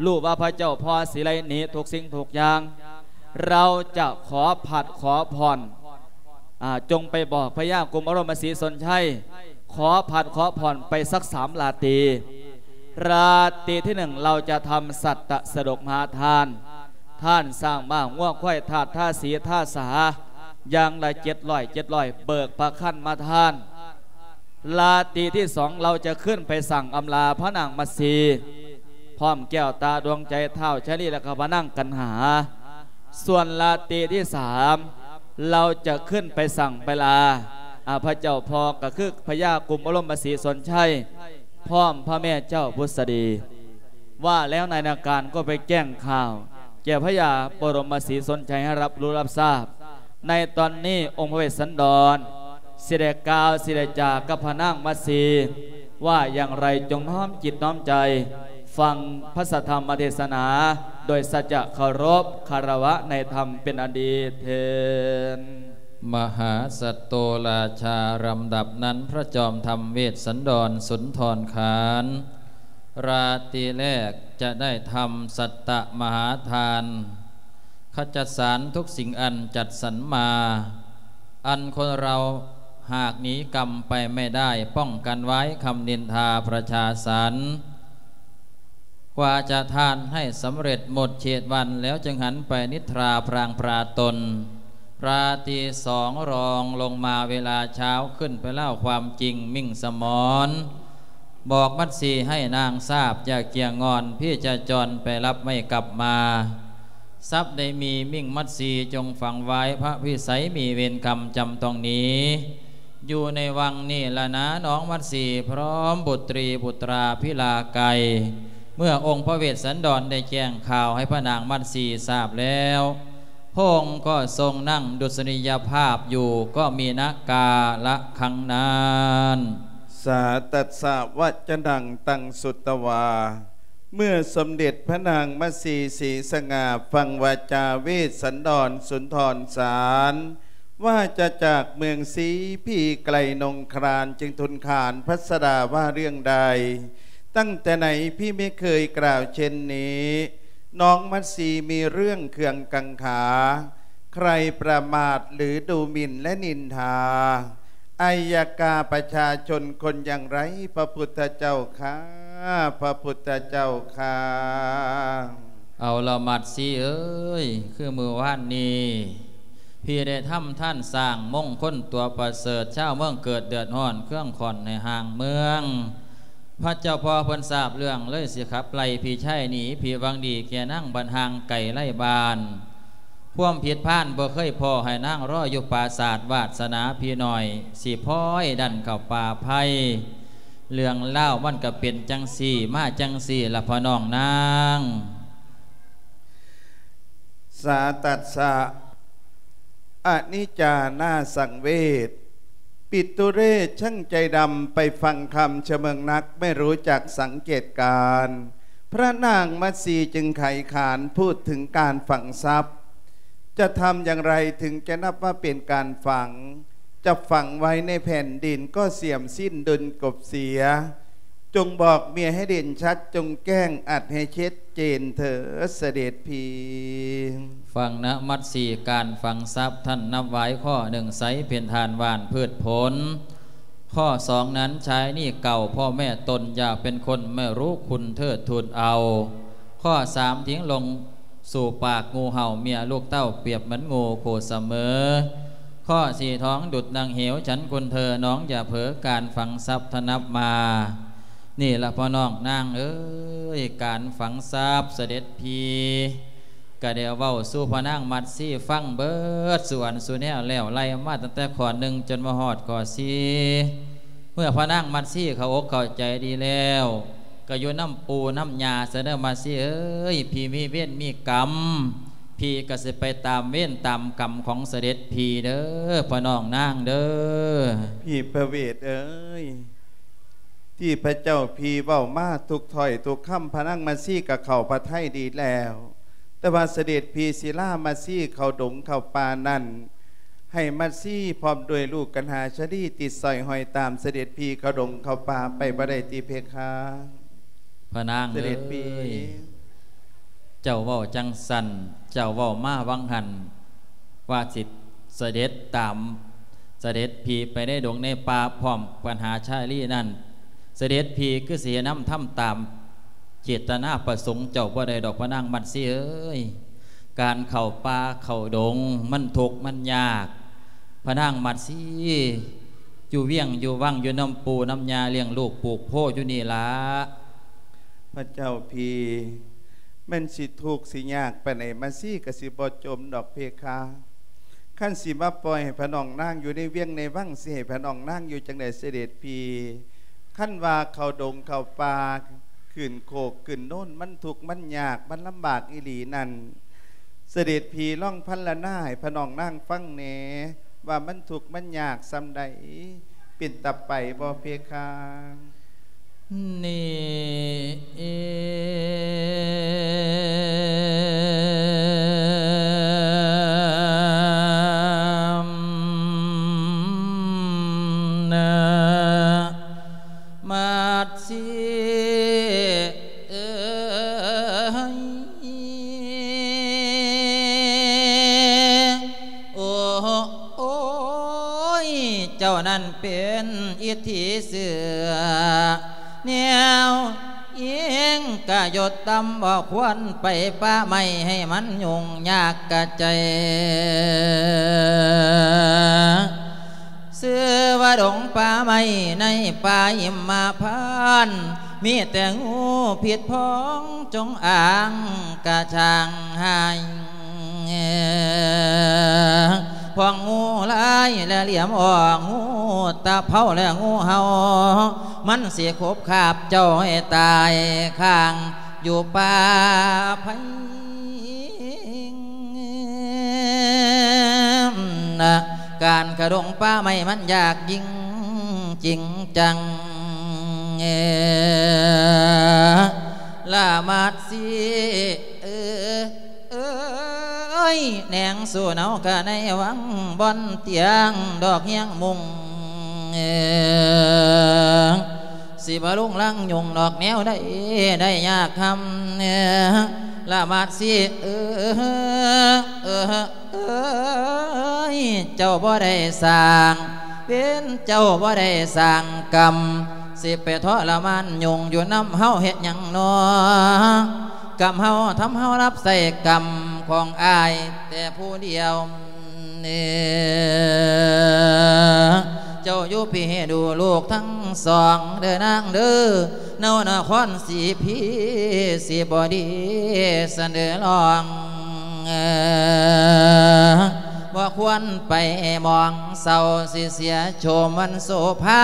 ຮູ້ວ່າພະເຈົ້າພໍ່ຊິໄລ່ໜີທຸກສິ່ງທຸກຢ່າງ. ເຮົາຈະຂໍພັດຂໍຜ່ອນ ອາ ຈົ່ງໄປບອກພະຍາກຸມອາລົມມະສີຊົນໄຊ ຂໍພັດຂໍຜ່ອນໄປສັກສາມລາຕີ. ລາຕີທີໜຶ່ງ ເຮົາຈະທຳສັດຕະສະດົກມະຫາທານ ທານຊ້າງມ້າງົວຄວາຍ ທາດທາສີທາສາ ຢ່າງລະເຈັດຮ້ອຍ ເຈັດຮ້ອຍ ເບີກພະຄັນມາທານ. ລາຕີທີສອງ ເຮົາຈະຂຶ້ນໄປສ້າງອຳລາພະນາງມະສີ ພ້ອມແກ້ວຕາດວງໃຈທ້າວຊາລີ ແລະກະພະນາງກັນຫາ. ສ່ວນລາຕີທີສາມ ເຮົາຈະຂຶ້ນໄປສ້າງໄປລາ ອາ ພະເຈົ້າພໍ່ກໍຄືພະຍາກຸມມະລົມມະສີສົນໄຊ ພ້ອມພະແມ່ເຈົ້າບຸດສະດີ ວ່າແລ້ວນາຍນາການກໍໄປແຈ້ງຂ່າວແກ່ພະຍາບໍລົມມະສີສົນໄຊໃຫ້ຮັບຮູ້ຮັບຊາບ. ໃນຕອນນີ້ອົງພະເວດສັນດອນຊິໄດ້ກ່າວ ຊິໄດ້ຈາກັບພະນາງມັດສີ ວ່າຢ່າງໃດຈົ່ງນ້ອມຈິດນ້ອມໃຈຟັງພະສະທຳມະເທດສະໜາ ໂດຍສັດຈະເຄົາລົບຄາລະວະໃນທຳເປັນອັນດີເທີນ. ມະຫາສັດໂຕລາຊາ ລຳດັບນັ້ນພະຈອມທຳເວດສັນດອນສຸນທອນຄານ ລາຕີແລກຈະໄດ້ທຳສັດຕະມະຫາທານ ຂະຈັດສານທຸກສິ່ງອັນຈັດສັນມາ ອັນຄົນເຮົາຫາກໜີກຳໄປໄມ່ໄດ້ ປ້ອງກັນໄວ້ຄຳນິນທາປະຊາສັນ ກວ່າຈະທານໃຫ້ສຳເລັດໝົດເຂດວັນ ແລ້ວຈຶ່ງຫັນໄປນິດທາພລາງພລາຕົນ. ລາຕີສອງ ລອງລົງມາເວລາເຊົ້າ ຂຶ້ນໄປເລົ່າຄວາມຈິງມິ່ງສະໝອນ ບອກມັດສີໃຫ້ນາງຊາບ ຢ່າກຽງງອນ ພີ່ຈະຈອນໄປລັບໄມ່ກັບມາ. ສັບໄດ້ມີມິ່ງມັດສີ ຈົ່ງຝັງໄວ້ພະວິໄສ ມີເວນກຳຈຳຕ້ອງໜີ ຢູ່ໃນວັງນີ້ລະນາ ນ້ອງມັດສີ ພ້ອມບຸດຕຣີບຸດຕາພິລາໄກ. ເມື່ອອົງພະເວດສັນດອນໄດ້ແຈ້ງຂ່າວໃຫ້ພະນາງມັດສີຊາບແລ້ວ ພະອົງກໍຊົງນັ່ງດຸດສະນີຍະພາບຢູ່ ກໍມີນະກາລະຄັງນັ້ນ. ສາຕັດສະວະຈະນັງຕັງສຸດຕະວາ. ເມື່ອສົມເດັດພະນາງມະສີສີສະຫງ່າຟັງວາຈາເວດສັນດອນສຸນທອນສານ ວ່າຈະຈາກເມືອງສີພີໄກນົງຄລານ ຈຶ່ງທູນຂານພັດສະດາວ່າເລື່ອງໃດ. ຕັ້ງແຕ່ໃດພີ່ໄມ່ເຄີຍກ່າວເຊັ່ນນີ້ ນ້ອງມັດສີມີເລື່ອງເຄືອງກັງຂາ ໃຄປະໝາດ ຫຼື ດູໝິ່ນ ແລະ ນິນທາ ໄອຍະກາປະຊາຊົນຄົນຢ່າງໃດ ພະພຸດທະເຈົ້າຂ້າ ພະພຸດທະເຈົ້າຂ້າ. ເອົາລະ ມັດສີເອີຍ ຄືມື້ວານນີ້ ພີ່ໄດ້ທຳທ່ານສ້າງມົງຄົນຕົວປະເສີດ ຊາວເມືອງເກີດເດືອດຮ້ອນເຄືອງຂ້ອນໃນຫ້າງເມືອງ. ພະເຈົ້າພໍ່ເພິ່ນຊາບເລື່ອງ ເລີຍຊິຂັບໄລ່ພີ່ຊາຍໜີ ພີ່ຫວັງດີແກ່ນາງບັດຫ່າງໄກໄລບ້ານ. ຄວາມຜິດພານບໍ່ເຄີຍພໍ້ ໃຫ້ນາງລໍຢູ່ປາສາດ ວາດສະໜາພີ່ນ້ອຍ ຊິພ້ອຍດັນເຂົ້າປ່າໄພ. ເລື່ອງລາວມັນກະເປັນຈັ່ງຊີ້ ມາຈັ່ງຊີ້ລະພໍ່ນ້ອງນາງ. ສາຕັດສະ ອະນິດຈານາສັງເວດ ປິດຕຸເຣດ ຊ່າງໃຈດຳ ໄປຟັງຄຳຊະເມີງນັກ ໄມ່ຮູ້ຈັກສັງເກດການ. ພະນາງມັດສີຈຶ່ງໄຂຂານ ພູດເຖິງການຝັງຊັບ ຈະທຳຢ່າງໃດເຖິງຈະນັບວ່າເປັນການຝັງ? ຈະຝັງໄວ້ໃນແຜ່ນດິນກໍສຽມສິ້ນດົນກົບເສຍ. ຈົ່ງບອກເມຍໃຫ້ເດັ່ນຊັດ ຈົ່ງແຈ້ງອັດໃຫ້ເຊັດເຈນເທີດສະເດັດພີ. ຟັງນະມັດສີ ການຝັງຊັບ ທ່ານນັບໄວ້ຂໍ້ໜຶ່ງ ໃສເປັນທານຫວ່ານພືດຜົນ. ຂໍ້ສອງນັ້ນ ຊາຍນີ້ເກົ່າພໍ່ແມ່ຕົນ ຢາກເປັນຄົນແມ່ຮູ້ຄຸນເທີດທູນເອົາ. ຂໍ້ສາມ ຖິ້ມລົງສູ່ປາກງູເຫົ່າ ເມຍລູກເຕົ້າປຽບເໝືອນງູໂຄສະເໝີ. ຂໍ້ສີ່ ທອງດຸດນາງເຫວ ສັນຄຸນເທີ ນ້ອງຢ່າເຜີ ການຝັງຊັບທ່ານນັບມາ. ນີ້ລະພໍ່ນ້ອງນາງເອີຍ ການຝັງຊັບສະເດັດພີ ກະໄດ້ເວົ້າສູ່ພະນາງມັດສີຟັງເບິດສູ່ອັນສູ່ແນວແລ້ວ ໄລ່ມາຕັ້ງແຕ່ຂໍ້ໜຶ່ງຈົນມາຮອດຂໍ້ສີ່. ເມື່ອພະນາງມັດສີເຂົ້າອົກເຂົ້າໃຈດີແລ້ວ ກະຢູ່ນຳປູ່ນຳຍ່າຊະເດີ ມັດສີເອີຍ. ພີມີເວນມີກຳ ພີກະຊິໄປຕາມເວນຕາມກຳຂອງສະເດັດພີເດີ ພໍ່ນ້ອງນາງເດີ. ພີພະເວດເອີຍ ທີ່ພະເຈົ້າພີເວົ້າມາທຸກຖ້ອຍທຸກຄຳ ພະນາງມັດສີກະເຂົ້າພະໄທດີແລ້ວ. ແຕ່ວ່າສະເດັດພີຊິລາມັດສີເຂົ້າດົງເຂົ້າປ່ານັ້ນ ໃຫ້ມັດສີພ້ອມດ້ວຍລູກກັນຫາຊາລີຕິດສອຍຫ້ອຍຕາມສະເດັດພີເຂົ້າດົງເຂົ້າປ່າໄປບໍ່ໄດ້ຕິເພຄະ? ພະນາງເອີຍ ສະເດັດພີ ເຈົ້າເວົ້າຈັ່ງຊັ້ນ ເຈົ້າເວົ້າມາຫວ່າງຫັ້ນ ວ່າຊິສະເດັດຕາມສະເດັດພີໄປໃນດົງໃນປ່າພ້ອມກັນຫາຊາລີນັ້ນ ສະເດັດພີຄືຊິເຮັດນຳທຳຕາມເຈດຕະນາປະສົງເຈົ້າບໍ່ໄດ້ດອກ ພະນາງມັດສີເອີຍ. ການເຂົ້າປ່າເຂົ້າດົງມັນທຸກມັນຍາກ ພະນາງມັດສີ ຢູ່ວຽງຢູ່ວັງ ຢູ່ນຳປູ່ນຳຍ່າ ລ້ຽງລູກປູກໂພຢູ່ນີ້ລະ. ພະເຈົ້າພີ ແມ່ນຊິທຸກຊິຍາກປານໃດ ມັດສີກະຊິບໍ່ຈົມດອກເພຄະ. ຄັນຊິມາປ່ອຍໃຫ້ພະນ້ອງນາງຢູ່ໃນວຽງໃນວັງ ຊິໃຫ້ພະນ້ອງນາງຢູ່ຈັ່ງໃດເສດັດພີ່? ຄັນວ່າເຂົ້າດົງເຂົ້າປ່າ ຂຶ້ນໂຄກຂຶ້ນໂນນ ມັນທຸກມັນຍາກ ມັນລຳບາກອີ່ຫຼີນັ້ນ ເສດັດພີ່ລອງພັນລະນາໃຫ້ພະນ້ອງນາງຟັງແດ່ ວ່າມັນທຸກມັນຍາກສ່ຳໃດ ເປັນຕາໄປບໍ່ເພຄະ? ນີ້ ນະ ມັດສີເອີຍ ໂອ້ ໂອ້ຍ ເຈົ້ານັ້ນເປັນອິດທິເສືອ ແນວອີງກະຍົດຕ່ຳ ບໍ່ຄວນໄປປ່າໄມ້ໃຫ້ມັນຫຍຸ້ງຍາກກະໃຈ ຊື່ວ່າດົງປ່າໄມ້ໃນປ່າຫິມມະພານ ມີແຕ່ງູພິດພອງຈົງອາງກະຊ່າງຫາຍ ພວກງູລາຍແລະຫຼຽມອອກ ງູຕະເພົາແລະງູເຫົ່າ ມັນຊິຂົບຄາບເຈົ້າໃຫ້ຕາຍຄ້າງຢູ່ປ່າໄພ ນະ ການຂະດົງປ່າໄມ້ມັນຍາກຍິ່ງຈິງຈັງ ລະມັດສີເອີຍ ແນງສູ່ເນົາກະໃນວັງ ບ່ອນຕຽງດອກຮຽງມຸງ ຊິບໍ່ລຸງລັງຫຍຸ້ງດອກແນວໃດ ໄດ້ຍາກຄຳ ລະມັດສີເອີຍ ເອີຍ ເຈົ້າບໍ່ໄດ້ສ້າງເວນ ເຈົ້າບໍ່ໄດ້ສ້າງກຳ ຊິໄປທໍລະມານຫຍຸ້ງຢູ່ນຳເຮົາເຮັດຫຍັງນໍ ກຳເຮົາທຳເຮົາຮັບໃຊ້ກຳຂອງອ້າຍແຕ່ຜູ້ດຽວ ເຈົ້າຢູ່ພີ້ໃຫ້ດູລູກທັງສອງເດີນາງເດີ ເນົານະຄອນສີພີ ຊິບໍ່ດີສະເໜີລອງ ບໍ່ຄວນໄປໝອງເສົ້າ ຊິເສຍໂສມວັນໂສພາ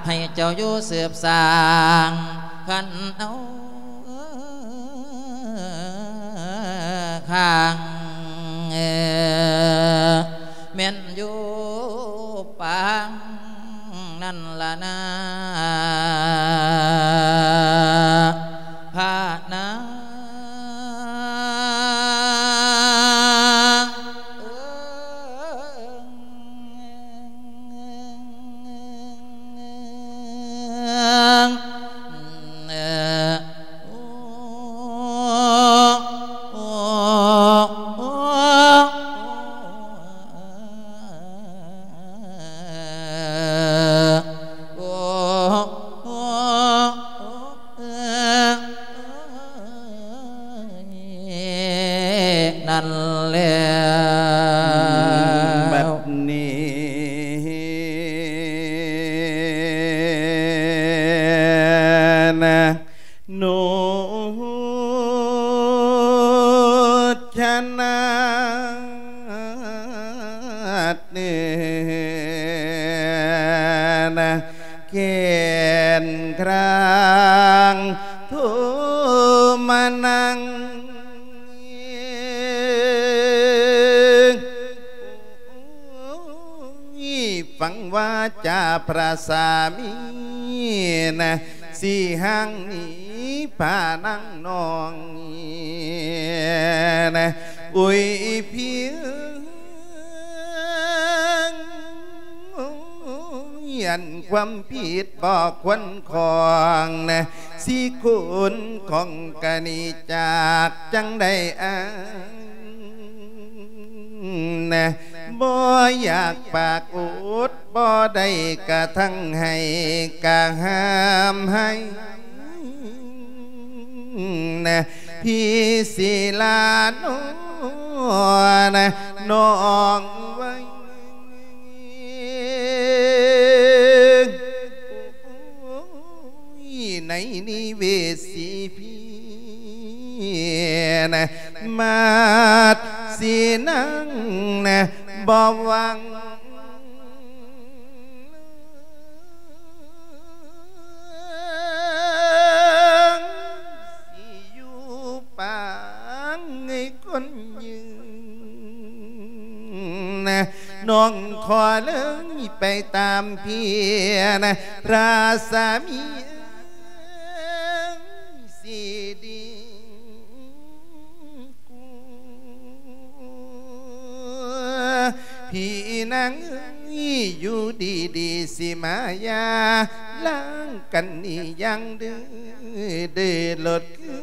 ໃຫ້ເຈົ້າຢູ່ສືບສ້າງ ຄັນເອົາ ຂ້າງ ແມ່ນຢູ່ປາງນັ້ນລະນາ ພະນາງ ເອີຍ ນັ້ນແຫຼະ ບັດນີ້ນະ ນຸດຊະນາດ ເອີ ນະ ແກ່ນກລາງໂທມານັງ ໂອ້ຍ ຟັງວາຈາພະສາມີນະ ຊິຫ່າງໜີພະນາງນ້ອງນະ ໂອ້ຍ ພຽງ ໂອ້ຍ ອັນຄວາມຜິດບໍ່ຄວນຂອງນະ ຊິຄົນຂອງກະໜີຈາກຈັ່ງໃດອາຍ ນະ ບໍ່ຢາກປາກອົດ ບໍ່ໄດ້ກະທັງໃຫ້ກະຫ້າມໃຫ້ ນະ ພີ່ສິລານ້ອຍ ນະ ນ້ອງເອີຍ ໃນນິເວດສີພີ ນະ ມາດສີນາງ ນະ ບໍ່ຫວັງ ຊິຢູ່ປາງໃຫ້ຄົນຢືນ ນ້ອງຂໍເລີຍໄປຕາມເພຍນະ ລາຊາມີເອີຍ ຊິດີກວ່າ ພີ່ນາງເອີຍ ຢູ່ດີໆ ຊິມາຢ່າລ້າງກັນນີ້ຢ່າງເດີ ເດີລົດຄື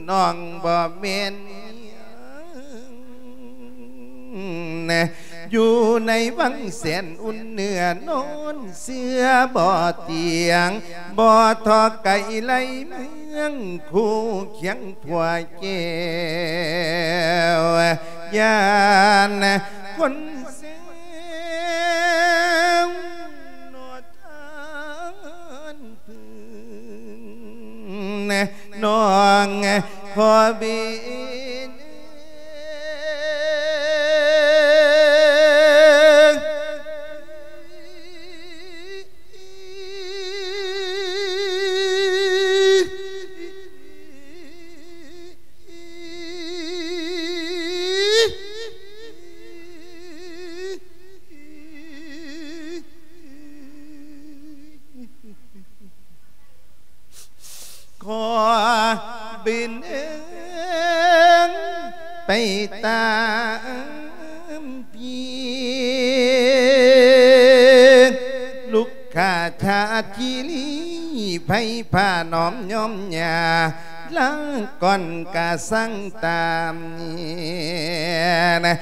ນ້ອງບໍ່ແມ່ນຫຍັງ ຢູ່ໃນວັງແສນອຸ່ນເນື້ອ ນອນເຊື່ອບໍ່ຕຽງ ບໍ່ທໍ້ໄກໄລເມືອງ ຄູ່ຄຽງຜົວແກ້ວ ຢ້ານຄົນແຊວ ນອນທານ ເພິ່ນ ນ້ອງຂໍເບນ ຂໍບິນເອີງໄປຕາມເພຍ ລຸກຂາຊາດຄີລີ ໃຜພານ້ອມຍອມຫຍ້າ ລາກ່ອນກະສັງຕາມນີ້ນະ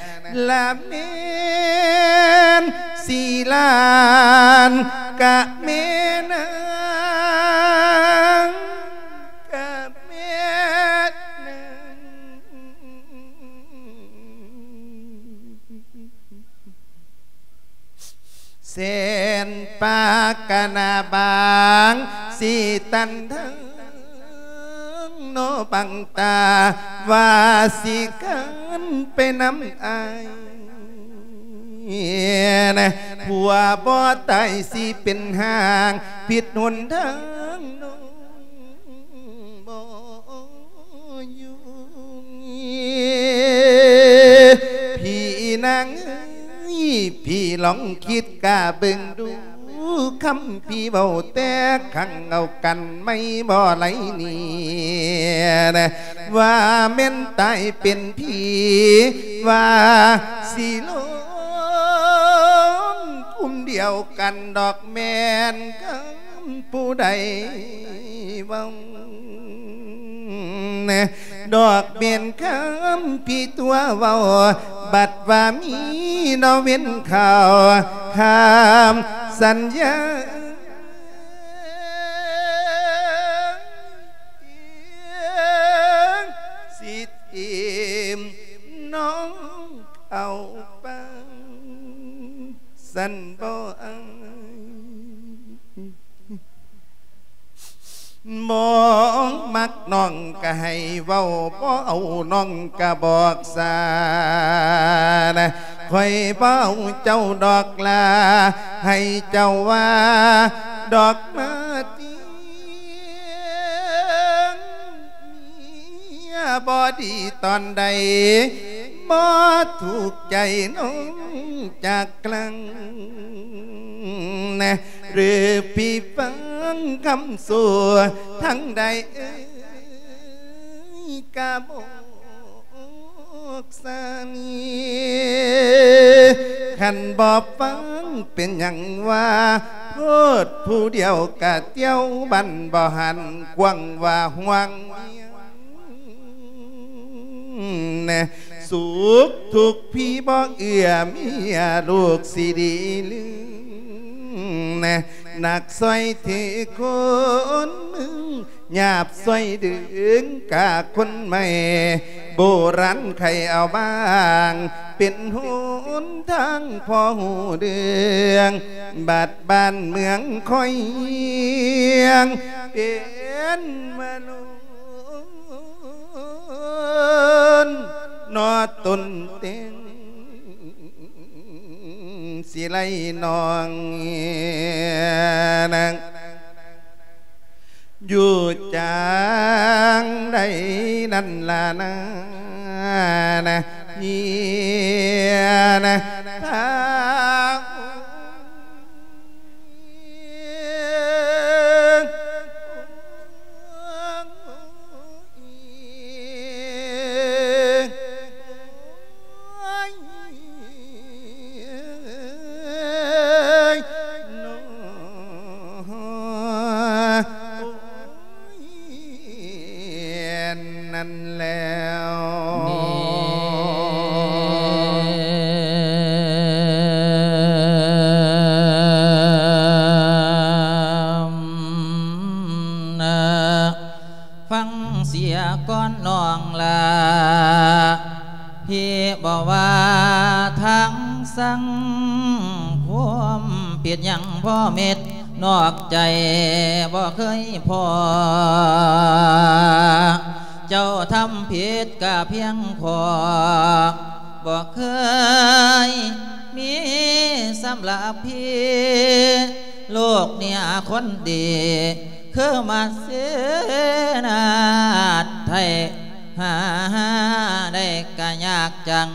ລະແມ່ນສີລານ ກະແມ່ນນາງ ກະແມ່ນນາງ ແສນປາກະໜ້າບາງ ຊິຕັນທາງ ໂນບັງຕາ ວ່າຊິກັນໄປນຳອ້າຍ ຜົວບໍ່ຕາຍຊິເປັນຮ່າງ ຜິດຫົນທາງນ້ອງບໍ່ຢູ່ ພີ່ນາງເອີຍ ພີ່ລອງຄິດກະເບິ່ງດູ ຄຳພີ່ເວົ້າແຕ່ຄັ້ງເອົາກັນໄມ່ບໍ່ໄຫຼນີ້ ວ່າແມ່ນຕາຍເປັນຜີ ວ່າຊິລົງກຸ່ມດຽວກັນດອກ ແມ່ນຄຳຜູ້ໃດເວົ້າ ດອກເປັນຄຳພີ່ຕົວະເວົ້າ ບັດວ່າມີນອເວັນເຂົ້າ ຄຳສັນຍາ ຊິຖິ້ມນ້ອງເຂົ້າປາງ ຊັ້ນບໍ່ອາຍ ບໍ່ມັກນ້ອງກະໃຫ້ເວົ້າ ບໍ່ເອົານ້ອງກະບອກສາ ຂ້ອຍບໍ່ເອົາເຈົ້າດອກລາ ໃຫ້ເຈົ້າວ່າດອກມາຕິ ເມຍບໍ່ດີຕອນໃດ ບໍ່ຖືກໃຈນ້ອງຈັກຄັ້ງ ຫຼືພີ່ຟັງຄຳໂສທາງໃດເອີຍ ກະບອກສາມີ ຄັນບໍ່ຟັງເປັນຫຍັງວ່າ ໂພດຜູ້ດຽວກະຕຽວ ບັນບໍ່ຫັນກວ້າງວ່າຫ່ວງ ສຸກທຸກພີ່ບໍ່ເອື້ອເມຍ ລູກຊິດີລືມ ໜັກຊ່ອຍຖືຄົນມື ຫຍາບຊ່ອຍດຶງກາຄົນໃໝ່ ໂບລານໄຂເອົາບາງ ເປັນຫົນທາງພໍຮູ້ເລື່ອງ ບັດບ້ານເມືອງຄ່ອຍຮຽງ ເປັນມະໂນນ ນອຕົນເຕັງ ຊິໄລນ້ອງນາງ ຢູ່ຈັ່ງໃດນັ້ນລະນາ ນະ ເນຍ ນະ ທາງ ນັ້ນແລ້ວ ຟັງເສຍກ່ອນນ້ອງຫຼ້າ ພີ່ບໍ່ວ່າທາງສັງຄົມ ຜິດຫຍັງພໍເມັດ ນອກໃຈບໍ່ເຄີຍພໍ ເຈົ້າທຳຜິດກະພຽງພໍ ບໍ່ເຄີຍມີສຳລັບພີ່ ລູກເນຍຄົນດີ ຄືມາເສນາດໄທ ຫາໄດ້ກະຍາກຈັງ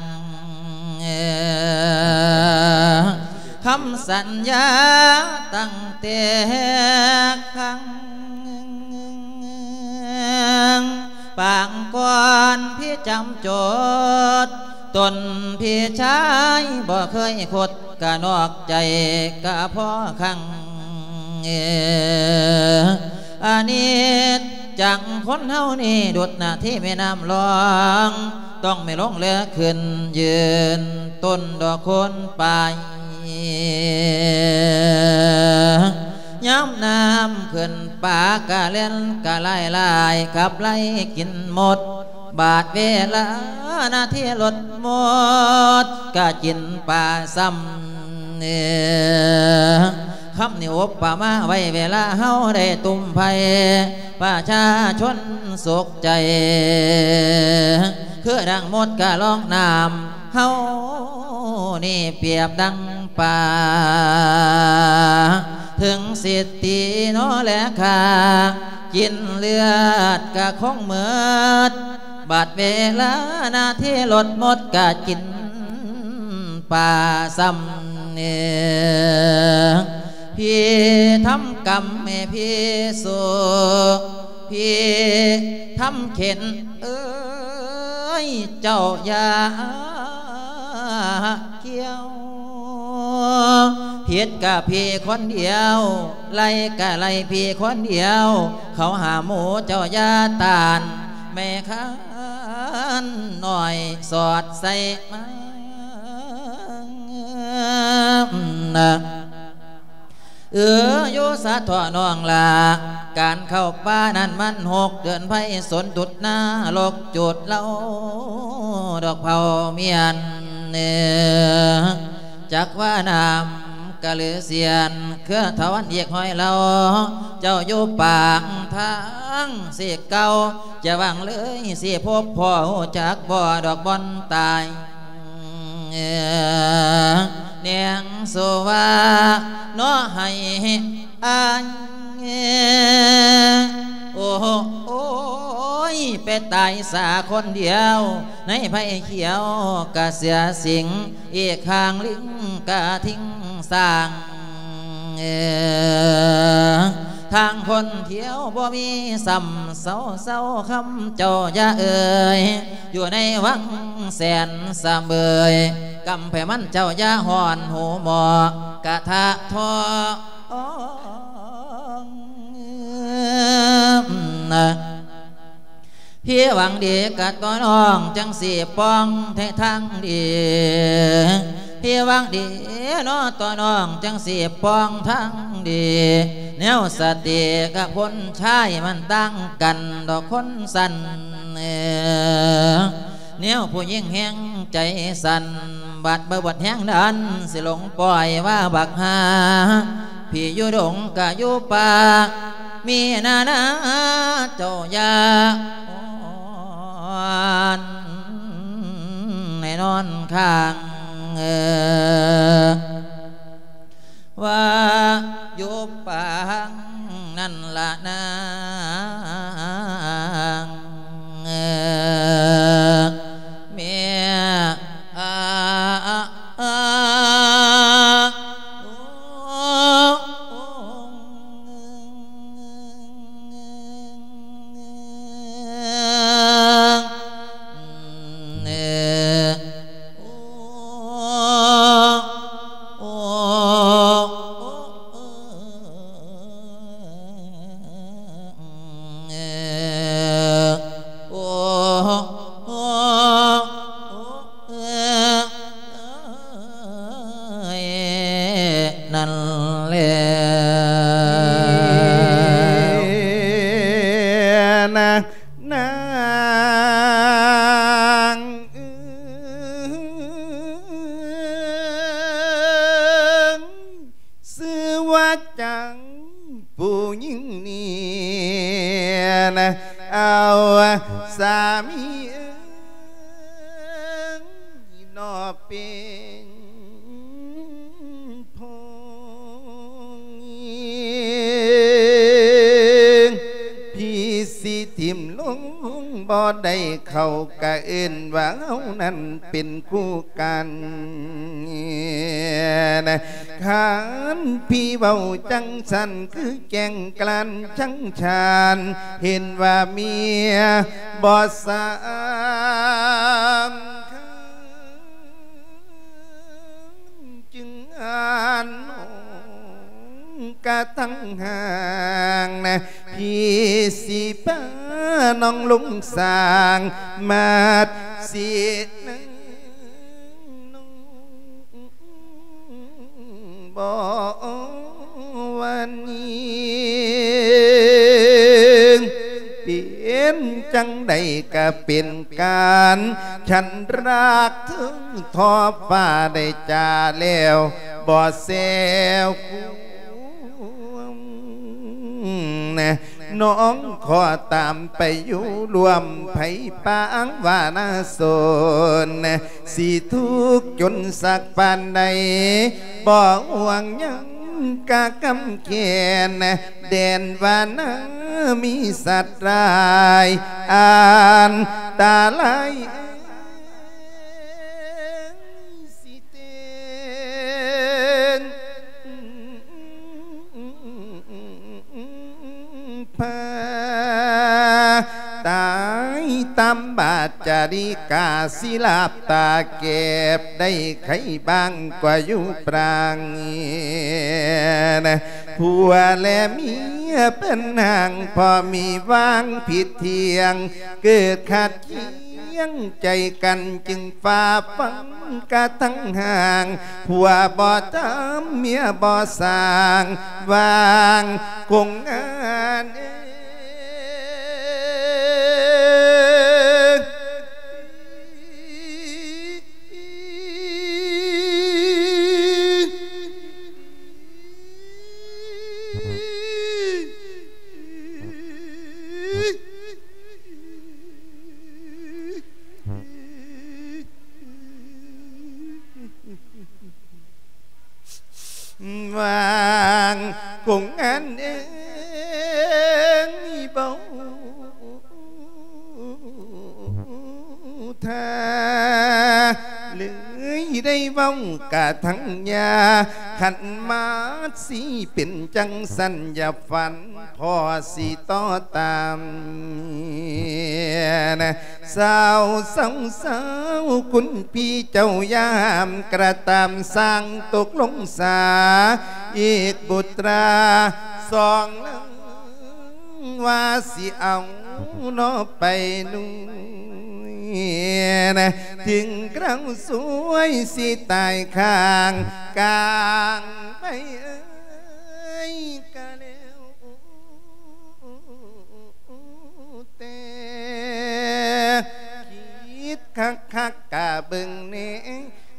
ຄຳສັນຍາຕັ້ງແຕ່ຄັ້ງ ປາງກ່ອນພີ່ຈຳຈົດ ຕົນພີ່ຊາຍບໍ່ເຄີຍຄົດ ກະນອກໃຈກະພໍຄັ້ງ ອານິດຈັງຄົນເຮົານີ້ ດຸດໜ້າທີ່ແມ່ນ້ຳລອງ ຕ້ອງແມ່ນລົງແລຂຶ້ນ ຢືນຕົ້ນດອກໂຄນປາຍ ຍາມນ້ຳຂຶ້ນປາກະແລ່ນກະຫຼາຍໆ ຂັບໄລ່ກິນໝົດ ບາດເວລາໜ້າທີ່ລົດໝົດ ກະກິນປາຊ້ຳ ເນຍ ຄຳນີ້ອຸປະມາໄວ້ເວລາເຮົາໄດ້ຕຸ້ມໄຟ ປະຊາຊົນສຸກໃຈ ຄືດັ່ງມົດກະລອງນ້ຳ ເຮົານີ້ປຽບດັ່ງປາ ເຖິງສິດຕີເນາະແລະຂ້າ ກິນເລືອດກະຄົງໝົດ ບາດເວລາໜ້າທີ່ລົດໝົດກະກິນປາຊ້ຳ ພີ່ທຳກຳໃຫ້ພີ່ສູ້ ພີ່ທຳເຂັນເອີຍ ເຈົ້າຢ່າກ່ຽວ ຜິດກະພີ່ຄົນດຽວ ໄລ່ກະໄລ່ພີ່ຄົນດຽວ ເຂົາຫາໝູ່ເຈົ້າຢ່າຕ້ານ ແມ່ຄ້ານນ້ອຍສອດໃສ່ມາ ເອີ ຢູ່ສາເທາະນ້ອງຫຼ້າ ການເຂົ້າປ່ານັ້ນມັນຫົກເດືອນໄພ ສົນດຸດນະລົກຈູດເລົາ ດອກເຜົາມຽນ ຈັກວ່ານ້ຳກະລືສຽນ ເຄືອທະວັນອີກຫ້ອຍເລົ່າ ເຈົ້າຢູ່ປາກທາງຊິເກົ່າ ຈະຫວັງເລີຍຊິພົບພໍ້ ຮູ້ຈັກບໍ່ດອກບ່ອນຕາຍ ແນງໂສວາເນາະໃຫ້ອາຍ ໂອ້ໂຫ ໂອ້ຍ ໄປຕາຍສາຄົນດຽວ ໃນໄພຂຽວກະເສືອສິງ ອີກຂ້າງລິງກະທິງສາງ ທາງຄົນທ່ຽວບໍ່ມີຊ້ຳ ເຊົາໆ ຄຳເຈົ້າຢ່າເອີຍ ຢູ່ໃນວັງແສນສະເໝີຍ ກຳໄພມັນເຈົ້າຢ່າຮ້ອນຫູໝໍ້ ກະທະທອງ ພີ່ຫວັງດີກະຕໍ່ນ້ອງ ຈັ່ງຊິປ່ອງໃຫ້ທາງດີ ພີ່ຫວັງດີເນາະຕໍ່ນ້ອງ ຈັ່ງຊິປ່ອງທາງດີ ແນວສະຕິກັບຄົນຊາຍມັນຕ່າງກັນດອກຄົນຊັ້ນ ແນວຜູ້ຍິງແຮງໃຈສັ່ນ ບາດບໍ່ເບິດແຮງດັນ ຊິຫຼົງປ່ອຍວ່າບັກຫ່າ ພີ່ຢູ່ດົງກະຢູ່ປ່າ ມີນານາເຈົ້າຢ່າອ່ອນໃຫ້ນອນຂ້າງ ວ່າຢູ່ປາງນັ້ນລະນາງ ແມ່ອາ ໂອ້ ນັ້ນແລ້ວ ນາງເອີຍ ຊື່ວ່າຈັ່ງ ຜູ້ຍິງນີ້ນະ ເອົາສາມີເອີຍ ເນາະເປັນ ພີ່ຊິຖິ້ມລົງບໍ່ໄດ້ ເຂົາກະເອີ້ນວ່າເຮົານັ້ນເປັນຄູ່ກັນ. ຄັນພີ່ເວົ້າຈັ່ງຊັ້ນ ຄືແກງກະລ່ານຈັ່ງຊານ ເຫັນວ່າເມຍບໍ່ສຳຄັນ ຈຶ່ງອ່ານນ້ອງກະທັງຫ່າງນະ ພີ່ຊິພານ້ອງລົງສ້າງ ມາດສິນາງນ້ອງບໍ່ວ່ານີ້ ເປັນຈັ່ງໃດກະເປັນການ ຄັນຮັກເຖິງທອບຟ້າໄດ້ຈາແລ້ວ ບໍ່ແຊວຄວາມ ນ້ອງຂໍຕາມໄປຢູ່ຮ່ວມໄພປາງວານາຊົນ ຊິທຸກຈົນສັກປານໃດ ບໍ່ຫ່ວງຫຍັງກະກຳແຂນ ແດນວານາມີສັດຮ້າຍ ອັນຕະລາຍ ຊິເຕັນ ພາຕາຍຕາມບາດຈາລິກາ ຊິລາບຕາແກບໄດ້ໄຄບາງກວ່າຢູ່ປາງ ຜົວແລະເມຍເປັນຮ່າງ ພໍມີຫວ່າງຜິດທ່ຽງ ເກີດຂັດ ຄຽງໃຈກັນຈຶ່ງຟ້າຟັນກະທັງຫ່າງ ຜົວບໍ່ທຳເມຍບໍ່ສ້າງ ຫວ່າງຄົງງານເອີຍ. ຫວ່າງຄົງງານເອີຍ ເວົ້າ ຖ້າເລີຍໄດ້ເວົ້າກະທັງຍາ ຄັນມາຊິເປັນຈັ່ງຊັ້ນຢ່າຝັນ ພໍ່ຊິຕໍ່ຕາມ. ສາວ ສາວ ສາວ ຄຸນພີ່ເຈົ້າຢ່າຫ້າມກະຕາມ ສ້າງຕົກລົງສາອີກບຸດຕາສອງເລີງ ວ່າຊິເອົາເນາະໄປນຸ່ຍ ເຖິງຄາວສວຍຊິຕາຍຂ້າງກາງໄປເອີຍ ກະແລ້ວແຕ່ ຄິດຄັກໆກະເບິ່ງແນ່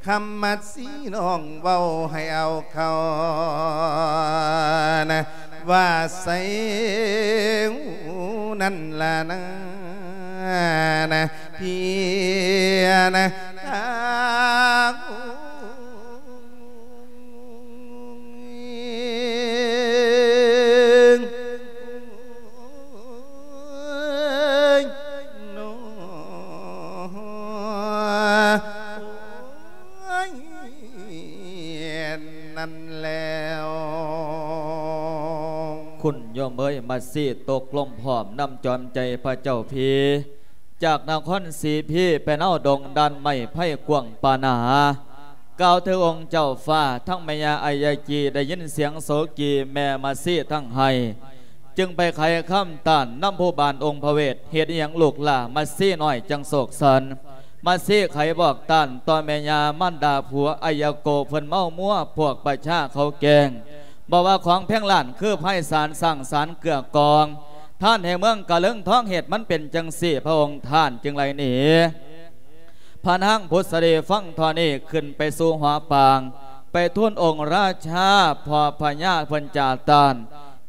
ຄຳມັດສີນ້ອງເວົ້າໃຫ້ເອົາເຂົ້ານະ ວ່າໃສນັ້ນລະນາ ນະ ເພຍນະ ທາງ ນັ້ນແລ້ວ ຄຸນໂຍມເອີຍ ມາຊີຕົກລົງພ້ອມນຳຈອມໃຈພະເຈົ້າພີ ຈາກນະຄອນສີພີ ໄປນາວດົງດ່ານໄມ້ໄພກວ້າງປານາ ກ່າວເຖິງອົງເຈົ້າຟ້າ ທັງແມ່ຍ່າອາຍາຈີ ໄດ້ຍິນສຽງໂສກີແມ່ມາຊີທັງໄຫ້ ຈຶ່ງໄປໄຂຄຳຕ້ານນຳຜູ້ບ້ານອົງພະເວດ ເຮັດອີ່ຫຍັງລູກຫຼ້າມາຊີນ້ອຍຈັ່ງໂສກສັນ ມາຊີໄຂບອກຕ້ານຕໍ່ແມ່ຍ່າມານດາຜົວອາຍາໂກ ເພິ່ນເມົາມົວພວກປະຊາເຂົາແກງ ບໍ່ວ່າຂອງແພງລ້ານຄືໄພສານ ຊ້າງສານເກືອກອງ ທ່ານແຫ່ງເມືອງກະເລິງທອງ ເຫດມັນເປັນຈັ່ງຊີ້ ພະອົງທ່ານຈຶ່ງໄລ່ໜີ ພະນາງບຸດສະດີຟັງທໍ່ນີ້ ຂຶ້ນໄປສູ່ຫໍປາງ ໄປທູນອົງລາຊາ ພໍ່ພະຍາເພິ່ນຈາຕ້ານ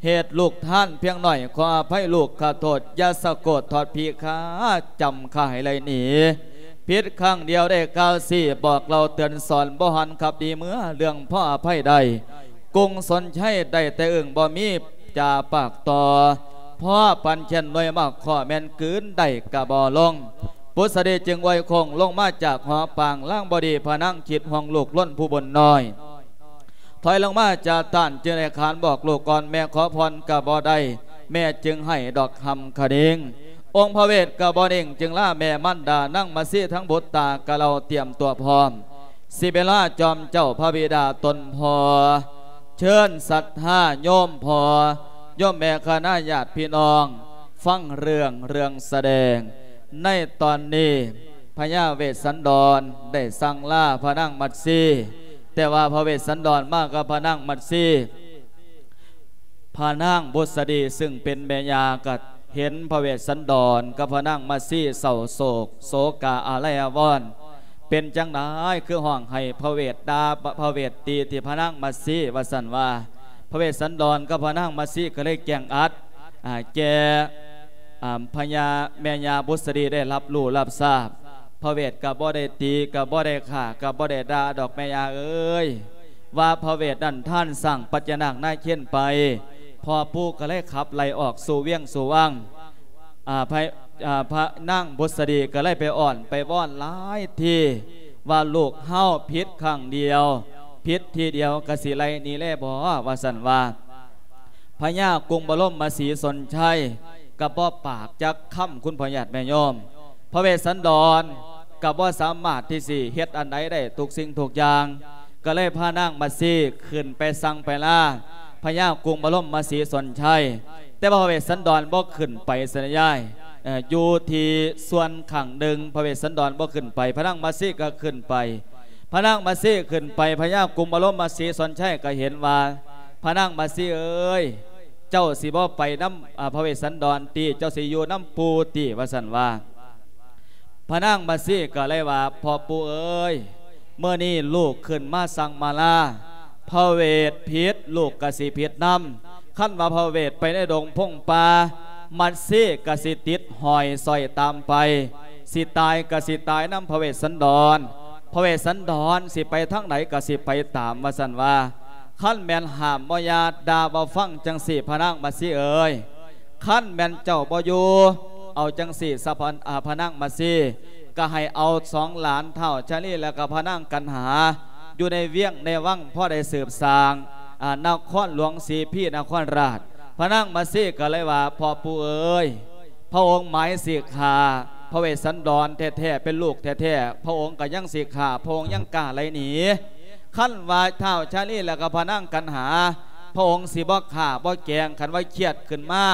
ເຫດລູກທ່ານພຽງໜ້ອຍ ຂໍອະໄພລູກ ຂະໂທດ ຢ່າສະໂກດທອດພີຄາ ຈຳຂ້າໃຫ້ໄລ່ໜີ ຜິດຄັ້ງດຽວໄດ້ກ່າວຊີ້ ບອກເລົ່າເຕືອນສອນ ບໍ່ຫັນຂັບດີເມືອ ເລື່ອງພໍອະໄພໄດ້ ກຸງສົນໄຊໄດ້ແຕ່ອຶ້ງ ບໍ່ມີຈາປາກຕໍ່ ພໍປັນແກ່ນໜ່ວຍໝາກຂໍ້ ແມ່ນກືນໄດ້ກະບໍ່ລົງ ບຸດສະດີຈຶ່ງອວຍໂຄ້ງລົງມາຈາກຫໍປາງ ລາງບໍ່ດີພະນາງຄິດຫ່ວງລູກລົ້ນຜູ້ບຸນນ້ອຍ ຖອຍລົງມາຈາຕ້ານ ຈຶ່ງໄດ້ຂານບອກລູກອ່ອນ ແມ່ຂໍພອນກະບໍ່ໄດ້ ແມ່ຈຶ່ງໃຫ້ດອກຫຳຂະນິງ ອົງພະເວດກະບໍ່ນິ່ງ ຈຶ່ງລາແມ່ມານດານາງມາຊີ ທັງບຸດຕາກະເຫຼົ່າຕຽມຕົວພ້ອມ ຊິໄປລາຈອມເຈົ້າພະບິດາຕົນພໍ່ ເຊີນສັດທາໂຍມພໍ່ໂຍມແມ່ຄະນະຍາດພີ່ນ້ອງ ຟັງເລື່ອງ ເລື່ອງສະແດງ ໃນຕອນນີ້ ພະຍາເວດສັນດອນໄດ້ສັ່ງລາພະນາງມັດຊີ ແຕ່ວ່າພະເວດສັນດອນມາກັບພະນາງມັດຊີ ພະນາງບຸດສະດີ ຊຶ່ງເປັນແມ່ຍ່າ ກໍເຫັນພະເວດສັນດອນກັບພະນາງມັດຊີເສົ້າໂສກ ໂສກາອາໄລອາວອນ ເປັນຈັ່ງໃດຄືຮ້ອງໄຫ້ພະເວດດ່າ ພະເວດຕີທີ່ພະນາງມັດຊີ ວ່າຊັ້ນວ່າ ພະເວດສັນດອນກັບພະນາງມັດຊີກໍເລີຍແຈ້ງອັດ ອ່າ ແກ່ ອ່າ ພະຍາ ແມ່ຍ່າບຸດສະດີໄດ້ຮັບຮູ້ຮັບຊາບ ພະເວດກໍບໍ່ໄດ້ຕີ ກໍບໍ່ໄດ້ຂ້າ ກໍບໍ່ໄດ້ດ່າດອກແມ່ຍ່າເອີຍ ວ່າພະເວດນັ້ນທ່ານສ້າງປັດຈະນາກນາເຄນໄປ ພໍ່ປູ່ກໍເລີຍຂັບໄລ່ອອກສູ່ວຽງສູ່ວັງ ອ່າ ພະ ອ່າ ພະນາງບຸດສະດີກໍເລີຍໄປອ້ອນໄປວອນຫຼາຍທີ ວ່າລູກເຮົາຜິດຄັ້ງດຽວ ຜິດທີດຽວກໍຊິໄລ່ໜີແລບໍ ວ່າຊັ້ນວ່າ ພະຍາກຸງບະລົມມະສີສົນໄຊ ກໍບໍ່ປາກຈັກຄຳ ຄຸນພໍ່ຍາດແມ່ໂຍມ ພະເວດສັນດອນກໍບໍ່ສາມາດທີ່ຊິເຮັດອັນໃດໄດ້ ທຸກສິ່ງທຸກຢ່າງ ກໍເລີຍພານາງມາຊີຂຶ້ນໄປສັ່ງໄປລາພະຍາກຸງບະລົມມະສີສົນໄຊ ແຕ່ວ່າພະເວດສັນດອນບໍ່ຂຶ້ນໄປ ສັນຍາຍ ເອີ ຢູ່ທີ່ສ່ວນຂ້າງໜຶ່ງ ພະເວດສັນດອນບໍ່ຂຶ້ນໄປ ພະນາງມາຊີກໍຂຶ້ນໄປ ພະນາງມາຊີຂຶ້ນໄປ ພະຍາກຸງບະລົມມະສີສົນໄຊກໍເຫັນວ່າ ພະນາງມາຊີເອີຍ ເຈົ້າຊິບໍ່ໄປນຳ ອາ ພະເວດສັນດອນຕິ ເຈົ້າຊິຢູ່ນຳປູ່ຕິ ວ່າຊັ້ນວ່າ ພະນາງມາຊີກໍເລີຍວ່າ ພໍ່ປູ່ເອີຍ ມື້ນີ້ລູກຂຶ້ນມາສັ່ງມາລາ ພະເວດຜິດ ລູກກໍຊິຜິດນຳ ຄັນວ່າພະເວດໄປໃນດົງພົງປ່າ ມາຊີກໍຊິຕິດຫ້ອຍສ້ອຍຕາມໄປ ຊິຕາຍກໍຊິຕາຍນຳພະເວດສັນດອນ ພະເວດສັນດອນຊິໄປທາງໃດກໍຊິໄປຕາມ ວ່າຊັ້ນວ່າ ຄັນແມ່ນຫ້າມບໍ່ຢ່າ ດ່າບໍ່ຟັງຈັ່ງຊີ້ ພະນາງມາຊີເອີຍ ຄັນແມ່ນເຈົ້າບໍ່ຢູ່ ເອົາຈັ່ງຊີ້ຊະ ພະ ອາ ພະນາງມາຊີ ກໍໃຫ້ເອົາສອງຫຼານທ້າວຊາລີ ແລ້ວກໍພະນາງກັນຫາ ຢູ່ໃນວຽງໃນວັງ ພໍໄດ້ສືບສ້າງ ອາ ນະຄອນຫຼວງສີພີນະຄອນລາດ ພະນາງມາຊີກໍເລີຍວ່າ ພໍ່ປູ່ເອີຍ ພະອົງໝາຍຊິຂ້າພະເວດສັນດອນແທ້ໆ ເປັນລູກແທ້ໆ ພະອົງກໍຍັງຊິຂ້າ ພະອົງຍັງກ້າໄລ່ໜີ ຄັນວ່າທ້າວຊາລີ ແລ້ວກໍພະນາງກັນຫາ ພະອົງຊິບໍ່ຂ້າບໍ່ແກງ ຄັນວ່າຄຽດຂຶ້ນມາ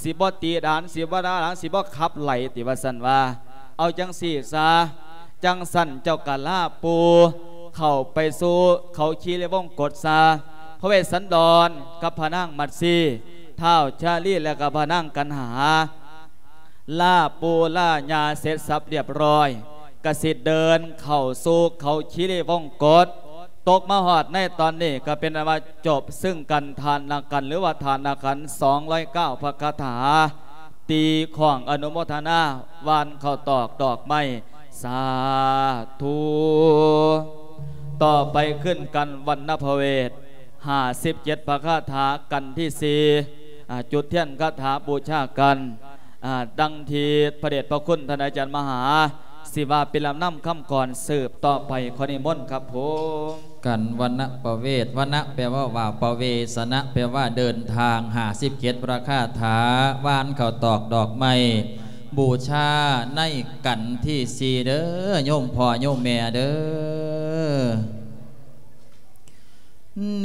ຊິບໍ່ຕີດານ ຊິບໍ່ດ່າຫຼານ ຊິບໍ່ຂັບໄລ່ຕິ ວ່າຊັ້ນວ່າ ເອົາຈັ່ງຊີ້ຊະ ຈັ່ງຊັ້ນເຈົ້າກໍລາປູ່ເຂົ້າໄປສູ່ເຂົາຄີລີວົງກົດຊະ ພະເວດສັນດອນກັບພະນາງມັດຊີ ທ້າວຊາລີ ແລ້ວກໍພະນາງກັນຫາ ລາປູ່ລາຍ່າເສັດສັບລຽບຮ້ອຍ ກະຊິເດີນເຂົ້າສູ່ເຂົາຄີລີວົງກົດ ຕົກມາຮອດໃນຕອນນີ້ ກໍເປັນອັນວ່າຈົບຊຶ່ງກັນທານນະກັນ ຫຼືວ່າທານນະຂັນ ສອງຮ້ອຍເກົ້າ ພະຄາຖາ ຕີຄ້ອງອະນຸໂມທະນາ ຫວ່ານເຂົ້າຕອກດອກໄມ້ ສາທຸ ຕໍ່ໄປຂຶ້ນກັນວັນນະພະເວດ ຫ້າສິບເຈັດ ພະຄາຖາ ກັນທີສີ່ ອາ ຈຸດທຽນຄາຖາບູຊາກັນ ອາ ດັ່ງທີ່ພະເດດພະຄຸນທ່ານອາຈານມະຫາ ຊິວ່າເປັນລຳນຳຄຳກອນສືບຕໍ່ໄປ ຂໍນິມົນຄັບຜົມ. ກັນວັນນະປະເວດ ວັນນະແປວ່າວ່າ ປະເວສະນະແປວ່າເດີນທາງ ຫ້າສິບເຈັດ ລະຄາຖາ ວານເຂົ້າຕອກດອກໄມ້ ບູຊາໃນກັນທີສີ່ເດີ ໂຍມພໍ່ໂຍມແມ່ເດີ.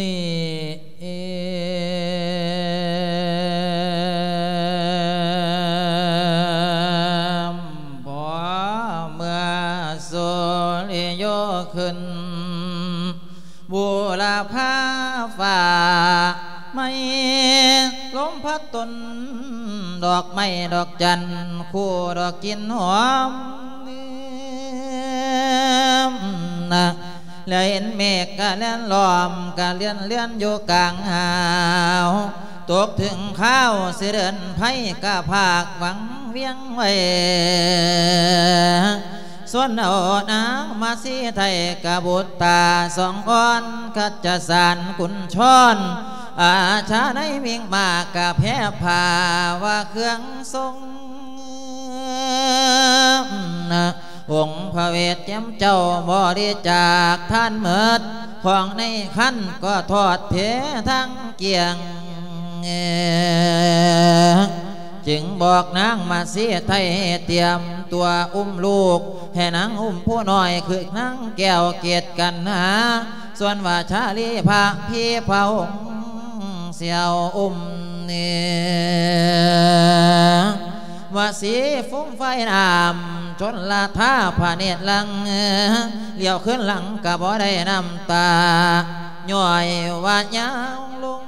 ນີ້ ພໍເມື່ອສຸລິໂຍຂຶ້ນ ບຸລະພາຟ້າໃໝ່ ລົມພັດຕົ້ນດອກໄມ້ດອກຈັນ ຄູ່ດອກກິ່ນຫອມ ແລະເຫັນເມກກະແລ່ນລ້ອມ ກະເລື່ອນເລື່ອນຢູ່ກາງຫາວ ຕົກເຖິງຄາວຊິເດີນໄພ ກະພາກຫວັງວຽງໄວ້ ຊວນເອົານາງມາສີໄທ ກະບຸດຕາສອງອ່ອນ ຄັດຈະສານກຸນຊອນ ອາຊາໃນວິງມາກະແພພາວ່າເຄື່ອງຊົງ ອົງພະເວດແຈ່ມເຈົ້າບໍລິຈາກທານໝົດ ຂອງໃນຄັນກໍທອດເທທັງກ້ຽງ ຈຶ່ງບອກນາງມາສີໄທໃຫ້ຕຽມຕົວອຸ້ມລູກ ໃຫ້ນາງອຸ້ມຜູ້ນ້ອຍຄືນາງແກ້ວເກດກັນຫາ ສ່ວນວ່າຊາລີພະພີພະອົງ ຊິເອົາອຸ້ມນີ້ ວ່າສີຟຸງໄຟນ້ຳຊົນລະທາພະເນດຫຼັງ ຫຼຽວຄືນຫຼັງກະບໍ່ໄດ້ນ້ຳຕາ ຍ້ອຍວ່າຍາວລົງ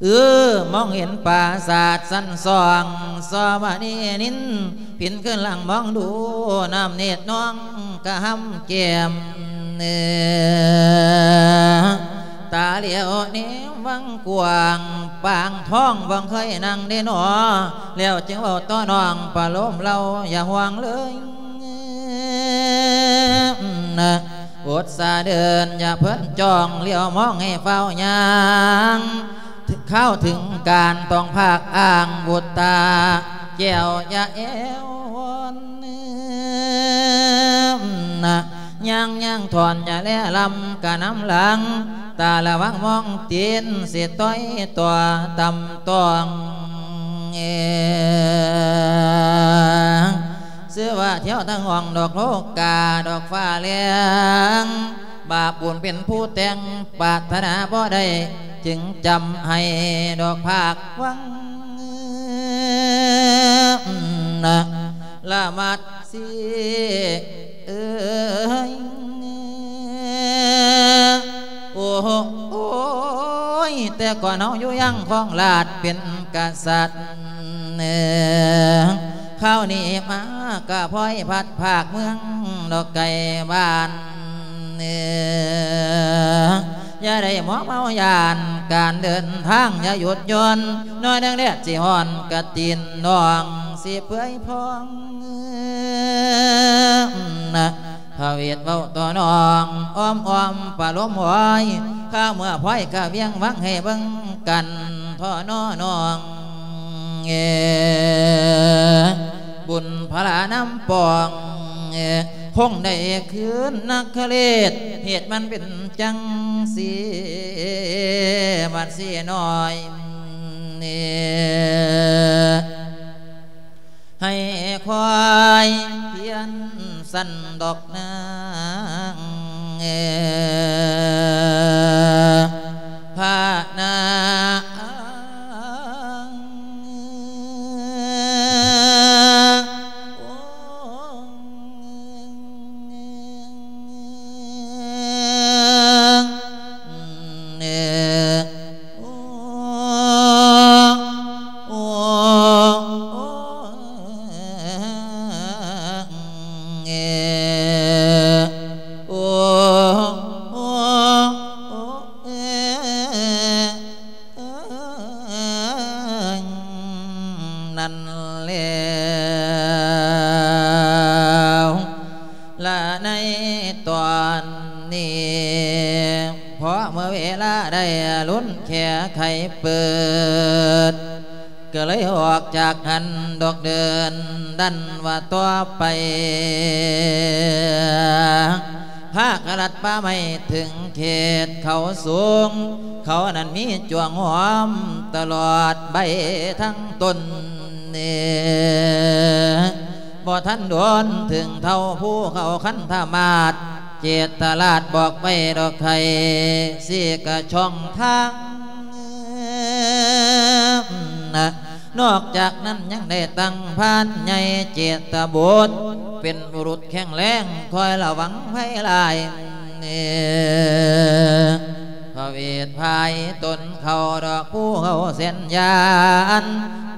ເອີ ມອງເຫັນປາສາດຊັ້ນສອງ ຊໍມະນີນິນ ປິ່ນຄືນຫຼັງມອງດູ ນ້ຳເນດນ້ອງກະຫຳແກ້ມ ເອີ ຕາຫຼຽວແນມວັງກວ້າງ ປາງທອງບໍ່ເຄີຍນັ່ງເດນໍ ແລ້ວຈຶ່ງເວົ້າຕໍ່ນ້ອງປະໂລມເລົ່າ ຢ່າຫ່ວງເລີຍ ອົດສາເດີນ ຢ່າເພີນຈ້ອງ ຫຼຽວມອງໃຫ້ຟ້າວຍ່າງ ຄາວເຖິງການຕ້ອງພາກອ້າງບຸດຕາ ແກ້ວຢ່າແອວວອນ ຍ່າງຍ່າງຖອນຢ່າແລລຳກະນຳຫຼັງ ຕາລະວັງມອງຕີນ ຊິຕ່ອຍຕົວຕຳຕອງ ເອ ຊື່ວ່າທ່ຽວທັງຫ້ອງດອກໂລກາ ດອກຟ້າແລງ ບາບບຸນເປັນຜູ້ແຕ່ງ ປາດຖະໜາບໍ່ໄດ້ ຈຶ່ງຈຳໃຫ້ດອກພາກຫວັງ ລະມັດ ຊິເອີຍ ໂອ້ຍ ແຕ່ກ່ອນເຮົາຢູ່ຍັງຄອງລາດເປັນກະສັດ ຄາວນີ້ມາກະພອຍພັດພາກເມືອງດອກໄກບ້ານ ຢ່າໄດ້ມົວເມົາຢ້ານການເດີນທາງ ຢ່າຢຸດຢ່ອນ ໜ້ອຍໜຶ່ງແດດຊິຮ້ອນ ກະຕີນນ້ອງຊິເປື່ອຍພອງ ພະເວດເວົ້າຕໍ່ນ້ອງ ອ້ອມໆປະໂລມຫວຍ ຄາວເມື່ອພອຍກະວຽງວັງໃຫ້ເບິ່ງກັນ ທໍ້ນໍນ້ອງ ເອີ ບຸນພະລານຳປອງ ເອີ ຄົງໄດ້ຄືນນະຄະເລດ ເຫດມັນເປັນຈັ່ງຊີ້ ບັດຊີ້ນ້ອຍ ເອີ ໃຫ້ຄອຍພຽນສັນດອກນາງ ເອີ ພະນາງ ນັ້ນແລ້ວ ລະໃນຕອນນີ້ ເພາະເມື່ອເວລາໄດ້ລຸ້ນແຂໄຂເປີດ ກໍເລີຍອອກຈາກຫັ້ນດອກເດີນດັນວ່າຕໍ່ໄປ ພາກັນລັດປ່າໄມ້ເຖິງເຂດເຂົາສູງ ເຂົານັ້ນມີຈວງຫອມຕະຫຼອດໃບທັງຕົ້ນ ບໍ່ທັນດົນເຖິງເທົ່າພູເຂົາຄັນທະມາດ ເຈດຕະລາດບອກໄວ້ດອກໄຂ່ ຊີ້ກະຊ່ອງທາງ ນອກຈາກນັ້ນຍັງໄດ້ຕັ້ງພານໃຫຍ່ເຈດຕະບຸດ ເປັນບຸລຸດແຂງແຮງຄອຍລະວັງໄພຫຼາຍ ພະເວດພາຍຕົນເຂົ້າດອກພູເຂົາແສນຍານ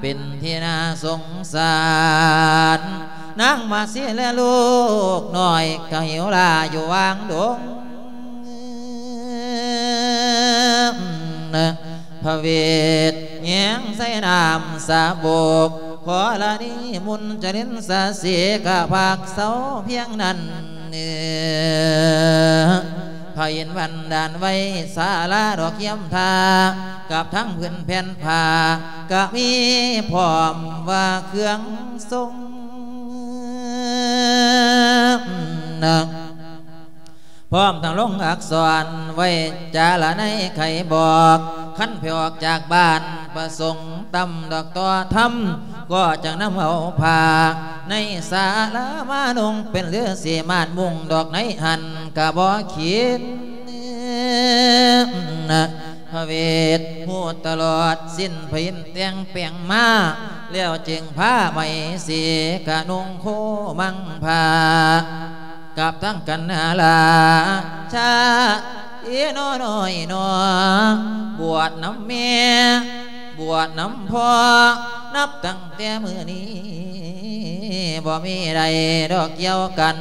ເປັນທີ່ໜ້າສົງສານ ນາງມາສີແລະລູກນ້ອຍກະຫິວລາຢູ່ຫວ່າງດົງ ພະເວດແຍງໃສ່ນ້ຳສາບົກ ຂໍລະນີມຸນຈະລິນສາສີກະພັກເຊົາພຽງນັ້ນ ພະອິນບັນດານໄວ້ສາລາດອກຄຽມທ່າ ກັບທັງພື້ນແຜ່ນຜ້າ ກະມີພ້ອມວ່າເຄື່ອງຊົງ ພ້ອມທັງລົງອັກສອນໄວ້ຈາລະໄນໄຂບອກ ຄັນໃຜອອກຈາກບ້ານປະສົງຕຳດອກຕໍ່ທຳ ກໍຈັ່ງນຳເອົາຜ້າໃນສາລາມານຸ່ງ ເປັນລືສີມາດມຸງດອກໃນຫັ້ນກະບໍ່ຄິດ ພະເວດຮູ້ຕະຫຼອດສິ້ນຜະອິນແຕ່ງແປງມາ ແລ້ວຈຶ່ງພາໄມສີກະນຸ່ງໂຄມັງຜ້າ ກັບທັງກັນນາລາຊາ ເອ ໜໍນ້ອຍໜໍ ບວດນຳແມ່ ບວດນຳພໍ່ ນັບຕັ້ງແຕ່ມື້ນີ້ ບໍ່ມີໃດດອກກ່ຽວກັນ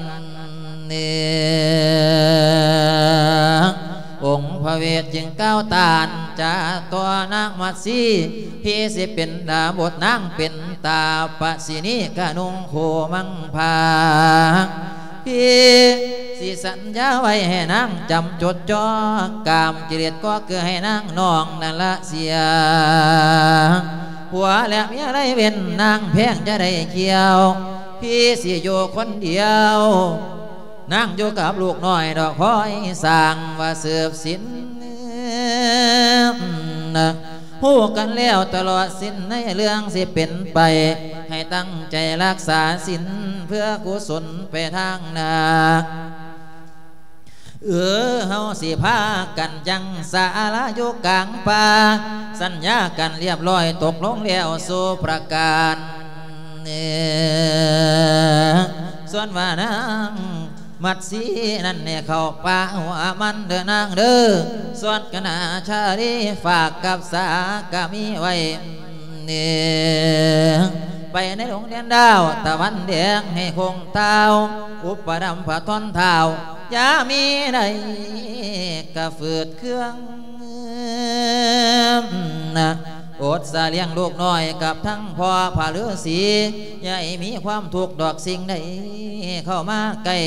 ອົງພະເວດຈຶ່ງກ່າວຕ້ານຈາຕໍ່ນາງມາສີ ພີ່ຊິເປັນດາບົດນາງເປັນຕາປະສີນີກະນຸ່ງໂຄມັງຜ້າ ພີ່ຊິສັນຍາໄວ້ໃຫ້ນາງຈຳຈົດຈ່ອ ກາມກິເລດກໍຄືໃຫ້ນາງນ້ອງນັ້ນລະເສຍ ຜົວແລະເມຍໄລເວັ້ນນາງແພງຈະໄດ້ຂຽວ ພີ່ຊິຢູ່ຄົນດຽວ ນາງຢູ່ກັບລູກນ້ອຍດອກຄອຍສ້າງວ່າສືບສິນ ຮູ້ກັນແລ້ວຕະຫຼອດສິ້ນໃນເລື່ອງຊິເປັນໄປ ໃຫ້ຕັ້ງໃຈຮັກສາສິນເພື່ອກຸສົນໄປທາງໜ້າ ເອີ ເຮົາຊິພາກັນຍັງສາລາຢູ່ກາງປ່າ ສັນຍາກັນລຽບລ້ອຍຕົກລົງແລ້ວສູ່ປະການ ສ່ວນວ່ານາງ ມັດສີນັ້ນແນ່ເຂົ້າປ່າຫົວມັນເດີນາງເດີ ສ່ວນຄະນະຊາລີຝາກກັບສາກະມີໄວ້ ໄປໃນດົງແດນດາວຕາວັນແດງໃຫ້ຄົງເຕົ້າ ອຸປະດຳພະທອນທ້າວ ຢ່າມີໃດກະຝືດເຄືອງ ອົດສາລ້ຽງລູກນ້ອຍກັບທັງພໍ່ພະລືສີ ຢ່າໃຫ້ມີຄວາມທຸກດອກສິ່ງໃດເຂົ້າມາໃກ້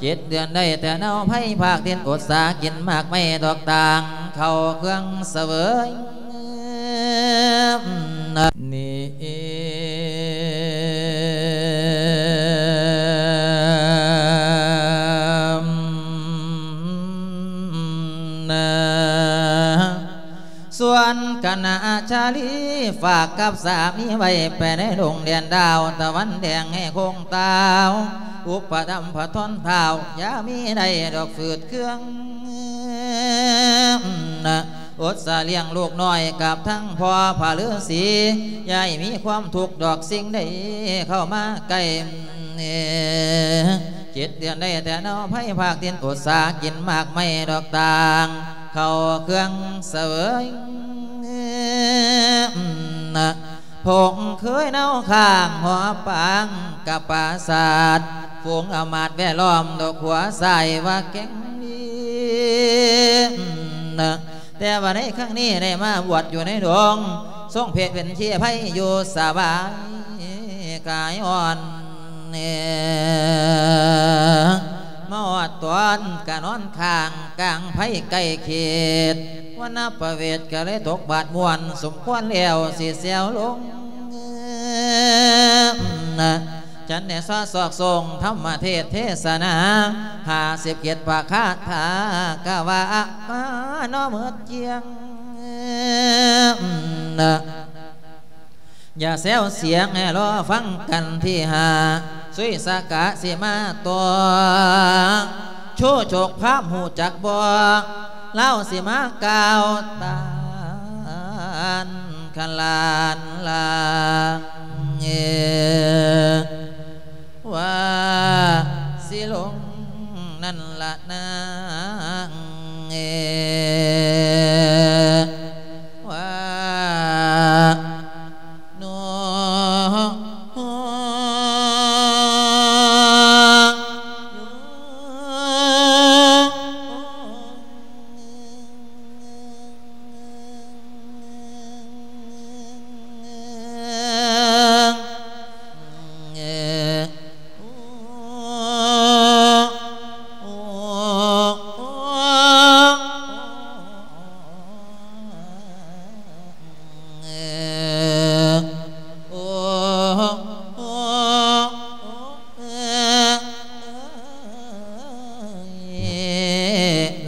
ເຈັດເດືອນໄດ້ແຕ່ເນົາໄພພາກດິນ ອົດສາກິນໝາກໄມ້ດອກຕ່າງ ເຂົ້າເຄື່ອງສະເຫວີຍ ນີ້ ນາ ສ່ວນຄະນະຊາລີຝາກກັບສາມີໄວ້ ໄປໃນດົງແດນດາວຕາວັນແດງໃຫ້ຄົງເຕົ້າ ອຸປະຖຳພະທອນທ້າວ ຢ່າມີໃດດອກຝືດເຄືອງ ອົດສາລ້ຽງລູກນ້ອຍກັບທັງພໍ່ພະລືສີ ຢ່າໃຫ້ມີຄວາມທຸກດອກສິ່ງໃດເຂົ້າມາໃກ້ ເຈັດເດືອນໄດ້ແຕ່ເນົາໄພພາກດິນ ອົດສາກິນໝາກໄມ້ດອກຕ່າງ ເຂົ້າເຄື່ອງສະເຫວີຍ ພົງເຄີຍເນົາຂ້າງຫໍປາງກັບປາສາດ ຝູງອຳມາດແວດລ້ອມດອກຫົວຊາຍວ່າແກ່ງດີ ແຕ່ວ່າໃນຄັ້ງນີ້ໄດ້ມາບວດຢູ່ໃນດົງ ຊົງເພດເປັນເຊໄພຢູ່ສະບາຍກາຍອ່ອນ ມາຮອດຕອນກະນອນຄ້າງກາງໄພໃກ້ເຂດ ວັນນະປະເວດກະເລີຍຕົກບາດມ່ວນ ສົມຄວນແລ້ວຊິແຊວລົງ ນະ ຈັນແນຊອສອກສົ່ງທຳມະເທດເທສະນາ ຫ້າສິບເຈັດພະຄາຖາກະວ່າມາເນາະໝົດກ້ຽງ ນະ ຢ່າແຊວສຽງ ໃຫ້ລໍຟັງກັນທີຫ້າ ສຸຍສະກະຊິມາຕໍ່ ໂຊໂຊກພາບຮູ້ຈັກບໍ່ ລາວຊິມາກ່າວຕານຂະລານລາງ ວ່າຊິລົງນັ້ນລະນາງ ວ່າ ໂນ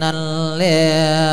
ນັ້ນແຫຼະ